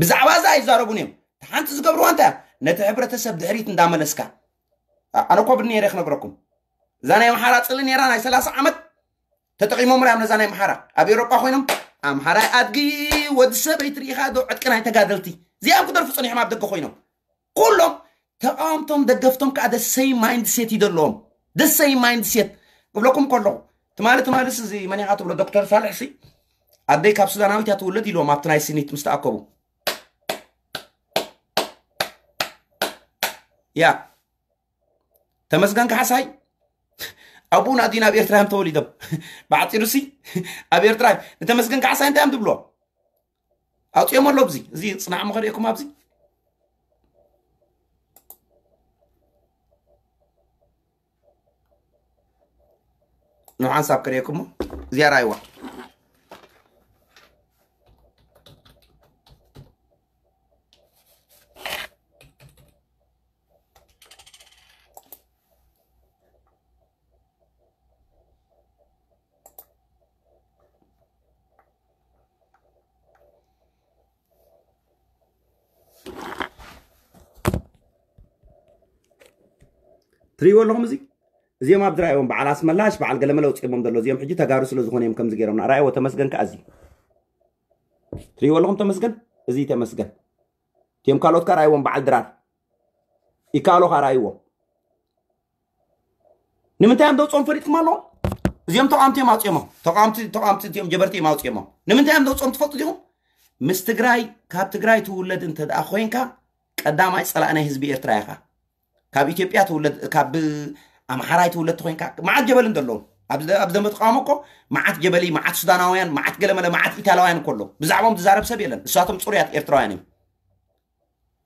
ብዛዕባ እዚ ኣይዛረቡን እዮም ሓንቲ ዝገብርዋ እንታይ ነቲ ሕብረተሰብ ድሕሪት እንዳመለስካ ኣነ ኮ ብኒ ነረ ክነግረኩም እዛ ናይ ኣምሓራ ፅሊ ነራ ናይ ሰላሳ ዓመት ተጠቂሞም ራዮም ነዛ ናይ ኣምሓራ ኣብ ኤሮጳ ኮይኖም ኣምሓራይ ኣድጊ ወዲ ሰበይቲ ርኢኻ ዶ ዕጥቂ ናይ ተጋደልቲ እዚኣም ክደርፉ ፀኒሖም ኣብ ደገ ኮይኖም ኩሎም ተቃወምቶም ደገፍቶም ከዓ ደሰይ ማይንድሴት እዩ ዘለዎም ደሰይ ማይንድሴት ክብለኩም ከለኹ ትማሊ ትማልስ እዚ መን ኢኻ ትብሎ ዶክተር ሳልሕ ሲ ኣደይ ካብ ሱዳናዊት እያ ትውለድ ኢልዎም ኣብቲ ናይ ሲኒት ምስ ተኣከቡ ያ ተመስገን ካሕሳይ ኣቡኡ ናዲን ኣብ ኤርትራ እዮም ተወሊዶም ብዓፂሩ ሲ ኣብ ኤርትራ ንተመስገን ካሕሳይ እንታይ እዮም ትብሎ ኣውፅኦም ኣሎ ኣብዚ እዚ ፅናዕ ሞ ከርእየኩም ኣብዚ ንሓንሳብ ከርእየኩም እዚኣ ራይዋ ትሪእዎ ኣለኹም። እዚ እዚኦም ኣብዚ ራእይዎም በዓል ኣስመላሽ በዓል ገለመለ ውፅኦሞም ዘሎ እዚኦም ሕጂ ተጋሩ ስለ ዝኾነ እዮም ከምዚ ገይሮምና። ራእይዎ ተመስገን ከኣ እዚ ትሪእዎ ኣለኹም። ተመስገን፣ እዚ ተመስገን። እቲኦም ካልኦት ከኣ ራእይዎም በዓል ድራር ይከኣሎ ከኣ ራእይዎም። ንምንታይ እዮም ደውፅኦም ፈሊጥኩም ኣለኹም? እዚኦም ተቃምቲ እዮም ኣውፅኦሞም። ተቃምቲ ተቃምቲ እዚኦም ጀበርቲ እዮም ኣውፅኦሞም። ንምንታይ እዮም ደውፅኦም ትፈልጡ ዲኹም? ምስ ትግራይ ካብ ትግራይ ትውለድ እንተ ደኣ ኮይንካ ቀዳማይ ፀላእ ናይ ህዝቢ ኤርትራ ኢኻ። ካብ ኢትዮጵያ ትውለድ ካብ ኣምሓራይ ትውለድ ተኮይንካ መዓት ጀበሊ እንተለዉ ኣብዚ ደንበ ተቃውሞ እኮ መዓት ጀበሊ መዓት ሱዳናውያን መዓት ገለመለ መዓት ኢታላውያን እኮ ኣለዉ። ብዛዕባኦም ዝዛረብ ሰብ የለን። እሳቶም ፅሩያት ኤርትራውያን እዮም።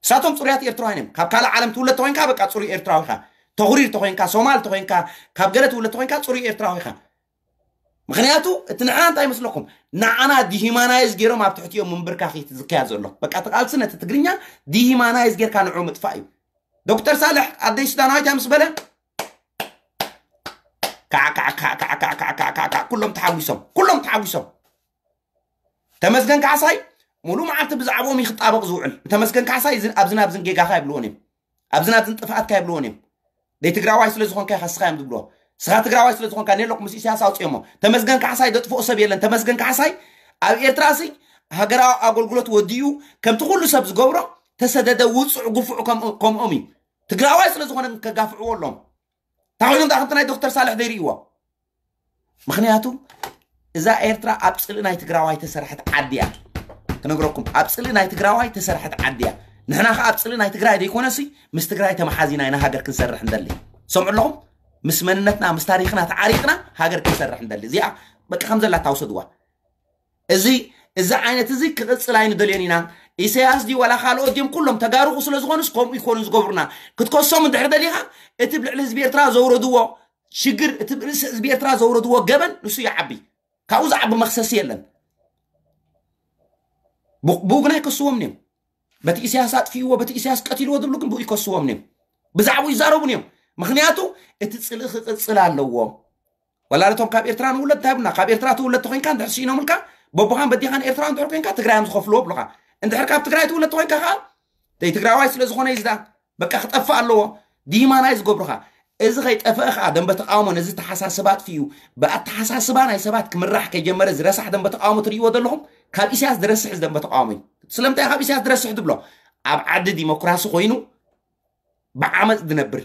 እሳቶም ፅሩያት ኤርትራውያን እዮም። ካብ ካልእ ዓለም ትውለድ ተኮይንካ በቃ ፅሩይ ኤርትራዊ ኢኻ። ተኹሪር ተኮይንካ ሶማል ተኮይንካ ካብ ገለ ትውለድ ተኮይንካ ፅሩይ ኤርትራዊ ኢኻ። ምክንያቱ እቲ ንዓና እንታይ ይመስለኩም? ንዓና ዲሂማናይዝ ገይሮም ኣብ ትሕቲኦም ምንብርካኽ እዩ ዝካየድ ዘሎ። በቃ እቲ ቃልሲ ነቲ ትግርኛ ዲሂማናይዝ ጌርካ ንዑ ምጥፋእ እዩ። ዶክተር ሳልሕ ኣደይ ሱዳናዊት እያ ምስ በለ ካዕ ካዕ ካዕ ካዕ ካዕ ካዕ ካዕ ካዕ ካዕ ኩሎም ተሓጒሶም ኩሎም ተሓጒሶም። ተመስገን ካሕሳይ ሙሉ መዓልቲ ብዛዕባኦም እዩ ክጣበቕ ዝውዕል። ተመስገን ካሕሳይ እዚ- ኣብዝን ኣብዝን ጌጋኻ ይብልዎን እዮም። ኣብዝን ኣብዝን ጥፍኣትካ ይብልዎን እዮም። ደይ ትግራዋይ ስለ ዝኾንካ ኢኻ ስኻ እዮም ዝብልዎ። ስኻ ትግራዋይ ስለ ዝኾንካ ኔሎክ ምስ ኢሳያስ ኣውፅኦሞ ተመስገን ካሕሳይ ደጥፍኦ ሰብ የለን። ተመስገን ካሕሳይ ኣብ ኤርትራ ሲ ሃገራዊ ኣገልግሎት ወዲኡ ከምቲ ኩሉ ሰብ ዝገብሮ ተሰደደ ውፁዕ ግፉዕ ከም- ከምኦም እዩ። ትግራዋይ ስለ ዝኾነ ከጋፍዕዎ ኣለዎም። እንታይ ኮይኖም ደኣ ከምቲ ናይ ዶክተር ሳልሕ ዘይርእይዎ? ምክንያቱ እዛ ኤርትራ ኣብ ፅልኢ ናይ ትግራዋይ ተሰርሐት ዓዲ እያ። ክነግረኩም ኣብ ፅልኢ ናይ ትግራዋይ ተሰርሐት ዓዲ እያ። ንሕና ከ ኣብ ፅልኢ ናይ ትግራይ ዘይኮነሲ ምስ ትግራይ ተመሓዚና ኢና ሃገር ክንሰርሕ እንደሊ። ሰምዑ ኣለኹም? ምስ መንነትና ምስ ታሪክና ተዓሪቅና ሃገር ክንሰርሕ እንደሊ። እዚኣ በቃ ከም ዘላ ታውሰድዋ። እዚ እዚ ዓይነት እዚ ክቕፅል ኣይንደልዮን ኢና። ኢሳያስ ድዩ ዋላ ካልኦት ድዮም ኩሎም ተጋሩኹ ስለ ዝኾኑስ ከምኡ ይኮኑ ዝገብሩና። ክትከሶም እንድሕር ደሊኻ እቲ ብልዕሊ ህዝቢ ኤርትራ ዘውረድዎ ሽግር እቲ ብርእሲ ህዝቢ ኤርትራ ዘውረድዎ ገበን ንሱ ይዓቢ። ካብኡ ዝዓቢ መክሰሲ የለን። ብኡ ግን ኣይከስዎም እዮም። በቲ ኢሳያስ ኣጥፊእዎ በቲ ኢሳያስ ቀቲልዎ ዝብሉ ግን ብኡ ይከስዎም እዮም። ብዛዕባኡ ይዛረቡን እዮም። ምክንያቱ እቲ ፅልኢ ክቅፅል ኣለዎ። ወላ ነቶም ካብ ኤርትራ ንውለድ እንታይ ብና ካብ ኤርትራ ትውለድ ተኮይንካ እንድሕር ስኢኖምልካ በቦኻን በዲኻን ኤርትራ እንድሕር ኮንካ ትግራዮም ዝኸፍልዎ ብሉካ። እንድሕር ካብ ትግራይ ትውለድ ተኮይንካ ከዓ ደይ ትግራዋይ ስለ ዝኾነ እዩ ዝዳ በቃ ክጠፍእ ኣለዎ። ዲማናይ ዝገብሩኻ እዚ ከይጠፍአ ከዓ ደንበ ተቃውሞ ነዚ ተሓሳስባ ኣጥፊኡ ብኣተሓሳስባ ናይ ሰባት ክምራሕ ከይጀመረ ዝረሳሕ ደንበ ተቃውሞ ትርእይዎ ዘለኹም ካብ ኢሳያስ ዝረስሕ እዚ ደንበ ተቃውሞ እዩ። ስለምንታይ ካብ ኢሳያስ ዝረስሕ ትብሎ? ኣብ ዓዲ ዲሞክራሲ ኮይኑ ብዓመፅ ዝነብር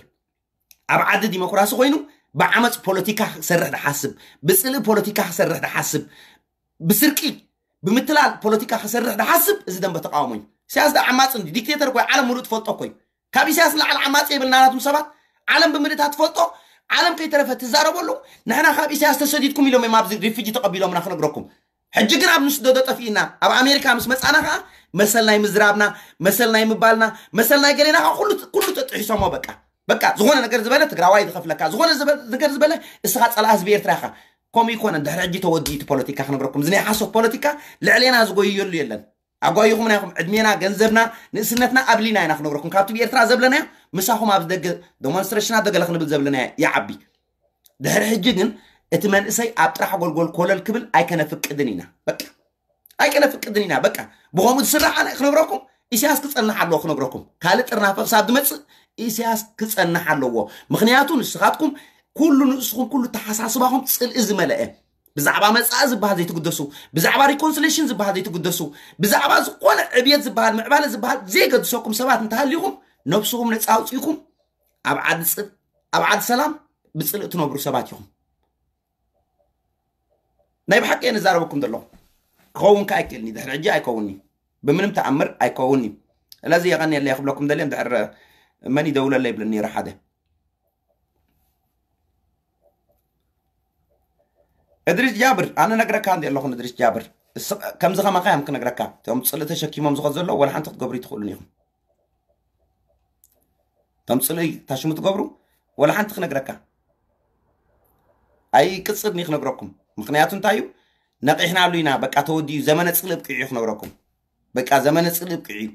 ኣብ ዓዲ ዲሞክራሲ ኮይኑ ብዓመፅ ፖለቲካ ክሰርሕ ዝሓስብ ብፅልኢ ፖለቲካ ክሰርሕ ዝሓስብ ብስርቂ ብምትላል ፖለቲካ ክሰርሕ ዝሓስብ እዚ ደንበ ተቃውሞ እዩ። ኢሳያስ ዳ ዓማፅ እንዲ ዲክቴተር ኮይ ዓለም ሙሉእ ትፈልጦ ኮይ ካብ ኢሳያስ ንላዕሊ ዓማፂ የብልና ናቱም ሰባት ዓለም ብምልእታ ትፈልጦ ዓለም ከይተረፈ ትዛረበሉ ንሕና ካብ ኢሳያስ ተሰዲድኩም ኢሎም እዮም ኣብዚ ሪፊጂ ተቀቢሎምና ክነግረኩም ሕጂ ግን ኣብ ንስደዶ ጠፊእና ኣብ ኣሜሪካ ምስ መፃና ከዓ መሰል ናይ ምዝራብና መሰል ናይ ምባልና መሰል ናይ ገሌና ከዓ ኩሉ ኩሉ ተጥሒሶሞ በቃ በቃ ዝኾነ ነገር ዝበለ ትግራዋይ ዝኸፍለካ ዝኾነ ዝበ- ነገር ዝበለ እስኻ ፀላእ ህዝቢ ኤርትራ ኢኻ። ከምኡ ይኮነ ድሕሪ ሕጂ ተወዲኡ እቲ ፖለቲካ ክነግረኩም እዚ ናይ ሓሶት ፖለቲካ ልዕሌና ዝጎይየሉ የለን። ኣጓይኹምና ኢኹም ዕድሜና ገንዘብና ንእስነትና ኣብሊና ኢና ክነግረኩም ካብቲ ብኤርትራ ዘብለናዮ ምሳኹም ኣብዚ ደገ ዶሞንስትሬሽናት ደገለ ክንብል ዘብለናዮ ይዓቢ። ድሕሪ ሕጂ ግን እቲ መንእሰይ ኣብ ጥራሕ ጎልጎል ኮለል ክብል ኣይከነፍቅድን ኢና በቃ ኣይከነፍቅድን ኢና በቃ ብኸምኡ ዝስራሕ ኣነ ክነግረኩም ኢሳያስ ክፀንሕ ኣለዎ ክነግረኩም ካልእ ጥርናፈ ክሳብ ዝመፅእ ኢሳያስ ክፀንሕ ኣለዎ። ምክንያቱ ንስኻትኩም ኩሉ ንእስኹም ኩሉ ተሓሳስባኹም ፅልኢ ዝመለአ ብዛዕባ መፃኢ ዝበሃል ዘይትግደሱ ብዛዕባ ሪኮንስሌሽን ዝበሃል ዘይትግደሱ ብዛዕባ ዝኾነ ዕብየት ዝበሃል ምዕባለ ዝበሃል ዘይገድሰኩም ሰባት እንተሃሊኹም ነብስኹም ነፃ ኣውፅኢኩም ኣብ ዓዲ ፅ- ኣብ ዓዲ ሰላም ብፅልኢ ትነብሩ ሰባት ኢኹም። ናይ ብሓቂ እየ ንዛረበኩም ዘለኹ ክኸውን ከ ኣይክእልኒ ድሕሪ ሕጂ ኣይከውንኒ ብምንም ተኣምር ኣይከውንኒ። ስለዚ የቐንየለይ ክብለኩም ደልየ እንድሕር መን ይደውለለይ ይብለኒ ነይሩ ሓደ እድሪስ ጃብር ኣነ ነግረካ እንዲ ኣለኹ እድሪስ ጃብር እስ- ከምዚ ከማኻ እዮም ክነግረካ እቶም ፅልኢ ተሸኪሞም ዝኸዱ ዘለዉ ወላ ሓንቲ ክትገብሩ ይትኽእሉን ኢኹም። እቶም ፅልኢ ታሽሙ ትገብሩ ወላ ሓንቲ ክነግረካ ኣይቅፅድኒ ክነግረኩም ምክንያቱ እንታይ እዩ ነቂሕናሉ ኢና በቃ ተወዲኡ ዘመነ ፅልኢ ብቂዑ ክነግረኩም በቃ ዘመነ ፅልኢ ብቂዑ እዩ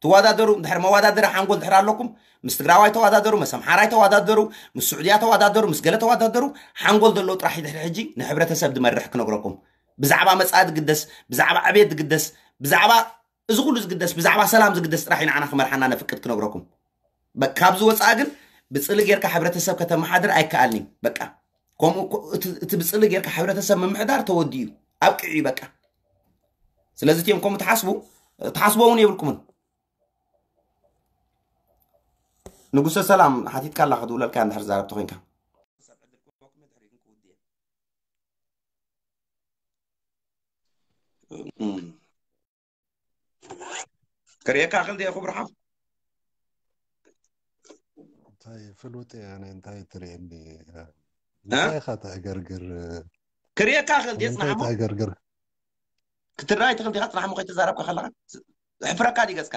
ትወዳደሩ እንድሕር መወዳደሪ ሓንጎል ድሕር ኣለኩም ምስ ትግራዋይ ተወዳደሩ ምስ ኣምሓራይ ተወዳደሩ ምስ ስዑድያ ተወዳደሩ ምስ ገለ ተወዳደሩ ሓንጎል ዘለዎ ጥራሕ ድሕሪ ሕጂ ንሕብረተሰብ ዝመርሕ ክነግረኩም ብዛዕባ መፃኢ ዝግደስ ብዛዕባ ዕቤት ዝግደስ ብዛዕባ እዚ ኩሉ ዝግደስ ብዛዕባ ሰላም ዝግደስ ጥራሕ እዩ ንዓና ክመርሓና ነፍቅድ ክነግረኩም በ- ካብዚ ወፃኢ ግን ብፅሊ ጌርካ ሕብረተሰብ ከተመሓድር ኣይከኣልን እዩ። በቃ ከምኡ ኮ- እቲ እቲ ብፅሊ ጌርካ ሕብረተሰብ ምምሕዳር ተወዲኡ እዩ፣ ኣብቂዑ እዩ በቃ። ስለዚ እቲኦም ከምኡ ትሓስቡ ትሓስቦ እውን የብልኩምን። ንጉሰ ሰላም ሓቲትካ ኣላ ክትብለልካ እንድሕር ዛረብቲ ኮይንካ ክርእየካ ክእል ድየ ክቡር ሓው? እንታይ ፍሉጥ እየ ኣነ እንታይ ትርእየኒ እንታይ ኢኻ ተዕገርግር ክርእየካ ክእል ድየ እንታይ ጽናሕሞ ተዕገርግር ክትረኣይ ትኽእል ዲኻ ጽናሕሞ ከይተዛረብካ ከለኻ ሕፍረካ ድዩ ገጽካ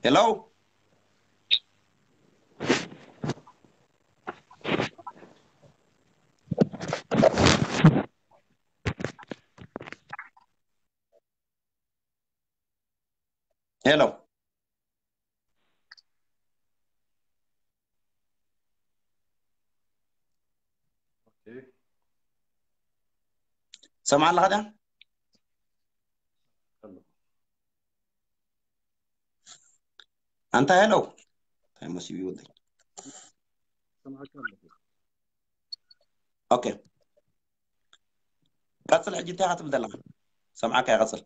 ሄሎ ሄሎ ሰምዓ ኣለኻ ድያ ኣንታ ሄሎ እንታይ መሲቡ ይወደይ ኦኬ ቀፅል ሕጂ እንታይ ኢኻ ትብል ዘለኻ ሰምዓካ ይቐፅል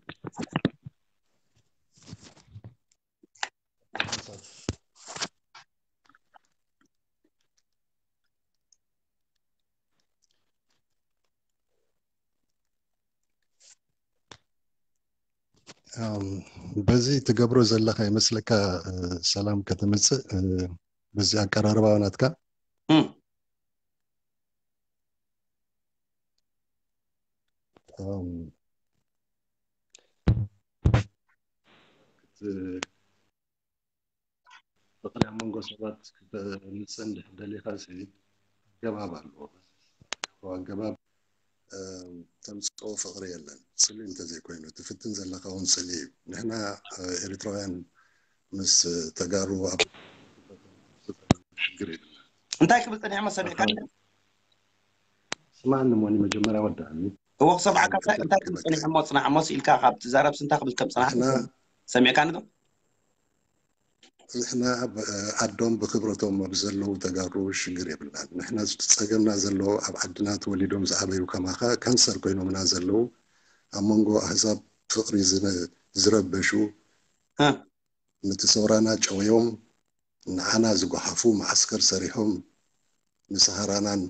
በዚ ትገብሮ ዘለኻ ይመስለካ ሰላም ከተምፅእ በዚ ኣቀራርባ ናትካ ፍቅሪ ኣብ መንጎ ሰባት ክተምፅእ እንድሕር ደሊኻ ኣገባብ ኣለዎ ኣገባብ ተምፅኦ ፍቅሪ የለን ፅልኢ እንተዘይኮይኑ ትፍትን ዘለካ እውን ፅልኢ እዩ ንሕና ኤርትራውያን ምስ ተጋሩ ኣብ ሽግር የብልና እንታይ ክብል ፀኒሐ መሰሚዕካ ስማዕኒ ሞኒ መጀመርያ ወዳእኒ እወ ክሰምዓካ እንታይ ክብል ፀኒሐ እሞ ፅናሕ እሞ ስኢልካ ካብ ትዛረብስ እንታይ ክብል ከም ፅናሕ ሰሚዕካኒ ዶ ንሕና ዓዶም ብክብረቶም ኣብ ዘለዉ ተጋሩ ሽግር የብልናን ንሕና ፀገምና ዘለዎ ኣብ ዓድና ተወሊዶም ዝዓበዩ ከማኻ ካንሰር ኮይኖምና ዘለዉ ኣብ መንጎ ኣህዛብ ፍቅሪ ዝረበሹ ነቲ ሰውራና ጨውዮም ንዓና ዝጓሓፉ መዓስከር ሰሪሖም ንሰሃራናን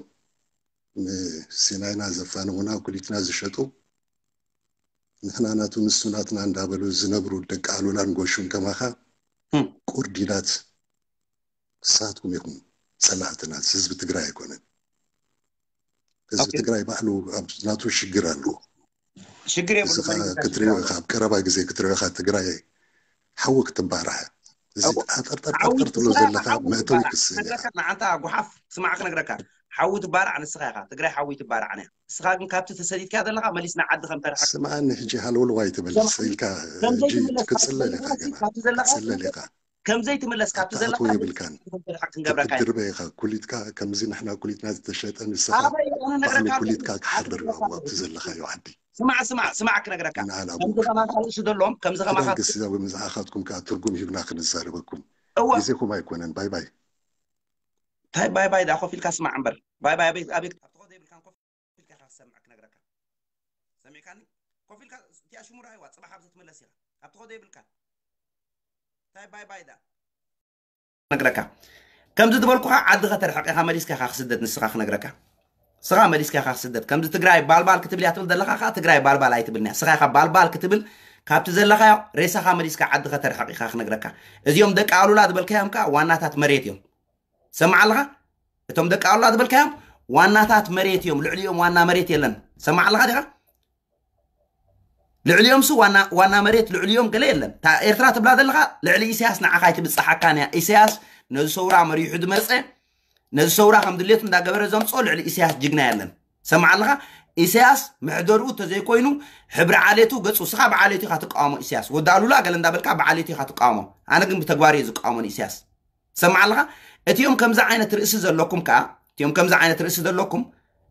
ንሲናይና ዘፋነዉና ኩሊትና ዝሸጡ ንሕና ናቱ ንሱ ናትና እንዳበሉ ዝነብሩ ደቂ ኣሉላን ጎሹን ከማኻ ቁርዲዳት ንስኻትኩም ኢኹም ፀላእትና ህዝቢ ትግራይ ኣይኮነን ህዝቢ ትግራይ ባዕሉ ኣብ ናቱ ሽግር ኣለዎ ሽግር እስኻ ክትሪኦ ኢኻ ኣብ ቀረባ ግዜ ክትሪኦ ኢኻ ትግራይ ሓዊ ክትባራዕ እዚ ኣጠርጠርጠርጠር ትብሎ ዘለካ መእተዊ ክስእን ኢኻ ንዓንታ ጉሓፍ ስማዕ ክነግረካ ሓዊ ትባራዕ ንስኻ ኢኻ ትግራይ ሓዊ ትባራዕ ንያ ንስኻ ግን ካብቲ ተሰዲድካ ዘለኻ መሊስና ዓዲ ከም ተርሓ ስምዓኒ ሕጂ ሃለውልዋይ ትብል ኢልካ ሕጂ ክትፅለል ኢኻ ገና ክትፅለል ኢኻ ከም ዘይትምለስ ካብቲ ዘለካ የብልካን ክትድርበ ኢኻ ኩሊትካ ከምዚ ንሕና ኩሊትና ዝተሸጠ ንስኻ ባዕሉ ኩሊትካ ክሓድር ኣለዎ ኣብቲ ዘለኻዮ ዓዲ ስማዕ ስማዕ ስማዕ ክነግረካ ከምዚ ከማኻ ርእሲ ዘለዎም ከምዚ ከማኻ ግስዛ ወይ ምዝዓኻትኩም ከዓ ትርጉም ሂብና ክንዛረበኩም ግዜኹም ኣይኮነን ባይ ባይ እንታይ ባይ ባይ ዳ ኮፍ ኢልካ ስማዕ እምበር ባይ ባይ ኣቤት ኣቤት ኣብቲ ኾ ዘይብልካን ኮፍ ኢልካ ኢኻ ክሰምዕ ክነግረካ ሰሚዕካኒ ኮፍ ኢልካ እቲኣ ሽሙራ ይዋ ፅባሕ ኣብዚ ትምለስ ኢኻ ኣብቲ ኾ ዘይብልካ እንታይ ባይ ባይ ዳ ነግረካ ከምዚ ዝበልኩኻ ዓዲ ከተርሕቕ ኢኻ መሊስካ ኢኻ ክስደድ ንስኻ ክነግረካ ስኻ መሊስካ ኢኻ ክስደድ ከምዚ ትግራይ ባልባል ክትብል እያ ትብል ዘለኻ ከዓ ትግራይ ባልባል ኣይትብልንያ ስኻ ኢኻ ባልባል ክትብል ካብቲ ዘለኻዮ ሬሳኻ መሊስካ ዓዲ ከተርሕቕ ኢኻ ክነግረካ እዚኦም ደቂ ኣሉላ ዝበልካዮም ከዓ ዋናታት መሬት እዮም ሰማዕ ኣለኻ እቶም ደቂ ኣሉላ ዝበልካዮም ዋናታት መሬት እዮም ልዕሊኦም ዋና መሬት የለን ሰማዕ ኣለኻ ዲኻ ልዕሊኦም ሱ ዋና ዋና መሬት ልዕሊኦም ገለ የለን እታ ኤርትራ ትብላ ዘለኻ ልዕሊ ኢሳያስ ንዓኻ ኣይትብጽሓካን እያ ኢሳያስ ነዚ ሰውራ መሪሑ ዝመጸ ነዚ ሰውራ ከም ድሌቱ እንዳገበረ ዘምጽኦ ልዕሊ ኢሳያስ ጅግና የለን ሰማዕ ኣለኻ ኢሳያስ መሕደርኡ ተዘይኮይኑ ሕብሪ ዓሌቱ ገጹ ስኻ ብዓሌቱ ኢኻ ትቃወሞ ኢሳያስ ወዲ ኣሉላ ገለ እንዳበልካ ብዓሌቱ ኢኻ ትቃወሞ ኣነ ግን ብተግባር እየ ዝቃወሞ ንኢሳያስ ሰማዕ ኣለኻ እቲኦም ከምዚ ዓይነት ርእሲ ዘለኩም ከዓ እቲኦም ከምዚ ዓይነት ርእሲ ዘለኩም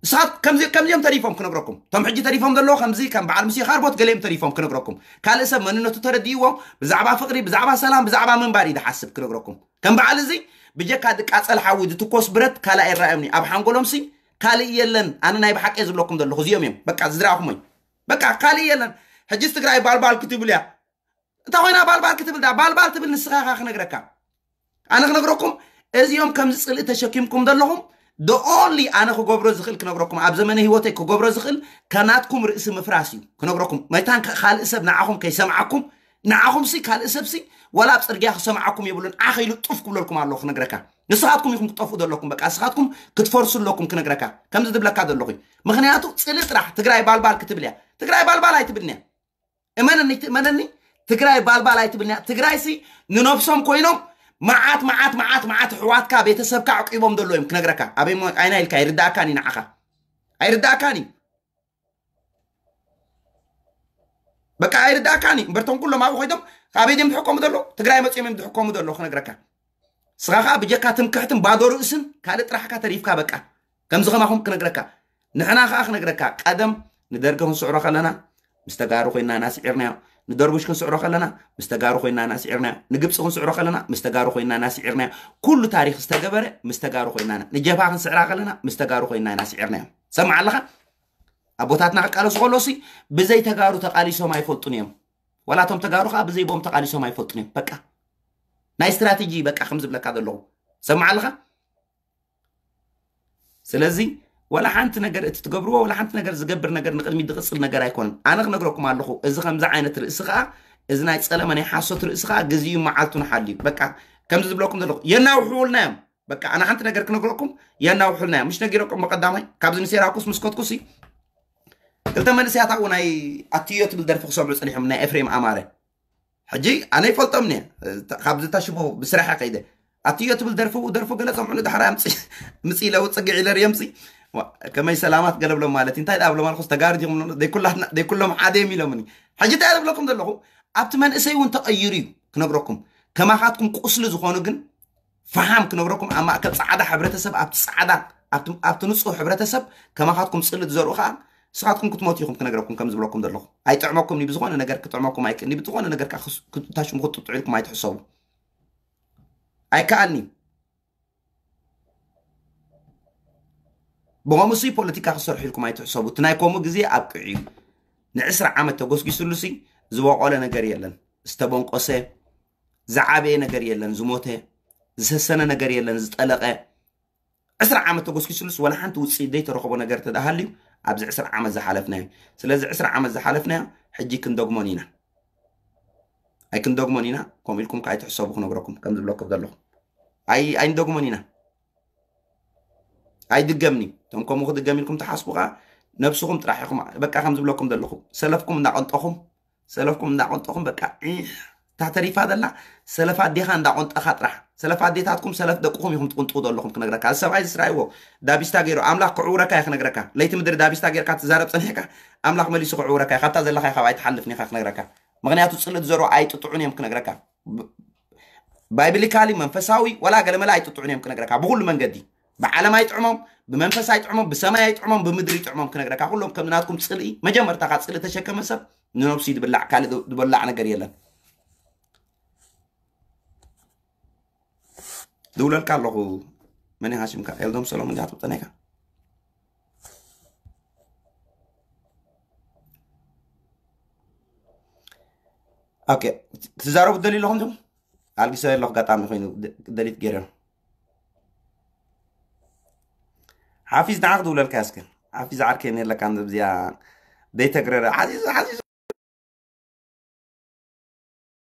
ንስኻት ከምዚ ከምዚኦም ተሪፎም ክነግረኩም፣ እቶም ሕጂ ተሪፎም ዘለዉ ከምዚ ከም በዓል ምሲ ካርቦት ገሊኦም ተሪፎም ክነግረኩም። ካልእ ሰብ መንነቱ ተረዲእዎ፣ ብዛዕባ ፍቕሪ፣ ብዛዕባ ሰላም፣ ብዛዕባ ምንባር እዩ ዝሓስብ ክነግረኩም። ከም በዓል እዚ ብጀካ ዝቃጸል ሓዊ ዝትኮስ ብረት ካልእ ኣይረኣዮምኒ። ኣብ ሓንጎሎምሲ ካልእ የለን። ኣነ ናይ ብሓቂ እየ ዝብለኩም ዘለኹ፣ እዚኦም እዮም በቃ ዝድራኹም ወይ በቃ ካልእ የለን። ሕጂስ ትግራይ ባልባል ክትብል እያ። እንታይ ኮይና ባልባል ክትብል ዳ ባልባል ትብል ንስኻ ኢኻ ክነግረካ። ኣነ ክነግረኩም፣ እዚኦም ከምዚ ጽልኢ ተሸኪምኩም ዘለኹም፣ the only ኣነ ክገብሮ ዝኽእል ክነግረኩም፣ ኣብ ዘመነ ህይወተይ ክገብሮ ዝኽእል ከናትኩም ርእሲ ምፍራስ እዩ ክነግረኩም። መታን ከ ካልእ ሰብ ንዓኹም ከይሰምዓኩም፣ ንዓኹምሲ ካልእ ሰብሲ ወላ ኣብ ጽርግያ ክሰምዓኩም የብሉን። ዓኽ ኢሉ ጡፍ ክብለልኩም ኣለዎ ክነግረካ። ንስኻትኩም ኢኹም ክትጠፍኡ ዘለኩም። በቃ ንስኻትኩም ክትፈርሱ ኣለኩም ክነግረካ። ከምዚ ዝብለካ ዘለኹ እዩ። ምኽንያቱ ጽልኢ ጥራሕ ትግራይ ባልባል ክትብል እያ። ትግራይ ባልባል ኣይትብልን እያ። እመነኒ ትእመነኒ፣ ትግራይ ባልባል ኣይትብልን እያ። ትግራይሲ ንነብሶም ኮይኖም መዓት መዓት መዓት መዓት ኣሕዋትካ ቤተሰብካ ኣዕቂቦም ዘሎ እዮም ክነግረካ። ኣበይ ሞ ኣይና ኢልካ ይርዳእካን እዩ ንዓኻ። ኣይርዳእካን እዩ። በቃ ኣይርዳእካን እዩ። እምበርቶም ኩሎም ኣብኡ ኮይዶም ካበይ ድዮም ዝሕከሙ ዘሎ? ትግራይ መጺኦም እዮም ዝሕከሙ ዘሎ ክነግረካ። ስኻ ኸዓ ብጀካ ትምክሕትን ባዶ ርእስን ካልእ ጥራሕካ ተሪፍካ በቃ። ከምዚ ከማኹም ክነግረካ። ንሕና ኸዓ ክነግረካ፣ ቀደም ንደርጊ ክንስዕሮ ከለና ምስ ተጋሩ ኮይና ኢና ስዒርናዮ። ንደርቡሽ ክንስዕሮ ከለና ምስ ተጋሩ ኮይና ኢና ስዒርናዮ። ንግብፂ ክንስዕሮ ከለና ምስ ተጋሩ ኮይና ኢና ስዒርናዮ። ኩሉ ታሪኽ ዝተገበረ ምስ ተጋሩ ኮይና ኢና። ንጀብሃ ክንስዕራ ከለና ምስ ተጋሩ ኮይና ኢና ስዒርናዮ። ሰምዓ ኣለኻ? ኣቦታትና ክቃለሱ ከለውሲ ብዘይ ተጋሩ ተቃሊሶም ኣይፈልጡን እዮም። ዋላ እቶም ተጋሩ ከዓ ብዘይ ቦም ተቃሊሶም ኣይፈልጡን እዮም። በቃ ናይ ስትራቴጂ በቃ ከም ዝብለካ ዘለኹ ሰምዓ ኣለኻ። ስለዚ ዋላ ሓንቲ ነገር እቲ ትገብርዎ ዋላ ሓንቲ ነገር ዝገብር ነገር ንቅድሚት ዝቅፅል ነገር ኣይኮነን። ኣነ ክነግረኩም ኣለኹ፣ እዚ ከምዚ ዓይነት ርእሲ ከዓ፣ እዚ ናይ ፀለመ ናይ ሓሶት ርእሲ ከዓ ግዜኡ መዓልቱ ንሓልዩ። በቃ ከምዚ ዝብለኩም ዘለኹ የናውሕውልና እዮም። በቃ ኣነ ሓንቲ ነገር ክነግረኩም፣ የናውሕልና እዮም። ምሽ ነጊረኩም ብቀዳማይ ካብዚ ንሴራኩስ ምስ ከትኩሲ ክልተ መንእሰያት ኣብኡ ናይ ኣትዮ ትብል ደርፊ ክሰምዑ ፀኒሖም፣ ናይ ኤፍሬም ኣማረ። ሕጂ ኣነ ይፈልጦም እየ፣ ካብዚ ታሽቦ ብስራሕ ከይደ ኣትዮ ትብል ደርፊ ደርፉ ገለ ሰምዑ። ድሓር ኣምፅ ምፅ ኢለ ውፅግዕ ኢለ ርእየምሲ ከመይ ሰላማት ገለብሎም ማለት እዩ። እንታይ ዳብሎም ኣልኩስ ተጋሩ ዲኹም ዘይኩላትና ዘይኩሎም ሓደ እዮም ኢሎምኒ። ሕጂ እንታይ ዝብለኩም ዘለኹ፣ ኣብቲ መንእሰይ እውን ተቐይሩ እዩ ክነግረኩም። ከማኻትኩም ቁስሊ ዝኾኑ ግን ፈሓም ክነግረኩም፣ ኣብ ማእከል ጻዕዳ ሕብረተሰብ፣ ኣብቲ ጻዕዳ፣ ኣብቲ ኣብቲ ንጹህ ሕብረተሰብ ከማኻትኩም ጽልኢ ትዘርኡ ከኣ ንስኻትኩም ክትሞቱ ኢኹም ክነግረኩም ከም ዝብለኩም ዘለኹ። ኣይጥዕመኩም እዩ፣ ብዝኾነ ነገር ክጥዕመኩም ኣይክእልን እዩ፣ ብዝኾነ ነገር ከኣ ክስ- ክታሽሙ ክትጥጥዑ ኢልኩም ኣይትሕሰቡ። ኣይከኣልን እዩ። ብኸምኡሲ ፖለቲካ ክሰርሑ ኢልኩም ኣይትሕሰቡ። እቲ ናይ ከምኡ ግዜ ኣብቂዑ እዩ። ንዕስራ ዓመት ተጎስጊስሉሲ ዝበቆለ ነገር የለን። ዝተበንቆሰ ዝዓበየ ነገር የለን፣ ዝሞተ ዝሰሰነ ነገር የለን፣ ዝጠለቐ። ዕስራ ዓመት ተጎስጊስሉስ ዋላ ሓንቲ ውፅኢት ዘይተረኸቦ ነገር ተዳሃልዩ ኣብዚ ዕስራ ዓመት ዝሓለፍናዮ። ስለዚ ዕስራ ዓመት ዝሓለፍናዮ ሕጂ ክንደግሞን ኢና። ኣይክንደግሞን ኢና። ከምኡ ኢልኩም ከዓ ኣይትሕሰቡ ክነግረኩም ከም ዝብለኩም ዘለኹ። ኣይ ኣይንደግሞን ኢና። ኣይድገምኒ። እቶም ከምኡ ክድገም ኢልኩም ትሓስቡ ከዓ ነብስኹም ጥራሕ ኢኹም። በቃ ከም ዝብለኩም ዘለኹ ሰለፍኩም እናቐንጠኹም ሰለፍኩም እንዳቆንጠኹም በቃ ዒሕ፣ እታ ተሪፋ ዘላ ሰለፍ ኣዴኻ እንዳቆንጠኻ ጥራሕ። ሰለፍ ኣዴታትኩም ሰለፍ ደቅኹም ኢኹም ትቁንጥቑ ዘለኹም ክነግረካ። እዚ ሰብኣይ ዝስራይዎ ዳቢስታ ገይሩ ኣምላኽ ክዕውረካ እየ ክነግረካ። ለይቲ ምድሪ ዳቢስታ ጌርካ ትዛረብ ጸኒሕካ ኣምላኽ መሊሱ ክዕውረካ እየ። ካብታ ዘለኻ ካብ ኣይትሓልፍን ኢኻ ክነግረካ። ምኽንያቱ ጽልእ ዝዘርኡ ኣይጥጥዑን እዮም ክነግረካ። ባይብሊካሊ መንፈሳዊ ወላ ገለመለ ኣይጥጥዑን እዮም ክነግረካ። ብኹሉ መንገዲ ብዓለም ኣይጥዕሞም፣ ብመንፈስ ኣይጥዕሞም፣ ብሰማይ ኣይጥዕሞም፣ ብምድሪ ይጥዕሞም ክነግረካ። ኩሎም ከም ናትኩም ጽልኢ መጀመርታ ካብ ጽልኢ ተሸከመ ሰብ ንነብሱ ድብላዕ ካልእ ድበላዕ ነገር የለን። ድውለልካ ኣለኹ። መን ኢኻ ሽምካ? ኤልዶም ሰሎሞን ዲኻ ትብጠነካ? ኦኬ፣ ክትዛረቡ ትደልዩ ኣለኹም ዲኹም? ኣልጊሰ ኣለኹ፣ ኣጋጣሚ ኮይኑ ደ- ደሊት ገይረ። ሓፊዝ ንዓ ክድውለልካ እስከ። ሓፊዝ ዓርከይ ነለካ እዚኣ ደይተግረረ። ሓዚዙ ሓዚዙ